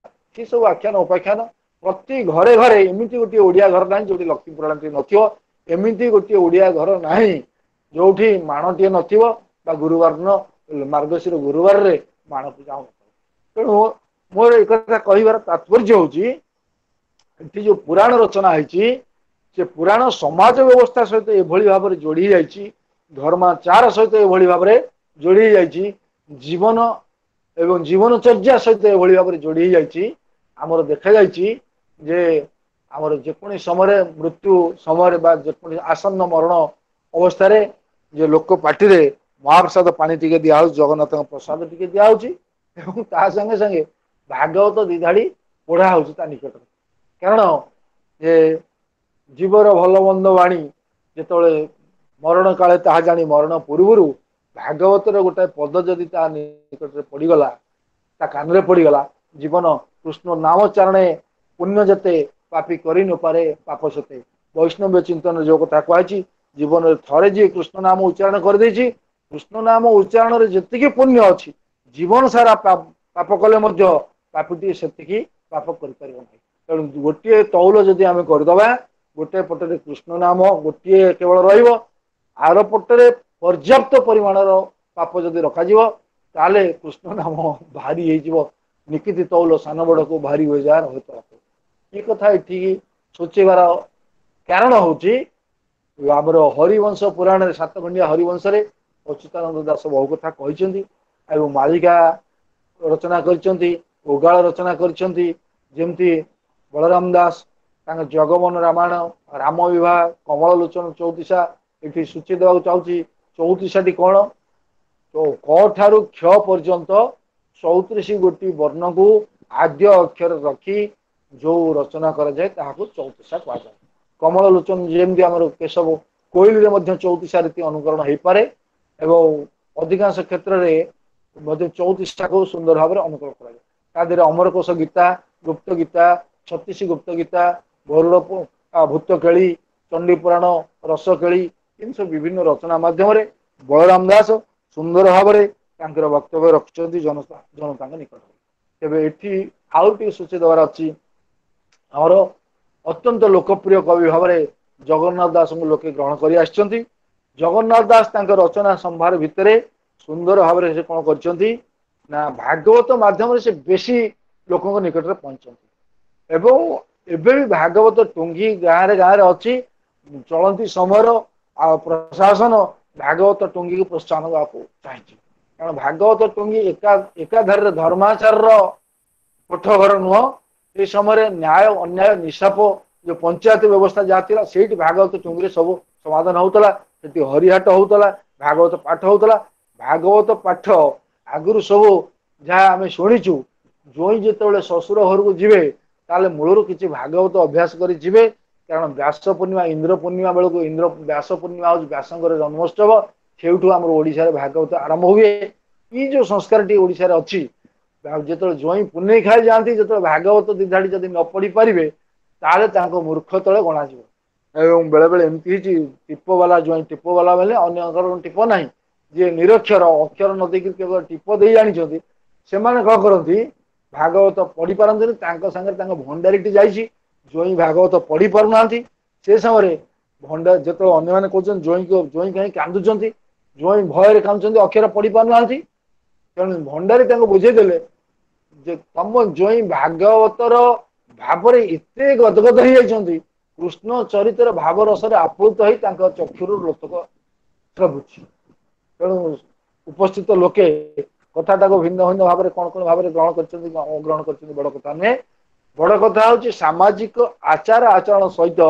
ସେ ସବୁ ଆଖ୍ୟାନ ଉପାଖ୍ୟାନ ପ୍ରତି ଘରେ ଘରେ। ଏମିତି ଗୋଟିଏ ଓଡ଼ିଆ ଘର ନାହିଁ ଯୋଉଠି ଲକ୍ଷ୍ମୀ ପୁରାଣଟି ନଥିବ, ଏମିତି ଗୋଟିଏ ଓଡ଼ିଆ ଘର ନାହିଁ ଯୋଉଠି ମାଣଟିଏ ନଥିବ ବା ଗୁରୁବାର ଦିନ ମାର୍ଗଶିର ଗୁରୁବାରରେ ମାଣ ପୂଜା ହଉନଥିବ। ତେଣୁ ମୋର ଏକଥା କହିବାର ତାତ୍ପର୍ଯ୍ୟ ହଉଛି, ଏଠି ଯୋଉ ପୁରାଣ ରଚନା ହେଇଛି ସେ ପୁରାଣ ସମାଜ ବ୍ୟବସ୍ଥା ସହିତ ଏଭଳି ଭାବରେ ଯୋଡି ଯାଇଛି, ଧର୍ମାଚାର ସହିତ ଏଭଳି ଭାବରେ ଯୋଡି ହେଇଯାଇଛି, ଜୀବନ ଏବଂ ଜୀବନଚର୍ଯ୍ୟା ସହିତ ଏଭଳି ଭାବରେ ଯୋଡି ହେଇଯାଇଛି। ଆମର ଦେଖାଯାଇଛି ଯେ ଆମର ଯେକୌଣସି ସମୟରେ ମୃତ୍ୟୁ ସମୟରେ ବା ଯେକୌଣସି ଆସନ୍ନ ମରଣ ଅବସ୍ଥାରେ ଯେ ଲୋକ ପାଟିରେ ମହାପ୍ରସାଦ ପାଣି ଟିକେ ଦିଆହଉଛି, ଜଗନ୍ନାଥଙ୍କ ପ୍ରସାଦ ଟିକେ ଦିଆହଉଛି ଏବଂ ତା ସାଙ୍ଗେ ସାଙ୍ଗେ ଭାଗବତ ଦିଧାଡ଼ି ପଢା ହଉଛି ତା ନିକଟରେ। କାରଣ ଯେ ଜୀବର ଭଲ ମନ୍ଦ ବାଣୀ ଯେତେବେଳେ ମରଣ କାଳେ ତାହା ଜାଣି ମରଣ ପୂର୍ବରୁ ଭାଗବତର ଗୋଟାଏ ପଦ ଯଦି ତା ନିକଟରେ ପଡିଗଲା, ତା କାନରେ ପଡିଗଲା, ଜୀବନ କୃଷ୍ଣ ନାମ ଚାରଣେ ପୁଣ୍ୟ ଯେତେ ପାପି କରି ନପାରେ ପାପ ସେତେ। ବୈଷ୍ଣବ ଚିନ୍ତନ ଯୋଉ କଥା କୁହାଯାଇଛି, ଜୀବନରେ ଥରେ ଯିଏ କୃଷ୍ଣ ନାମ ଉଚ୍ଚାରଣ କରିଦେଇଛି, କୃଷ୍ଣ ନାମ ଉଚ୍ଚାରଣରେ ଯେତିକି ପୁଣ୍ୟ ଅଛି, ଜୀବନ ସାରା ପାପ କଲେ ମଧ୍ୟ ପାପିଟି ସେତିକି ପାପ କରିପାରିବ ନାହିଁ। ତେଣୁ ଗୋଟିଏ ତଉଲ ଯଦି ଆମେ କରିଦବା, ଗୋଟେ ପଟରେ କୃଷ୍ଣ ନାମ ଗୋଟିଏ କେବଳ ରହିବ, ଆର ପଟରେ ପର୍ଯ୍ୟାପ୍ତ ପରିମାଣର ପାପ ଯଦି ରଖାଯିବ, ତାହେଲେ କୃଷ୍ଣ ନାମ ଭାରି ହେଇଯିବ। ନିକିତି ତଉଲ ସାନ ବଡକୁ ଭାରି ହୋଇଯାଏ ହୁଏତ। ଏ କଥା ଏଠିକି ସୂଚେଇବାର କାରଣ ହଉଛି ଆମର ହରିବଂଶ ପୁରାଣରେ ସାତଖଣ୍ଡିଆ ହରିବଂଶରେ ଅଚ୍ୟୁତାନନ୍ଦ ଦାସ ବହୁ କଥା କହିଛନ୍ତି ଏବଂ ମାଳିକା ରଚନା କରିଛନ୍ତି, ଓଗାଳ ରଚନା କରିଛନ୍ତି। ଯେମିତି ବଳରାମ ଦାସ ତାଙ୍କ ଜଗମୋହନ ରାମାୟଣ, ରାମ ବିବାହ, କମଳ ଲୋଚନ ଚଉତିଶା ଏଠି ସୂଚେଇ ଦେବାକୁ ଚାହୁଁଛି। ଚଉତିଶାଟି କଣ? ତ କ ଠାରୁ କ୍ଷ ପର୍ଯ୍ୟନ୍ତ 34 ଗୋଟି ବର୍ଣ୍ଣକୁ ଆଦ୍ୟ ଅକ୍ଷର ରଖି ଯୋଉ ରଚନା କରାଯାଏ ତାହାକୁ ଚଉତିଶା କୁହାଯାଏ। କମଳ ଲୋଚନ ଯେମିତି ଆମର କେଶବ କୋଇଲିରେ ମଧ୍ୟ ଚଉତିଶା ରୀତି ଅନୁକରଣ ହେଇପାରେ ଏବଂ ଅଧିକାଂଶ କ୍ଷେତ୍ରରେ ମଧ୍ୟ ଚଉତିଶାକୁ ସୁନ୍ଦର ଭାବରେ ଅନୁକରଣ କରାଯାଏ। ତା ଦେହରେ ଅମରକୋଷ ଗୀତା, ଗୁପ୍ତ ଗୀତା, 36 ଗୁପ୍ତ ଗୀତା, ଗରୁଡ଼ ଭୂତକେଳି, ଚଣ୍ଡୀ ପୁରାଣ, ରସକେଳି, ଏମିତି ସବୁ ବିଭିନ୍ନ ରଚନା ମାଧ୍ୟମରେ ବଳରାମ ଦାସ ସୁନ୍ଦର ଭାବରେ ତାଙ୍କର ବକ୍ତବ୍ୟ ରଖିଛନ୍ତି ଜନତାଙ୍କ ନିକଟରେ। ତେବେ ଏଠି ଆଉ ଟିକେ ସୂଚେଇ ଦେବାର ଅଛି, ଆମର ଅତ୍ୟନ୍ତ ଲୋକପ୍ରିୟ କବି ଭାବରେ ଜଗନ୍ନାଥ ଦାସଙ୍କୁ ଲୋକେ ଗ୍ରହଣ କରି ଆସିଛନ୍ତି। ଜଗନ୍ନାଥ ଦାସ ତାଙ୍କ ରଚନା ସମ୍ଭାର ଭିତରେ ସୁନ୍ଦର ଭାବରେ ସେ କଣ କରିଛନ୍ତି ନା ଭାଗବତ ମାଧ୍ୟମରେ ସେ ବେଶୀ ଲୋକଙ୍କ ନିକଟରେ ପହଞ୍ଚନ୍ତି ଏବଂ ଏବେ ବି ଭାଗବତ ଟୁଙ୍ଗି ଗାଁରେ ଗାଁରେ ଅଛି। ଚଳନ୍ତି ସମୟର ଆଉ ପ୍ରଶାସନ ଭାଗବତ ଟୁଙ୍ଗିକୁ ପ୍ରୋତ୍ସାହନ ଦେବାକୁ ଚାହିଁଛି। କାରଣ ଭାଗବତ ଟୁଙ୍ଗି ଏକାଧାରରେ ଧର୍ମାଚାରର କୋଠଘର ନୁହଁ। ଏ ସମୟରେ ନ୍ୟାୟ ଅନ୍ୟାୟ ନିଶାପ ଯୋଉ ପଞ୍ଚାୟତ ବ୍ୟବସ୍ଥା ଯାହା ଥିଲା ସେଇଠି ଭାଗବତ ଟୁଙ୍ଗିରେ ସବୁ ସମାଧାନ ହଉଥିଲା। ସେଠି ହରିହାଟ ହଉଥିଲା, ଭାଗବତ ପାଠ ହଉଥିଲା। ଭାଗବତ ପାଠ ଆଗରୁ ସବୁ ଯାହା ଆମେ ଶୁଣିଛୁ, ଜୋଇଁ ଯେତେବେଳେ ଶ୍ୱଶୁର ଘରକୁ ଯିବେ ତାହେଲେ ମୂଳରୁ କିଛି ଭାଗବତ ଅଭ୍ୟାସ କରି ଯିବେ। କାରଣ ବ୍ୟାସ ପୂର୍ଣ୍ଣିମା, ଇନ୍ଦ୍ର ପୂର୍ଣ୍ଣିମା ବେଳକୁ ଇନ୍ଦ୍ର ବ୍ୟାସ ପୂର୍ଣ୍ଣିମା ହଉଛି ବ୍ୟାସଙ୍କର ଜନ୍ମୋତ୍ସବ, ସେଇଠୁ ଆମର ଓଡିଶାରେ ଭାଗବତ ଆରମ୍ଭ ହୁଏ। ଏଇ ଯୋଉ ସଂସ୍କାରଟି ଓଡିଶାରେ ଅଛି, ଯେତେବେଳେ ଜୋଇଁ ପୁନେଇ ଖାଇ ଯାଆନ୍ତି, ଯେତେବେଳେ ଭାଗବତ ଦିଧାଡ଼ି ଯଦି ନ ପଢି ପାରିବେ ତାହେଲେ ତାଙ୍କ ମୂର୍ଖ ତଳେ ଗଣାଯିବ। ଏବଂ ବେଳେ ବେଳେ ଏମିତି ହେଇଛି ଟିପ ବାଲା ଜୋଇଁ, ଟିପ ବାଲା ବୋଇଲେ ଅନ୍ୟଙ୍କର ଟିପ ନାହିଁ, ଯିଏ ନିରକ୍ଷର ଅକ୍ଷର ନ ଦେଇକି କେବଳ ଟିପ ଦେଇ ଜାଣିଛନ୍ତି, ସେମାନେ କଣ କରନ୍ତି ଭାଗବତ ପଢି ପାରନ୍ତିନି। ତାଙ୍କ ସାଙ୍ଗରେ ତାଙ୍କ ଭଣ୍ଡାରୀଟି ଯାଇଛି, ଜୋଇଁ ଭାଗବତ ପଢି ପାରୁନାହାନ୍ତି। ସେ ସମୟରେ ଭଣ୍ଡା ଯେତେବେଳେ ଅନ୍ୟମାନେ କହୁଛନ୍ତି ଜୋଇଁ ଜୋଇଁ କାହିଁ କାନ୍ଦୁଛନ୍ତି, ଜୋଇଁ ଭୟରେ କାନ୍ଦୁଛନ୍ତି, ଅକ୍ଷର ପଢି ପାରୁନାହାନ୍ତି। ତେଣୁ ଭଣ୍ଡାରୀ ତାଙ୍କୁ ବୁଝେଇଦେଲେ ଯେ ତମ ଜୋଇଁ ଭାଗବତର ଭାବରେ ଏତେ ଗଦଗଦ ହେଇଯାଇଛନ୍ତି, କୃଷ୍ଣ ଚରିତ୍ର ଭାବ ରସରେ ଆପ୍ଲୁତ ହେଇ ତାଙ୍କ ଚକ୍ଷୁରୁ ଲୋତକ ସ୍ରବୁଛି। ତେଣୁ ଉପସ୍ଥିତ ଲୋକେ କଥାଟାକୁ ଭିନ୍ନ ଭିନ୍ନ ଭାବରେ କଣ କଣ ଭାବରେ ଗ୍ରହଣ କରିଛନ୍ତି, ଗ୍ରହଣ କରିଛନ୍ତି ବଡ କଥା ନୁହେଁ। ବଡ କଥା ହଉଛି ସାମାଜିକ ଆଚାର ଆଚରଣ ସହିତ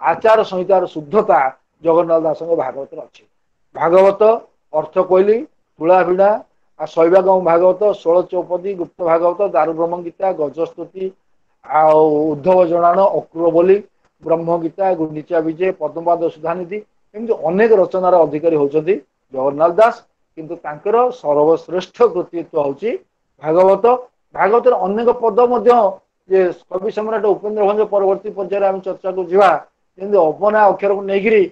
ଆଚାର ସଂହିତାର ଶୁଦ୍ଧତା ଜଗନ୍ନାଥ ଦାସଙ୍କ ଭାଗବତରେ ଅଛି। ଭାଗବତ, ଅର୍ଥ କୋଇଲି, ତୁଳା ଭିଡ଼ା, ଆଉ ଶୈବାଗମ ଭାଗବତ, 16 ଚୌପଦୀ, ଗୁପ୍ତ ଭାଗବତ, ଦାରୁବ୍ରହ୍ମ ଗୀତା, ଗଜସ୍ତୁତି, ଆଉ ଉଦ୍ଧବ ଜଣାଣ, ଅକ୍ରୁର ବୋଲି, ବ୍ରହ୍ମ ଗୀତା, ଗୁଣ୍ଡିଚା ବିଜୟ, ପଦ୍ମପାଦ ସୁଧାନିଧି, ଏମିତି ଅନେକ ରଚନାର ଅଧିକାରୀ ହଉଛନ୍ତି ଜଗନ୍ନାଥ ଦାସ। କିନ୍ତୁ ତାଙ୍କର ସର୍ବଶ୍ରେଷ୍ଠ କୃତିତ୍ୱ ହଉଛି ଭାଗବତ। ଭାଗବତର ଅନେକ ପଦ ମଧ୍ୟ ଯେ କବି ସମ୍ରାଟ ଉପେନ୍ଦ୍ର ଭଞ୍ଜ ପରବର୍ତ୍ତୀ ପର୍ଯ୍ୟାୟରେ ଆମେ ଚର୍ଚ୍ଚାକୁ ଯିବା, ଯେମିତି ଅବନା ଅକ୍ଷରକୁ ନେଇକିରି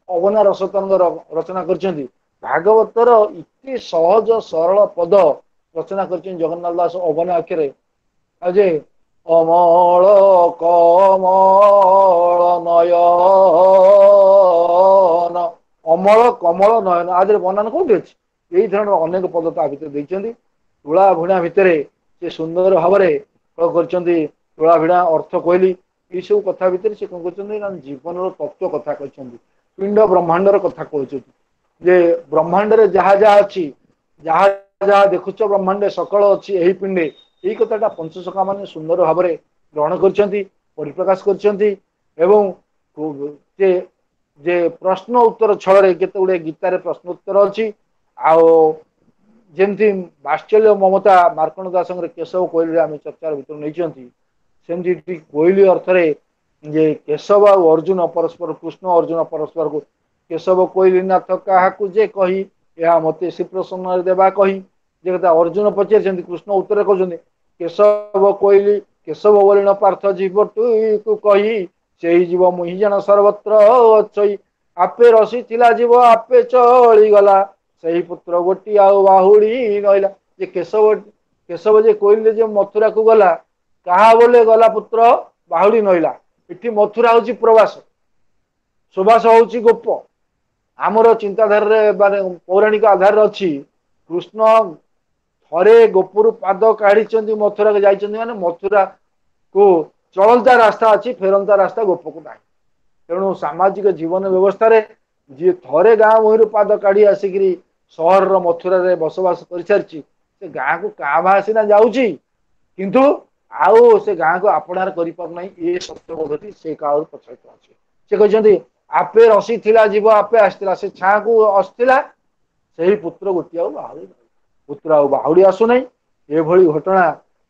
ଅବନା ରସତରଙ୍ଗ ରଚନା କରିଛନ୍ତି। ଭାଗବତର ଏତେ ସହଜ ସରଳ ପଦ ରଚନା କରିଛନ୍ତି ଜଗନ୍ନାଥ ଦାସ ଅବନା ଅକ୍ଷରେ, ଆଉ ଯେ ଅମଳ କମଳ ନୟନ, ଅମଳ କମଳ ନୟନ, ଆଦିରେ ବନାନ କୋଉଠି ଅଛି? ଏଇ ଧରଣର ଅନେକ ପଦ ତା ଭିତରେ ଦେଇଛନ୍ତି। ତୁଳା ଭିଣା ଭିତରେ ସେ ସୁନ୍ଦର ଭାବରେ କଣ କରିଛନ୍ତି, ତୁଳା ଭିଣା, ଅର୍ଥ କୋଇଲି, ଏଇସବୁ କଥା ଭିତରେ ସେ କଣ କରୁଛନ୍ତି ନା ଜୀବନର ତତ୍ଵ କଥା କହିଛନ୍ତି, ପିଣ୍ଡ ବ୍ରହ୍ମାଣ୍ଡର କଥା କହୁଛନ୍ତି। ଯେ ବ୍ରହ୍ମାଣ୍ଡରେ ଯାହା ଯାହା ଅଛି, ଯାହା ଯାହା ଦେଖୁଛ ବ୍ରହ୍ମାଣ୍ଡରେ ସକଳ ଅଛି ଏହି ପିଣ୍ଡେ, ଏଇ କଥାଟା ପଞ୍ଚସଖା ମାନେ ସୁନ୍ଦର ଭାବରେ ଗ୍ରହଣ କରିଛନ୍ତି, ପରିପ୍ରକାଶ କରିଛନ୍ତି। ଏବଂ ସେ ଯେ ପ୍ରଶ୍ନ ଉତ୍ତର ଛଳରେ କେତେ ଗୁଡିଏ ଗୀତାରେ ପ୍ରଶ୍ନ ଉତ୍ତର ଅଛି। ଆଉ ଯେମିତି ବାତ୍ସଲ୍ୟ ମମତା ମାର୍କଣ୍ଡ ଦାସଙ୍କର କେଶବ କୋଇଲିରେ ଆମେ ଚର୍ଚ୍ଚାର ଭିତରୁ ନେଇଛନ୍ତି, ସେମିତି କୋଇଲି ଅର୍ଥରେ ଯେ କେଶବ ଆଉ ଅର୍ଜୁନ ପରସ୍ପର, କୃଷ୍ଣ ଅର୍ଜୁନ ପରସ୍ପରକୁ କେଶବ କୋଇଲି ନାଥ କାହାକୁ ଯେ କହି ଏହା ମତେ ଶ୍ରୀପ୍ରସନ୍ନରେ ଦେବା କହି, ଯେ କଥା ଅର୍ଜୁନ ପଚାରିଛନ୍ତି, କୃଷ୍ଣ ଉତ୍ତରରେ କହୁଛନ୍ତି କେଶବ କୋଇଲି କେଶବ ବୋଲିଣ ପାର୍ଥ ଜୀବଟୁକୁ କହି ସେଇ ଜୀବ ମୁହିଁ ଜଣ ସର୍ବତ୍ର ଅଛଇ, ଆପେ ରସିଥିଲା ଜୀବ ଆପେ ଚଳିଗଲା ସେହି ପୁତ୍ର ଗୋଟି ଆଉ ବାହୁଡି ନଇଲା। ଯେ କେଶବ କେଶବ ଯେ କୋଇଲି ଯେ ମଥୁରାକୁ ଗଲା, କାହା ବୋଲେ ଗଲା ପୁତ୍ର ବାହୁଡି ନଇଲା। ଏଠି ମଥୁରା ହଉଛି ପ୍ରବାସ, ସୁବାସ ହଉଛି ଗୋପ। ଆମର ଚିନ୍ତାଧାରାରେ ମାନେ ପୌରାଣିକ ଆଧାରରେ ଅଛି, କୃଷ୍ଣ ଥରେ ଗୋପରୁ ପାଦ କାଢିଛନ୍ତି ମଥୁରାକୁ ଯାଇଛନ୍ତି, ମାନେ ମଥୁରାକୁ ଚଳନ୍ତା ରାସ୍ତା ଅଛି, ଫେରନ୍ତା ରାସ୍ତା ଗୋପକୁ ନାହିଁ। ତେଣୁ ସାମାଜିକ ଜୀବନ ବ୍ୟବସ୍ଥାରେ ଯିଏ ଥରେ ଗାଁ ଭୂଇଁରୁ ପାଦ କାଢି ଆସିକିରି ସହରର ମଥୁରାରେ ବସବାସ କରିସାରିଛି, ସେ ଗାଁକୁ କାଁ ଭାଁ ସିନା ଯାଉଛି, କିନ୍ତୁ ଆଉ ସେ ଗାଁକୁ ଆପଣାର କରିପାରୁନାହିଁ। ଏ ସତ୍ୟବୋଧଟି ସେ କାଳରୁ ପ୍ରଚଳିତ ଅଛି। ସେ କହିଛନ୍ତି ଆପେ ରସିଥିଲା ଜୀବ ଆପେ ଆସିଥିଲା, ସେ ଛାଁକୁ ଆସିଥିଲା, ସେହି ପୁତ୍ର ଗୋଟିଏ ଆଉ ବାହୁଡ଼ି ପୁତ୍ର ଆଉ ବାହୁଡ଼ି ଆସୁନାହିଁ। ଏଭଳି ଘଟଣା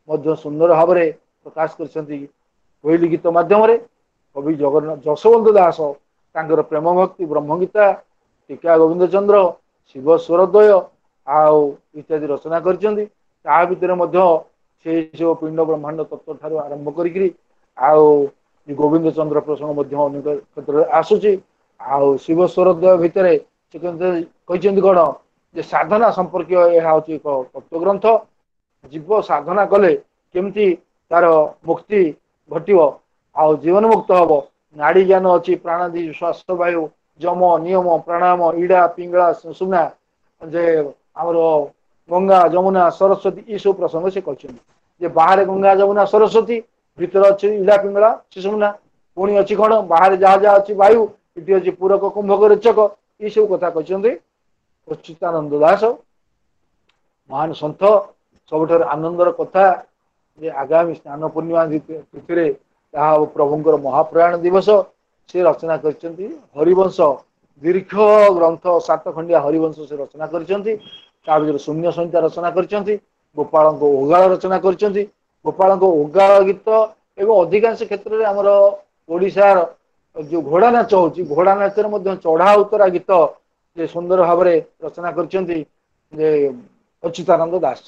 ମଧ୍ୟ ସୁନ୍ଦର ଭାବରେ ପ୍ରକାଶ କରିଛନ୍ତି କୋଇଲି ଗୀତ ମାଧ୍ୟମରେ କବି ଜଗନ୍ନାଥ ଯଶୋବନ୍ତ ଦାସ। ତାଙ୍କର ପ୍ରେମ ଭକ୍ତି ବ୍ରହ୍ମଗୀତା, ଟୀକା ଗୋବିନ୍ଦ ଚନ୍ଦ୍ର, ଶିବ ସ୍ୱରଦ୍ୱୟ ଆଉ ଇତ୍ୟାଦି ରଚନା କରିଛନ୍ତି। ତା ଭିତରେ ମଧ୍ୟ ସେଇ ସବୁ ପିଣ୍ଡ ବ୍ରହ୍ମାଣ୍ଡ ତତ୍ଵ ଠାରୁ ଆରମ୍ଭ କରିକିରି ଆଉ ଗୋବିନ୍ଦ ଚନ୍ଦ୍ର ପ୍ରସଙ୍ଗ ମଧ୍ୟ ଅନେକ କ୍ଷେତ୍ରରେ ଆସୁଛି। ଆଉ ଶିବ ସ୍ୱରଦ୍ୱୟ ଭିତରେ ସେ କହିଛନ୍ତି କଣ ଯେ ସାଧନା ସମ୍ପର୍କୀୟ ଏହା ହଉଛି ଏକ ତତ୍ଵଗ୍ରନ୍ଥ। ଜୀବ ସାଧନା କଲେ କେମିତି ତାର ମୁକ୍ତି ଘଟିବ ଆଉ ଜୀବନ ମୁକ୍ତ ହବ। ନାଡି ଜ୍ଞାନ ଅଛି, ପ୍ରାଣାଦି ଶ୍ୱାସ ବାୟୁ ଯମ ନିୟମ ପ୍ରାଣାୟାମ ଇଡା ପିଙ୍ଗଳା ସୁଷୁମ୍ନା, ଯେ ଆମର ଗଙ୍ଗା ଯମୁନା ସରସ୍ୱତୀ, ଏସବୁ ପ୍ରସଙ୍ଗ ସେ କହିଛନ୍ତି ଯେ ବାହାରେ ଗଙ୍ଗା ଯମୁନା ସରସ୍ୱତୀ, ଭିତରେ ଅଛି ଇଡା ପିଙ୍ଗଳା ସୁଷୁମ୍ନା, ପୁଣି ଅଛି କଣ ବାହାରେ ଯାହା ଯାହା ଅଛି ବାୟୁ, ଏଠି ଅଛି ପୂରକ କୁମ୍ଭକ ରେଚକ, ଏସବୁ କଥା କହିଛନ୍ତି ଅଚ୍ୟୁତାନନ୍ଦ ଦାସ ମହାନ ସନ୍ଥ। ସବୁଠାରୁ ଆନନ୍ଦର କଥା ଯେ ଆଗାମୀ ସ୍ନାନ ପୂର୍ଣ୍ଣିମା ତିଥିରେ ତାହା ହବ ପ୍ରଭୁଙ୍କର ମହାପ୍ରୟାଣ ଦିବସ। ସେ ରଚନା କରିଛନ୍ତି ହରିବଂଶ, ଦୀର୍ଘ ଗ୍ରନ୍ଥ 7 ଖଣ୍ଡିଆ ହରିବଂଶ ସେ ରଚନା କରିଛନ୍ତି। ତା ଭିତରେ ଶୂନ୍ୟ ସଂହିତା ରଚନା କରିଛନ୍ତି, ଗୋପାଳଙ୍କ ଓଗାଳ ରଚନା କରିଛନ୍ତି। ଗୋପାଳଙ୍କ ଓଗାଳ ଗୀତ ଏବଂ ଅଧିକାଂଶ କ୍ଷେତ୍ରରେ ଆମର ଓଡ଼ିଶାର ଯୋଉ ଘୋଡ଼ା ନାଚ ହଉଛି, ଘୋଡ଼ା ନାଚରେ ମଧ୍ୟ ଚଢା ଉତରା ଗୀତ ଯେ ସୁନ୍ଦର ଭାବରେ ରଚନା କରିଛନ୍ତି ଯେ ଅଚ୍ୟୁତାନନ୍ଦ ଦାସ।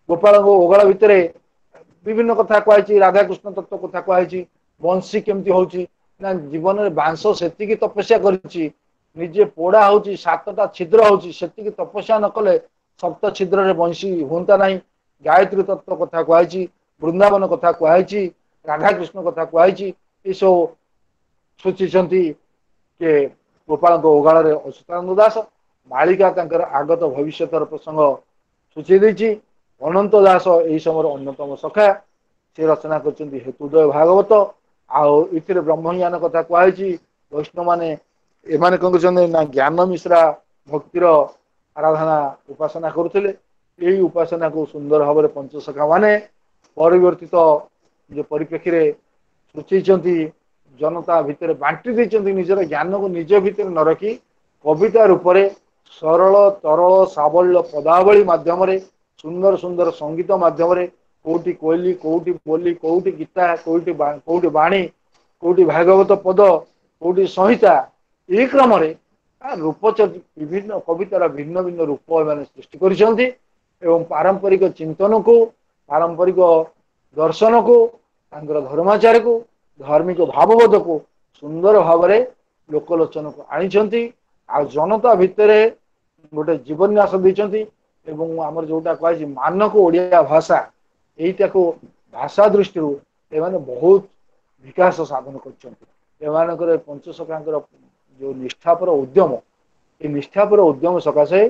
ଗୋପାଳଙ୍କ ଓଗାଳ ଭିତରେ ବିଭିନ୍ନ କଥା କୁହାଯାଇଛି, ରାଧାକୃଷ୍ଣ ତତ୍ଵ କଥା କୁହାଯାଇଛି, ବଂଶୀ କେମିତି ହଉଛି ନା ଜୀବନରେ ବାଂଶ ସେତିକି ତପସ୍ୟା କରିଛି, ନିଜେ ପୋଡା ହଉଛି, 7ଟା ଛିଦ୍ର ହଉଛି, ସେତିକି ତପସ୍ୟା ନ କଲେ ସପ୍ତ ଛିଦ୍ରରେ ବଂଶୀ ହୁଅନ୍ତା ନାହିଁ। ଗାୟତ୍ରୀ ତତ୍ଵ କଥା କୁହାଯାଇଛି, ବୃନ୍ଦାବନ କଥା କୁହାଯାଇଛି, ରାଧାକୃଷ୍ଣ କଥା କୁହାଯାଇଛି। ଏସବୁ ସୂଚିଛନ୍ତି କିଏ ଗୋପାଳଙ୍କ ଓଗାଳରେ ଅଚ୍ୟୁତାନନ୍ଦ ଦାସ। ମାଳିକା ତାଙ୍କର ଆଗତ ଭବିଷ୍ୟତର ପ୍ରସଙ୍ଗ ସୂଚେଇ ଦେଇଛି। ଅନନ୍ତ ଦାସ ଏହି ସମୟର ଅନ୍ୟତମ ସଖା, ସେ ରଚନା କରିଛନ୍ତି ହେତୁଦୟ ଭାଗବତ। ଆଉ ଏଥିରେ ବ୍ରହ୍ମଜ୍ଞାନ କଥା କୁହାଯାଇଛି। ବୈଷ୍ଣବ ମାନେ ଏମାନେ କଣ କରୁଛନ୍ତି ନା ଜ୍ଞାନ ମିଶ୍ରା ଭକ୍ତିର ଆରାଧନା ଉପାସନା କରୁଥିଲେ। ଏଇ ଉପାସନାକୁ ସୁନ୍ଦର ଭାବରେ ପଞ୍ଚସଖା ମାନେ ପରିବର୍ତ୍ତିତ ଯୋଉ ପରିପ୍ରେକ୍ଷୀରେ ସୂଚେଇଛନ୍ତି, ଜନତା ଭିତରେ ବାଣ୍ଟି ଦେଇଛନ୍ତି, ନିଜର ଜ୍ଞାନକୁ ନିଜ ଭିତରେ ନ ରଖି କବିତା ରୂପରେ ସରଳ ତରଳ ସାବଲ୍ୟ ପଦାବଳୀ ମାଧ୍ୟମରେ, ସୁନ୍ଦର ସୁନ୍ଦର ସଙ୍ଗୀତ ମାଧ୍ୟମରେ, କୋଉଠି କୋଇଲି, କୋଉଠି ବୋଲି, କୋଉଠି ଗୀତା, କୋଉଠି ବାଣୀ, କୋଉଠି ଭାଗବତ ପଦ, କୋଉଠି ସଂହିତା, ଏଇ କ୍ରମରେ ରୂପ ବିଭିନ୍ନ କବିତାର ଭିନ୍ନ ଭିନ୍ନ ରୂପ ଏମାନେ ସୃଷ୍ଟି କରିଛନ୍ତି ଏବଂ ପାରମ୍ପରିକ ଚିନ୍ତନକୁ, ପାରମ୍ପରିକ ଦର୍ଶନକୁ, ତାଙ୍କର ଧର୍ମାଚାରକୁ, ଧାର୍ମିକ ଭାବବୋଧକୁ ସୁନ୍ଦର ଭାବରେ ଲୋକଲୋଚନକୁ ଆଣିଛନ୍ତି। ଆଉ ଜନତା ଭିତରେ ଗୋଟେ ଜୀବନ୍ୟାସ ଦେଇଛନ୍ତି। ଏବଂ ଆମର ଯୋଉଟା କୁହାଯାଇଛି ମାନକ ଓଡ଼ିଆ ଭାଷା, ଏଇଟାକୁ ଭାଷା ଦୃଷ୍ଟିରୁ ଏମାନେ ବହୁତ ବିକାଶ ସାଧନ କରିଛନ୍ତି। ଏମାନଙ୍କର ପଞ୍ଚସଖାଙ୍କର ଯୋଉ ନିଷ୍ଠାପର ଉଦ୍ୟମ, ଏ ନିଷ୍ଠାପର ଉଦ୍ୟମ ସକାଶେ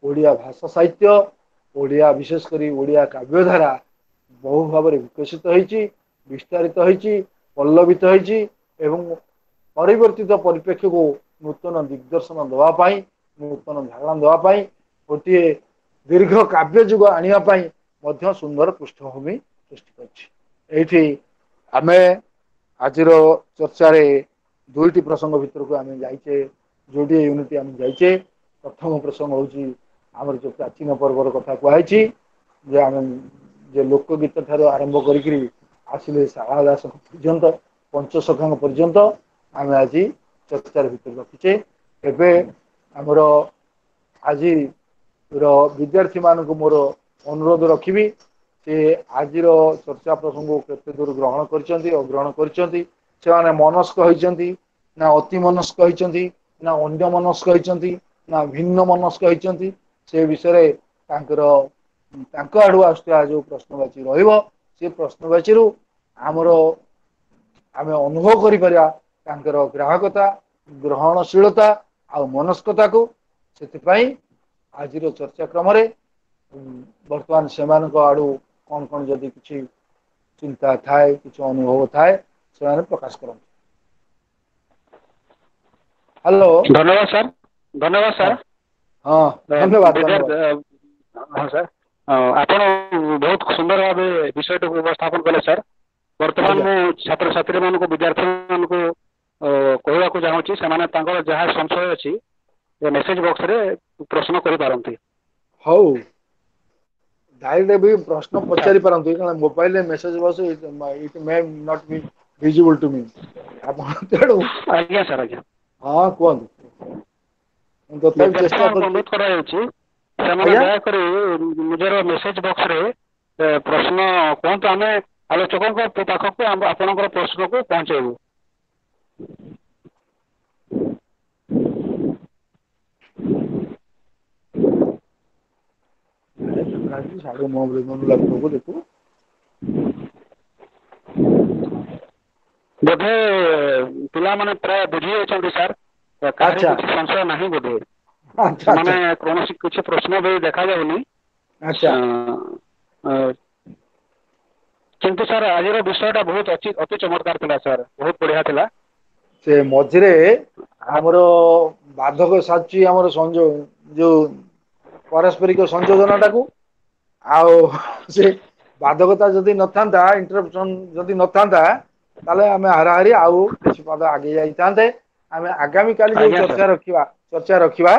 ଓଡ଼ିଆ ଭାଷା ସାହିତ୍ୟ, ଓଡ଼ିଆ ବିଶେଷ କରି ଓଡ଼ିଆ କାବ୍ୟଧାରା ବହୁ ଭାବରେ ବିକଶିତ ହେଇଛି, ବିସ୍ତାରିତ ହେଇଛି, ପଲ୍ଲବିତ ହେଇଛି ଏବଂ ପରିବର୍ତ୍ତିତ ପରିପ୍ରେକ୍ଷୀକୁ ନୂତନ ଦିଗ୍ଦର୍ଶନ ଦେବା ପାଇଁ, ନୂତନ ଧାରଣା ଦେବା ପାଇଁ, ଗୋଟିଏ ଦୀର୍ଘ କାବ୍ୟ ଯୁଗ ଆଣିବା ପାଇଁ ମଧ୍ୟ ସୁନ୍ଦର ପୃଷ୍ଠଭୂମି ସୃଷ୍ଟି କରିଛି। ଏଇଠି ଆମେ ଆଜିର ଚର୍ଚ୍ଚାରେ ଦୁଇଟି ପ୍ରସଙ୍ଗ ଭିତରକୁ ଆମେ ଯାଇଛେ, ଯୋଡ଼ିଏ ୟୁନିଟ୍ ଆମେ ଯାଇଛେ। ପ୍ରଥମ ପ୍ରସଙ୍ଗ ହେଉଛି ଆମର ଯୋଉ ପ୍ରାଚୀନ ପର୍ବର କଥା କୁହାଯାଇଛି, ଯେ ଆମେ ଯେ ଲୋକଗୀତ ଠାରୁ ଆରମ୍ଭ କରିକିରି ଆସିଲେ ଶାରଳା ଦାସଙ୍କ ପର୍ଯ୍ୟନ୍ତ, ପଞ୍ଚସଖାଙ୍କ ପର୍ଯ୍ୟନ୍ତ ଆମେ ଆଜି ଚର୍ଚ୍ଚାର ଭିତରେ ରଖିଛେ। ଏବେ ଆମର ଆଜିର ବିଦ୍ୟାର୍ଥୀ ମାନଙ୍କୁ ମୋର ଅନୁରୋଧ ରଖିବି, ସେ ଆଜିର ଚର୍ଚ୍ଚା ପ୍ରସଙ୍ଗକୁ କେତେ ଦୂର ଗ୍ରହଣ କରିଛନ୍ତି, ଅଗ୍ରହଣ କରିଛନ୍ତି, ସେମାନେ ମନସ୍କ ହେଇଛନ୍ତି ନା ଅତି ମନସ୍କ ହେଇଛନ୍ତି ନା ଅନ୍ୟ ମନସ୍କ ହେଇଛନ୍ତି ନା ଭିନ୍ନ ମନସ୍କ ହେଇଛନ୍ତି, ସେ ବିଷୟରେ ତାଙ୍କର ତାଙ୍କ ଆଡୁ ଆସୁଥିବା ଯୋଉ ପ୍ରଶ୍ନବାଚୀ ରହିବ, ସେ ପ୍ରଶ୍ନବାଚୀରୁ ଆମର ଆମେ ଅନୁଭବ କରିପାରିବା ତାଙ୍କର ଗ୍ରାହକତା, ଗ୍ରହଣଶୀଳତା ଆଉ ମନସ୍କତାକୁ। ସେଥିପାଇଁ ଆଜିର ଚର୍ଚ୍ଚା କ୍ରମରେ ବର୍ତ୍ତମାନ ସେମାନଙ୍କ ଆଡୁ କଣ କଣ ଯଦି କିଛି ଚିନ୍ତା ଥାଏ, କିଛି ଅନୁଭବ ଥାଏ, ସେମାନେ ପ୍ରକାଶ କରନ୍ତୁ। ହ୍ୟାଲୋ, ଧନ୍ୟବାଦ ସାର୍। ଧନ୍ୟବାଦ ସାର୍। ହଁ, ଧନ୍ୟବାଦ, ଧନ୍ୟବାଦ। ହଁ ସାର୍, ଆପଣ ବହୁତ ସୁନ୍ଦର ଭାବେ ବିଷୟଟିକୁ ଉପସ୍ଥାପନ କଲେ ସାର୍। ବର୍ତ୍ତମାନ ମୁଁ ଛାତ୍ରଛାତ୍ରୀ ମାନଙ୍କୁ, ବିଦ୍ୟାର୍ଥୀ ମାନଙ୍କୁ କହିବାକୁ ଚାହୁଁଛି, ସେମାନେ ତାଙ୍କର ଯାହା ସଂଶୟ ଅଛି ମେସେଜ ବକ୍ସରେ ପ୍ରଶ୍ନ କରିପାରନ୍ତି। ହଉ, ଡାଇରେକ୍ଟ ବି ପ୍ରଶ୍ନ ପଚାରି ପାରନ୍ତି, କାରଣ ମୋବାଇଲରେ message box it may not be visible to me. ଆପଣ ତେଣୁ ଆଜ୍ଞା ସାର୍, ଆଜ୍ଞା ହଁ କୁହନ୍ତୁ। ତଥାପି ଚେଷ୍ଟା ଅନୁରୋଧ କରାଯାଉଛି ସେମାନେ ଦୟାକରି ନିଜର ମେସେଜ ବକ୍ସରେ ପ୍ରଶ୍ନ କୁହନ୍ତୁ, ଆମେ ଆଲୋଚକଙ୍କ ପାଖକୁ ଆପଣଙ୍କର ପ୍ରଶ୍ନକୁ ପହଞ୍ଚେଇବୁ। ଦେଖୁ ବୋଧେ ପିଲାମାନେ ପ୍ରାୟ ବୁଝି ଯାଇଛନ୍ତି ସାର୍, କାହାର କିଛି ସଂଶୟ ନାହିଁ ବୋଧେ, ସେମାନେ କୌଣସି କିଛି ପ୍ରଶ୍ନ ବି ଦେଖାଯାଉନି। ଆଚ୍ଛା, କିନ୍ତୁ ସାର୍ ଆଜିର ବିଷୟଟା ବହୁତ ଅତି ଚମତ୍କାର ଥିଲା ସାର୍, ବହୁତ ବଢିଆ ଥିଲା। ସେ ମଝିରେ ଆମର ବାଧକ ସାଜିଛି ଆମର ସଂଯୋଗ, ଯୋଉ ପାରସ୍ପରିକ ସଂଯୋଜନାଟାକୁ, ଆଉ ସେ ବାଧକତା ଯଦି ନଥାନ୍ତା, ଇଣ୍ଟରପ୍ସନ ଯଦି ନଥାନ୍ତା, ତାହେଲେ ଆମେ ହାରାହାରି ଆଉ କିଛି ପାଦ ଆଗେଇ ଯାଇଥାନ୍ତେ। ଆମେ ଆଗାମୀ କାଲି ଯୋଉ ଚର୍ଚ୍ଚା ରଖିବା,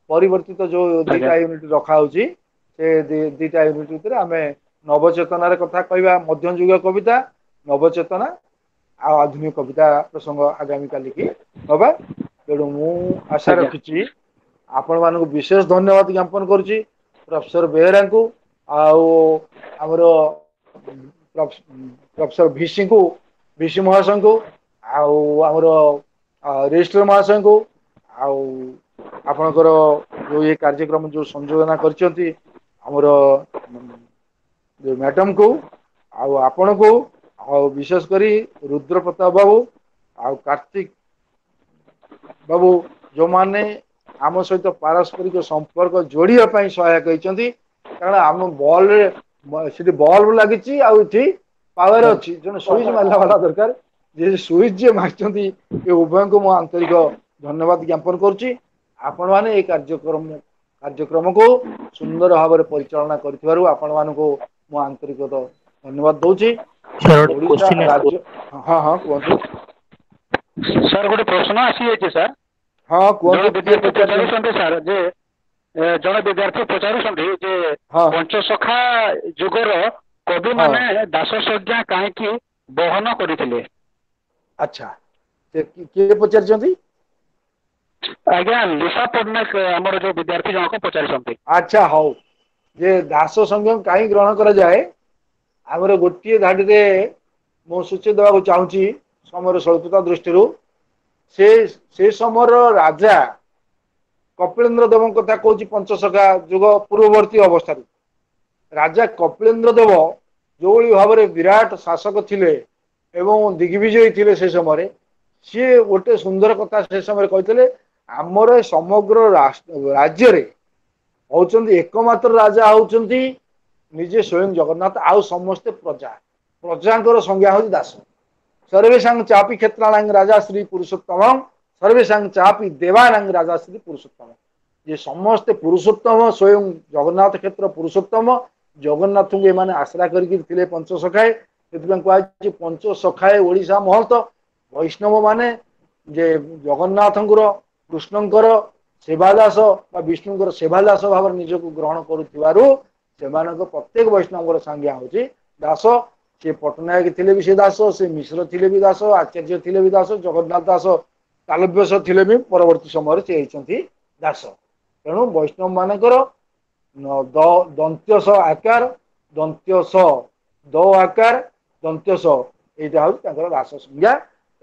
ପରିବର୍ତ୍ତିତ ଯୋଉ ଦିଟା ୟୁନିଟ ରଖା ହଉଛି, ସେ ଦିଟା ୟୁନିଟ ଭିତରେ ଆମେ ନବଚେତନାର କଥା କହିବା, ମଧ୍ୟଯୁଗ କବିତା, ନବଚେତନା ଆଉ ଆଧୁନିକ କବିତା ପ୍ରସଙ୍ଗ ଆଗାମୀ କାଲିକି ନବା। ତେଣୁ ମୁଁ ଆଶା ରଖିଛି ଆପଣ ମାନଙ୍କୁ ବିଶେଷ ଧନ୍ୟବାଦ ଜ୍ଞାପନ କରୁଛି, ପ୍ରଫେସର ବେହେରାଙ୍କୁ ଆଉ ଆମର ପ୍ରଫେସର ଭିସିଙ୍କୁ, ଭିସି ମହାଶୟଙ୍କୁ, ଆଉ ଆମର ରେଜିଷ୍ଟ୍ର ମହାଶୟଙ୍କୁ, ଆଉ ଆପଣଙ୍କର ଯୋଉ ଏ କାର୍ଯ୍ୟକ୍ରମ ଯୋଉ ସଂଯୋଜନା କରିଛନ୍ତି ଆମର ଯୋଉ ମ୍ୟାଡାମକୁ, ଆଉ ଆପଣଙ୍କୁ, ଆଉ ବିଶେଷ କରି ରୁଦ୍ର ପ୍ରତାପ ବାବୁ ଆଉ କାର୍ତ୍ତିକ ବାବୁ, ଯୋଉମାନେ ଆମ ସହିତ ପାରସ୍ପରିକ ସମ୍ପର୍କ ଯୋଡ଼ିବା ପାଇଁ ସହାୟକ ହେଇଛନ୍ତି। କାରଣ ଆମ ବଲରେ ସେଠି ବଲ୍ବ ଲାଗିଛି ଆଉ ଏଠି ପାୱାର ଅଛି, ଜଣେ ସୁଇଚ ମାରିଲା ବାଲା ଦରକାର। ଯେ ସୁଇଚ ଯିଏ ମାରିଛନ୍ତି ଏ ଉଭୟଙ୍କୁ ମୁଁ ଆନ୍ତରିକ ଧନ୍ୟବାଦ ଜ୍ଞାପନ କରୁଛି। ଆପଣମାନେ ଏଇ କାର୍ଯ୍ୟକ୍ରମକୁ ସୁନ୍ଦର ଭାବରେ ପରିଚାଳନା କରିଥିବାରୁ ଆପଣମାନଙ୍କୁ ମୁଁ ଆନ୍ତରିକ ଧନ୍ୟବାଦ ଦଉଛି। ଓଡ଼ିଶା ରାଜ୍ୟ, ହଁ ହଁ କୁହନ୍ତୁ ସାର୍। ଗୋଟେ ପ୍ରଶ୍ନ ଆସିଯାଇଛି ସାର୍। ହଁ କୁହନ୍ତୁ। ପଚାରୁଛନ୍ତି ସାର୍ ଯେ ଜଣେ ବିଦ୍ୟାର୍ଥୀ ପଚାରୁଛନ୍ତି ଯେ ପଞ୍ଚସଖା ଯୁଗର କବି ମାନେ ଦାସ ସଂଜ୍ଞା କାହିଁକି ବହନ କରିଥିଲେ? ଆଚ୍ଛା, କିଏ ପଚାରିଛନ୍ତି? ଆଜ୍ଞା, ଲିସା ପଟ୍ଟନାୟକ ଆମର ଯୋଉ ବିଦ୍ୟାର୍ଥୀ ଜଣକ ପଚାରିଛନ୍ତି। ଆଚ୍ଛା ହଉ, ଯେ ଦାସ ସଂଜ୍ଞା କାହିଁ ଗ୍ରହଣ କରାଯାଏ, ଆମର ଗୋଟିଏ ଧାଡ଼ିରେ ମୁଁ ସୂଚେଇ ଦେବାକୁ ଚାହୁଁଛି ସମୟର ସ୍ୱଳ୍ପତା ଦୃଷ୍ଟିରୁ। ସେ ସମୟର ରାଜା କପିଳେନ୍ଦ୍ର ଦେବଙ୍କ କଥା କହୁଛି, ପଞ୍ଚସଖା ଯୁଗ ପୂର୍ବବର୍ତ୍ତୀ ଅବସ୍ଥାରୁ ରାଜା କପିଳେନ୍ଦ୍ର ଦେବ ଯୋଉଭଳି ଭାବରେ ବିରାଟ ଶାସକ ଥିଲେ ଏବଂ ଦିଗ୍ବିଜୟୀ ଥିଲେ ସେ ସମୟରେ, ସିଏ ଗୋଟେ ସୁନ୍ଦର କଥା ସେ ସମୟରେ କହିଥିଲେ, ଆମର ସମଗ୍ର ରାଜ୍ୟରେ ହଉଛନ୍ତି ଏକମାତ୍ର ରାଜା ହଉଛନ୍ତି ନିଜେ ସ୍ୱୟଂ ଜଗନ୍ନାଥ, ଆଉ ସମସ୍ତେ ପ୍ରଜା, ପ୍ରଜାଙ୍କର ସଂଜ୍ଞା ହଉଛି ଦାସ। ସର୍ବେଷାଂ ଚାପି କ୍ଷେତ୍ରାଣାଂ ରାଜା ଶ୍ରୀ ପୁରୁଷୋତ୍ତମ, ସର୍ବେଷାଂ ଚାପି ଦେବାନାଂ ରାଜା ଶ୍ରୀ ପୁରୁଷୋତ୍ତମ। ଯେ ସମସ୍ତେ ପୁରୁଷୋତ୍ତମ, ସ୍ୱୟଂ ଜଗନ୍ନାଥ କ୍ଷେତ୍ର ପୁରୁଷୋତ୍ତମ, ଜଗନ୍ନାଥଙ୍କୁ ଏମାନେ ଆଶ୍ରା କରିକି ଥିଲେ ପଞ୍ଚସଖାଏ। ସେଥିପାଇଁ କୁହାଯାଇଛି ପଞ୍ଚସଖାଏ ଓଡ଼ିଶା ମହନ୍ତ। ବୈଷ୍ଣବ ମାନେ ଯେ ଜଗନ୍ନାଥଙ୍କର, କୃଷ୍ଣଙ୍କର ସେବାଦାସ ବା ବିଷ୍ଣୁଙ୍କର ସେବାଦାସ ଭାବରେ ନିଜକୁ ଗ୍ରହଣ କରୁଥିବାରୁ ସେମାନଙ୍କ ପ୍ରତ୍ୟେକ ବୈଷ୍ଣବଙ୍କର ସଂଜ୍ଞା ହଉଛି ଦାସ। ସେ ପଟ୍ଟନାୟକ ଥିଲେ ବି ସେ ଦାସ, ସେ ମିଶ୍ର ଥିଲେ ବି ଦାସ, ଆଚାର୍ଯ୍ୟ ଥିଲେ ବି ଦାସ, ଜଗନ୍ନାଥ ଦାସ ତାଲବ୍ୟସ ଥିଲେ ବି ପରବର୍ତ୍ତୀ ସମୟରେ ସେ ହେଇଛନ୍ତି ଦାସ। ତେଣୁ ବୈଷ୍ଣବ ମାନଙ୍କର ଦନ୍ତ୍ୟ ସ ଆକାର, ଦନ୍ତ୍ୟ ସ ଦ ଆକାର, ଦନ୍ତ୍ୟ ସ, ଏଇଟା ହଉଛି ତାଙ୍କର ଦାସ ସଂଜ୍ଞା।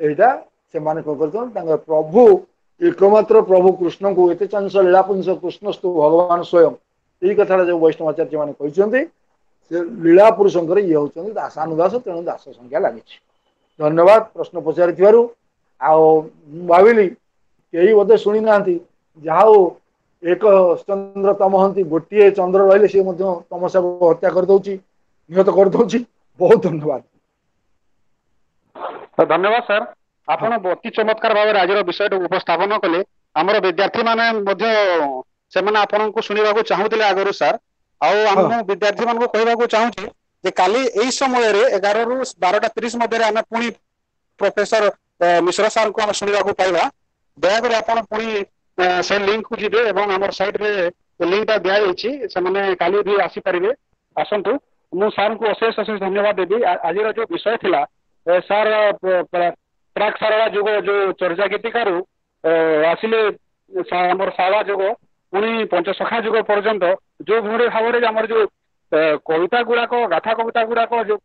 ଏଇଟା ସେମାନେ କଣ କରୁଛନ୍ତି, ତାଙ୍କର ପ୍ରଭୁ ଏକମାତ୍ର ପ୍ରଭୁ କୃଷ୍ଣଙ୍କୁ ଏତେ ଚାଂଶ ଲୀଳାପୁଂସ କୃଷ୍ଣସ୍ତୁ ଭଗବାନ ସ୍ୱୟଂ, ଏଇ କଥାଟା ଯୋଉ ବୈଷ୍ଣବାଚାର୍ଯ୍ୟ ମାନେ କହିଛନ୍ତି, ସେ ଲୀଳା ପୁରୁଷଙ୍କର ଇଏ ହଉଛନ୍ତି ଦାସାନୁଦାସ, ତେଣୁ ଦାସ ସଂଜ୍ଞା ଲାଗିଛି। ଧନ୍ୟବାଦ ପ୍ରଶ୍ନ ପଚାରିଥିବାରୁ। ଆଉ ମୁଁ ଭାବିଲି କେହି ବୋଧେ ଶୁଣି ନାହାନ୍ତି, ଯାହା ହଉ ଏକ ଚନ୍ଦ୍ର ତମହନ୍ତି, ଗୋଟିଏ ଚନ୍ଦ୍ର ରହିଲେ ସିଏ ମଧ୍ୟ ତମସାକୁ ହତ୍ୟା କରିଦଉଛି, ନିହତ କରିଦଉଛି। ବହୁତ ଧନ୍ୟବାଦ। ଧନ୍ୟବାଦ ସାର୍, ଆପଣ ଅତି ଚମତ୍କାର ଭାବରେ ଆଜିର ବିଷୟଟାକୁ ଉପସ୍ଥାପନ କଲେ। ଆମର ବିଦ୍ୟାର୍ଥୀ ମାନେ ମଧ୍ୟ ସେମାନେ ଆପଣଙ୍କୁ ଶୁଣିବାକୁ ଚାହୁଁଥିଲେ ଆଗରୁ ସାର୍। ଆଉ ମୁଁ ବିଦ୍ୟାର୍ଥୀ ମାନଙ୍କୁ କହିବାକୁ ଚାହୁଁଛି ଯେ କାଲି ଏଇ ସମୟରେ 11ରୁ 12:30 ମଧ୍ୟରେ ଆମେ ପୁଣି ପ୍ରଫେସର ମିଶ୍ର ସାର୍ଙ୍କୁ ଆମେ ଶୁଣିବାକୁ ପାଇବା। ଦୟାକରି ଆପଣ ପୁଣି ସେ ଲିଙ୍କକୁ ଯିବେ ଏବଂ ଆମର ସାଇଟ୍ରେ ଲିଙ୍କଟା ଦିଆଯାଇଛି, ସେମାନେ କାଲି ବି ଆସିପାରିବେ। ଆସନ୍ତୁ, ମୁଁ ସାର୍ଙ୍କୁ ଅଶେଷ ଅଶେଷ ଧନ୍ୟବାଦ ଦେବି। ଆଜିର ଯୋଉ ବିଷୟ ଥିଲା ସାର୍, ପ୍ରାକ୍ ସାରଳା ଯୁଗ ଯୋଉ ଚର୍ଯା ଗୀତିକାରୁ ଆସିଲେ ଆମର ଶାଳା ଯୁଗ, ପୁଣି ପଞ୍ଚସଖା ଯୁଗ ପର୍ଯ୍ୟନ୍ତ ଯୋଉ ଭଳି ଭାବରେ ଆମର ଯୋଉ କବିତା ଗୁଡାକ, ଗାଥା କବିତା ଗୁଡାକ ଯୋଉ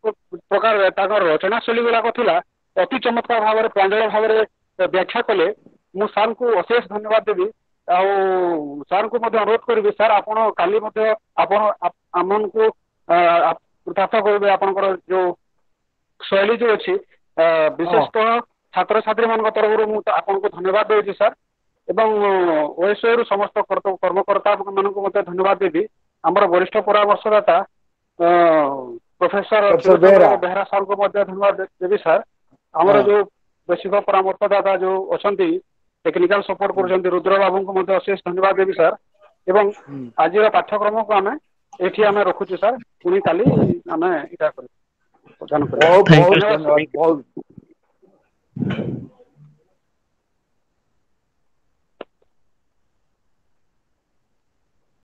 ପ୍ରକାର ତାଙ୍କର ରଚନା ଶୈଳୀ ଗୁଡାକ ଥିଲା, ଅତି ଚମତ୍କାର ଭାବରେ ପ୍ରାଞ୍ଜଳ ଭାବରେ ବ୍ୟାଖ୍ୟା କଲେ। ମୁଁ ସାର୍ଙ୍କୁ ଅଶେଷ ଧନ୍ୟବାଦ ଦେବି। ଆଉ ସାର୍ଙ୍କୁ ମଧ୍ୟ ଅନୁରୋଧ କରିବି, ସାର୍ ଆପଣ କାଲି ମଧ୍ୟ ଆପଣ ଆମମାନଙ୍କୁ କୃତାର୍ଥ କରିବେ। ଆପଣଙ୍କର ଯୋଉ ଶୈଳୀ ଯୋଉ ଅଛି, ବିଶେଷତଃ ଛାତ୍ରଛାତ୍ରୀ ମାନଙ୍କ ତରଫରୁ ମୁଁ ଆପଣଙ୍କୁ ଧନ୍ୟବାଦ ଦେଉଛି ସାର୍। ଏବଂ ଓଏସଓ ରୁ ସମସ୍ତ କର୍ମକର୍ତ୍ତା ମାନଙ୍କୁ ମଧ୍ୟ ଧନ୍ୟବାଦ ଦେବି। ଆମର ବରିଷ୍ଠ ପରାମର୍ଶଦାତା ପ୍ରଫେସର ବେହେରା ସାର୍ଙ୍କୁ ମଧ୍ୟ ଧନ୍ୟବାଦ ଦେବି ସାର୍। ଆମର ଯୋଉ ବୈଷୟିକ ପରାମର୍ଶଦାତା ଯୋଉ ଅଛନ୍ତି, ଟେକ୍ନିକାଲ ସପୋର୍ଟ କରୁଛନ୍ତି, ରୁଦ୍ର ବାବୁଙ୍କୁ ମଧ୍ୟ ଅଶେଷ ଧନ୍ୟବାଦ ଦେବି ସାର୍। ଏବଂ ଆଜିର ପାଠ୍ୟକ୍ରମକୁ ଆମେ ଏଠି ଆମେ ରଖୁଛୁ ସାର୍, ପୁଣି କାଲି ଆମେ ଏଇଟା କରିବୁ। ବହୁତ ବହୁତ ଧନ୍ୟବାଦ, ବହୁତ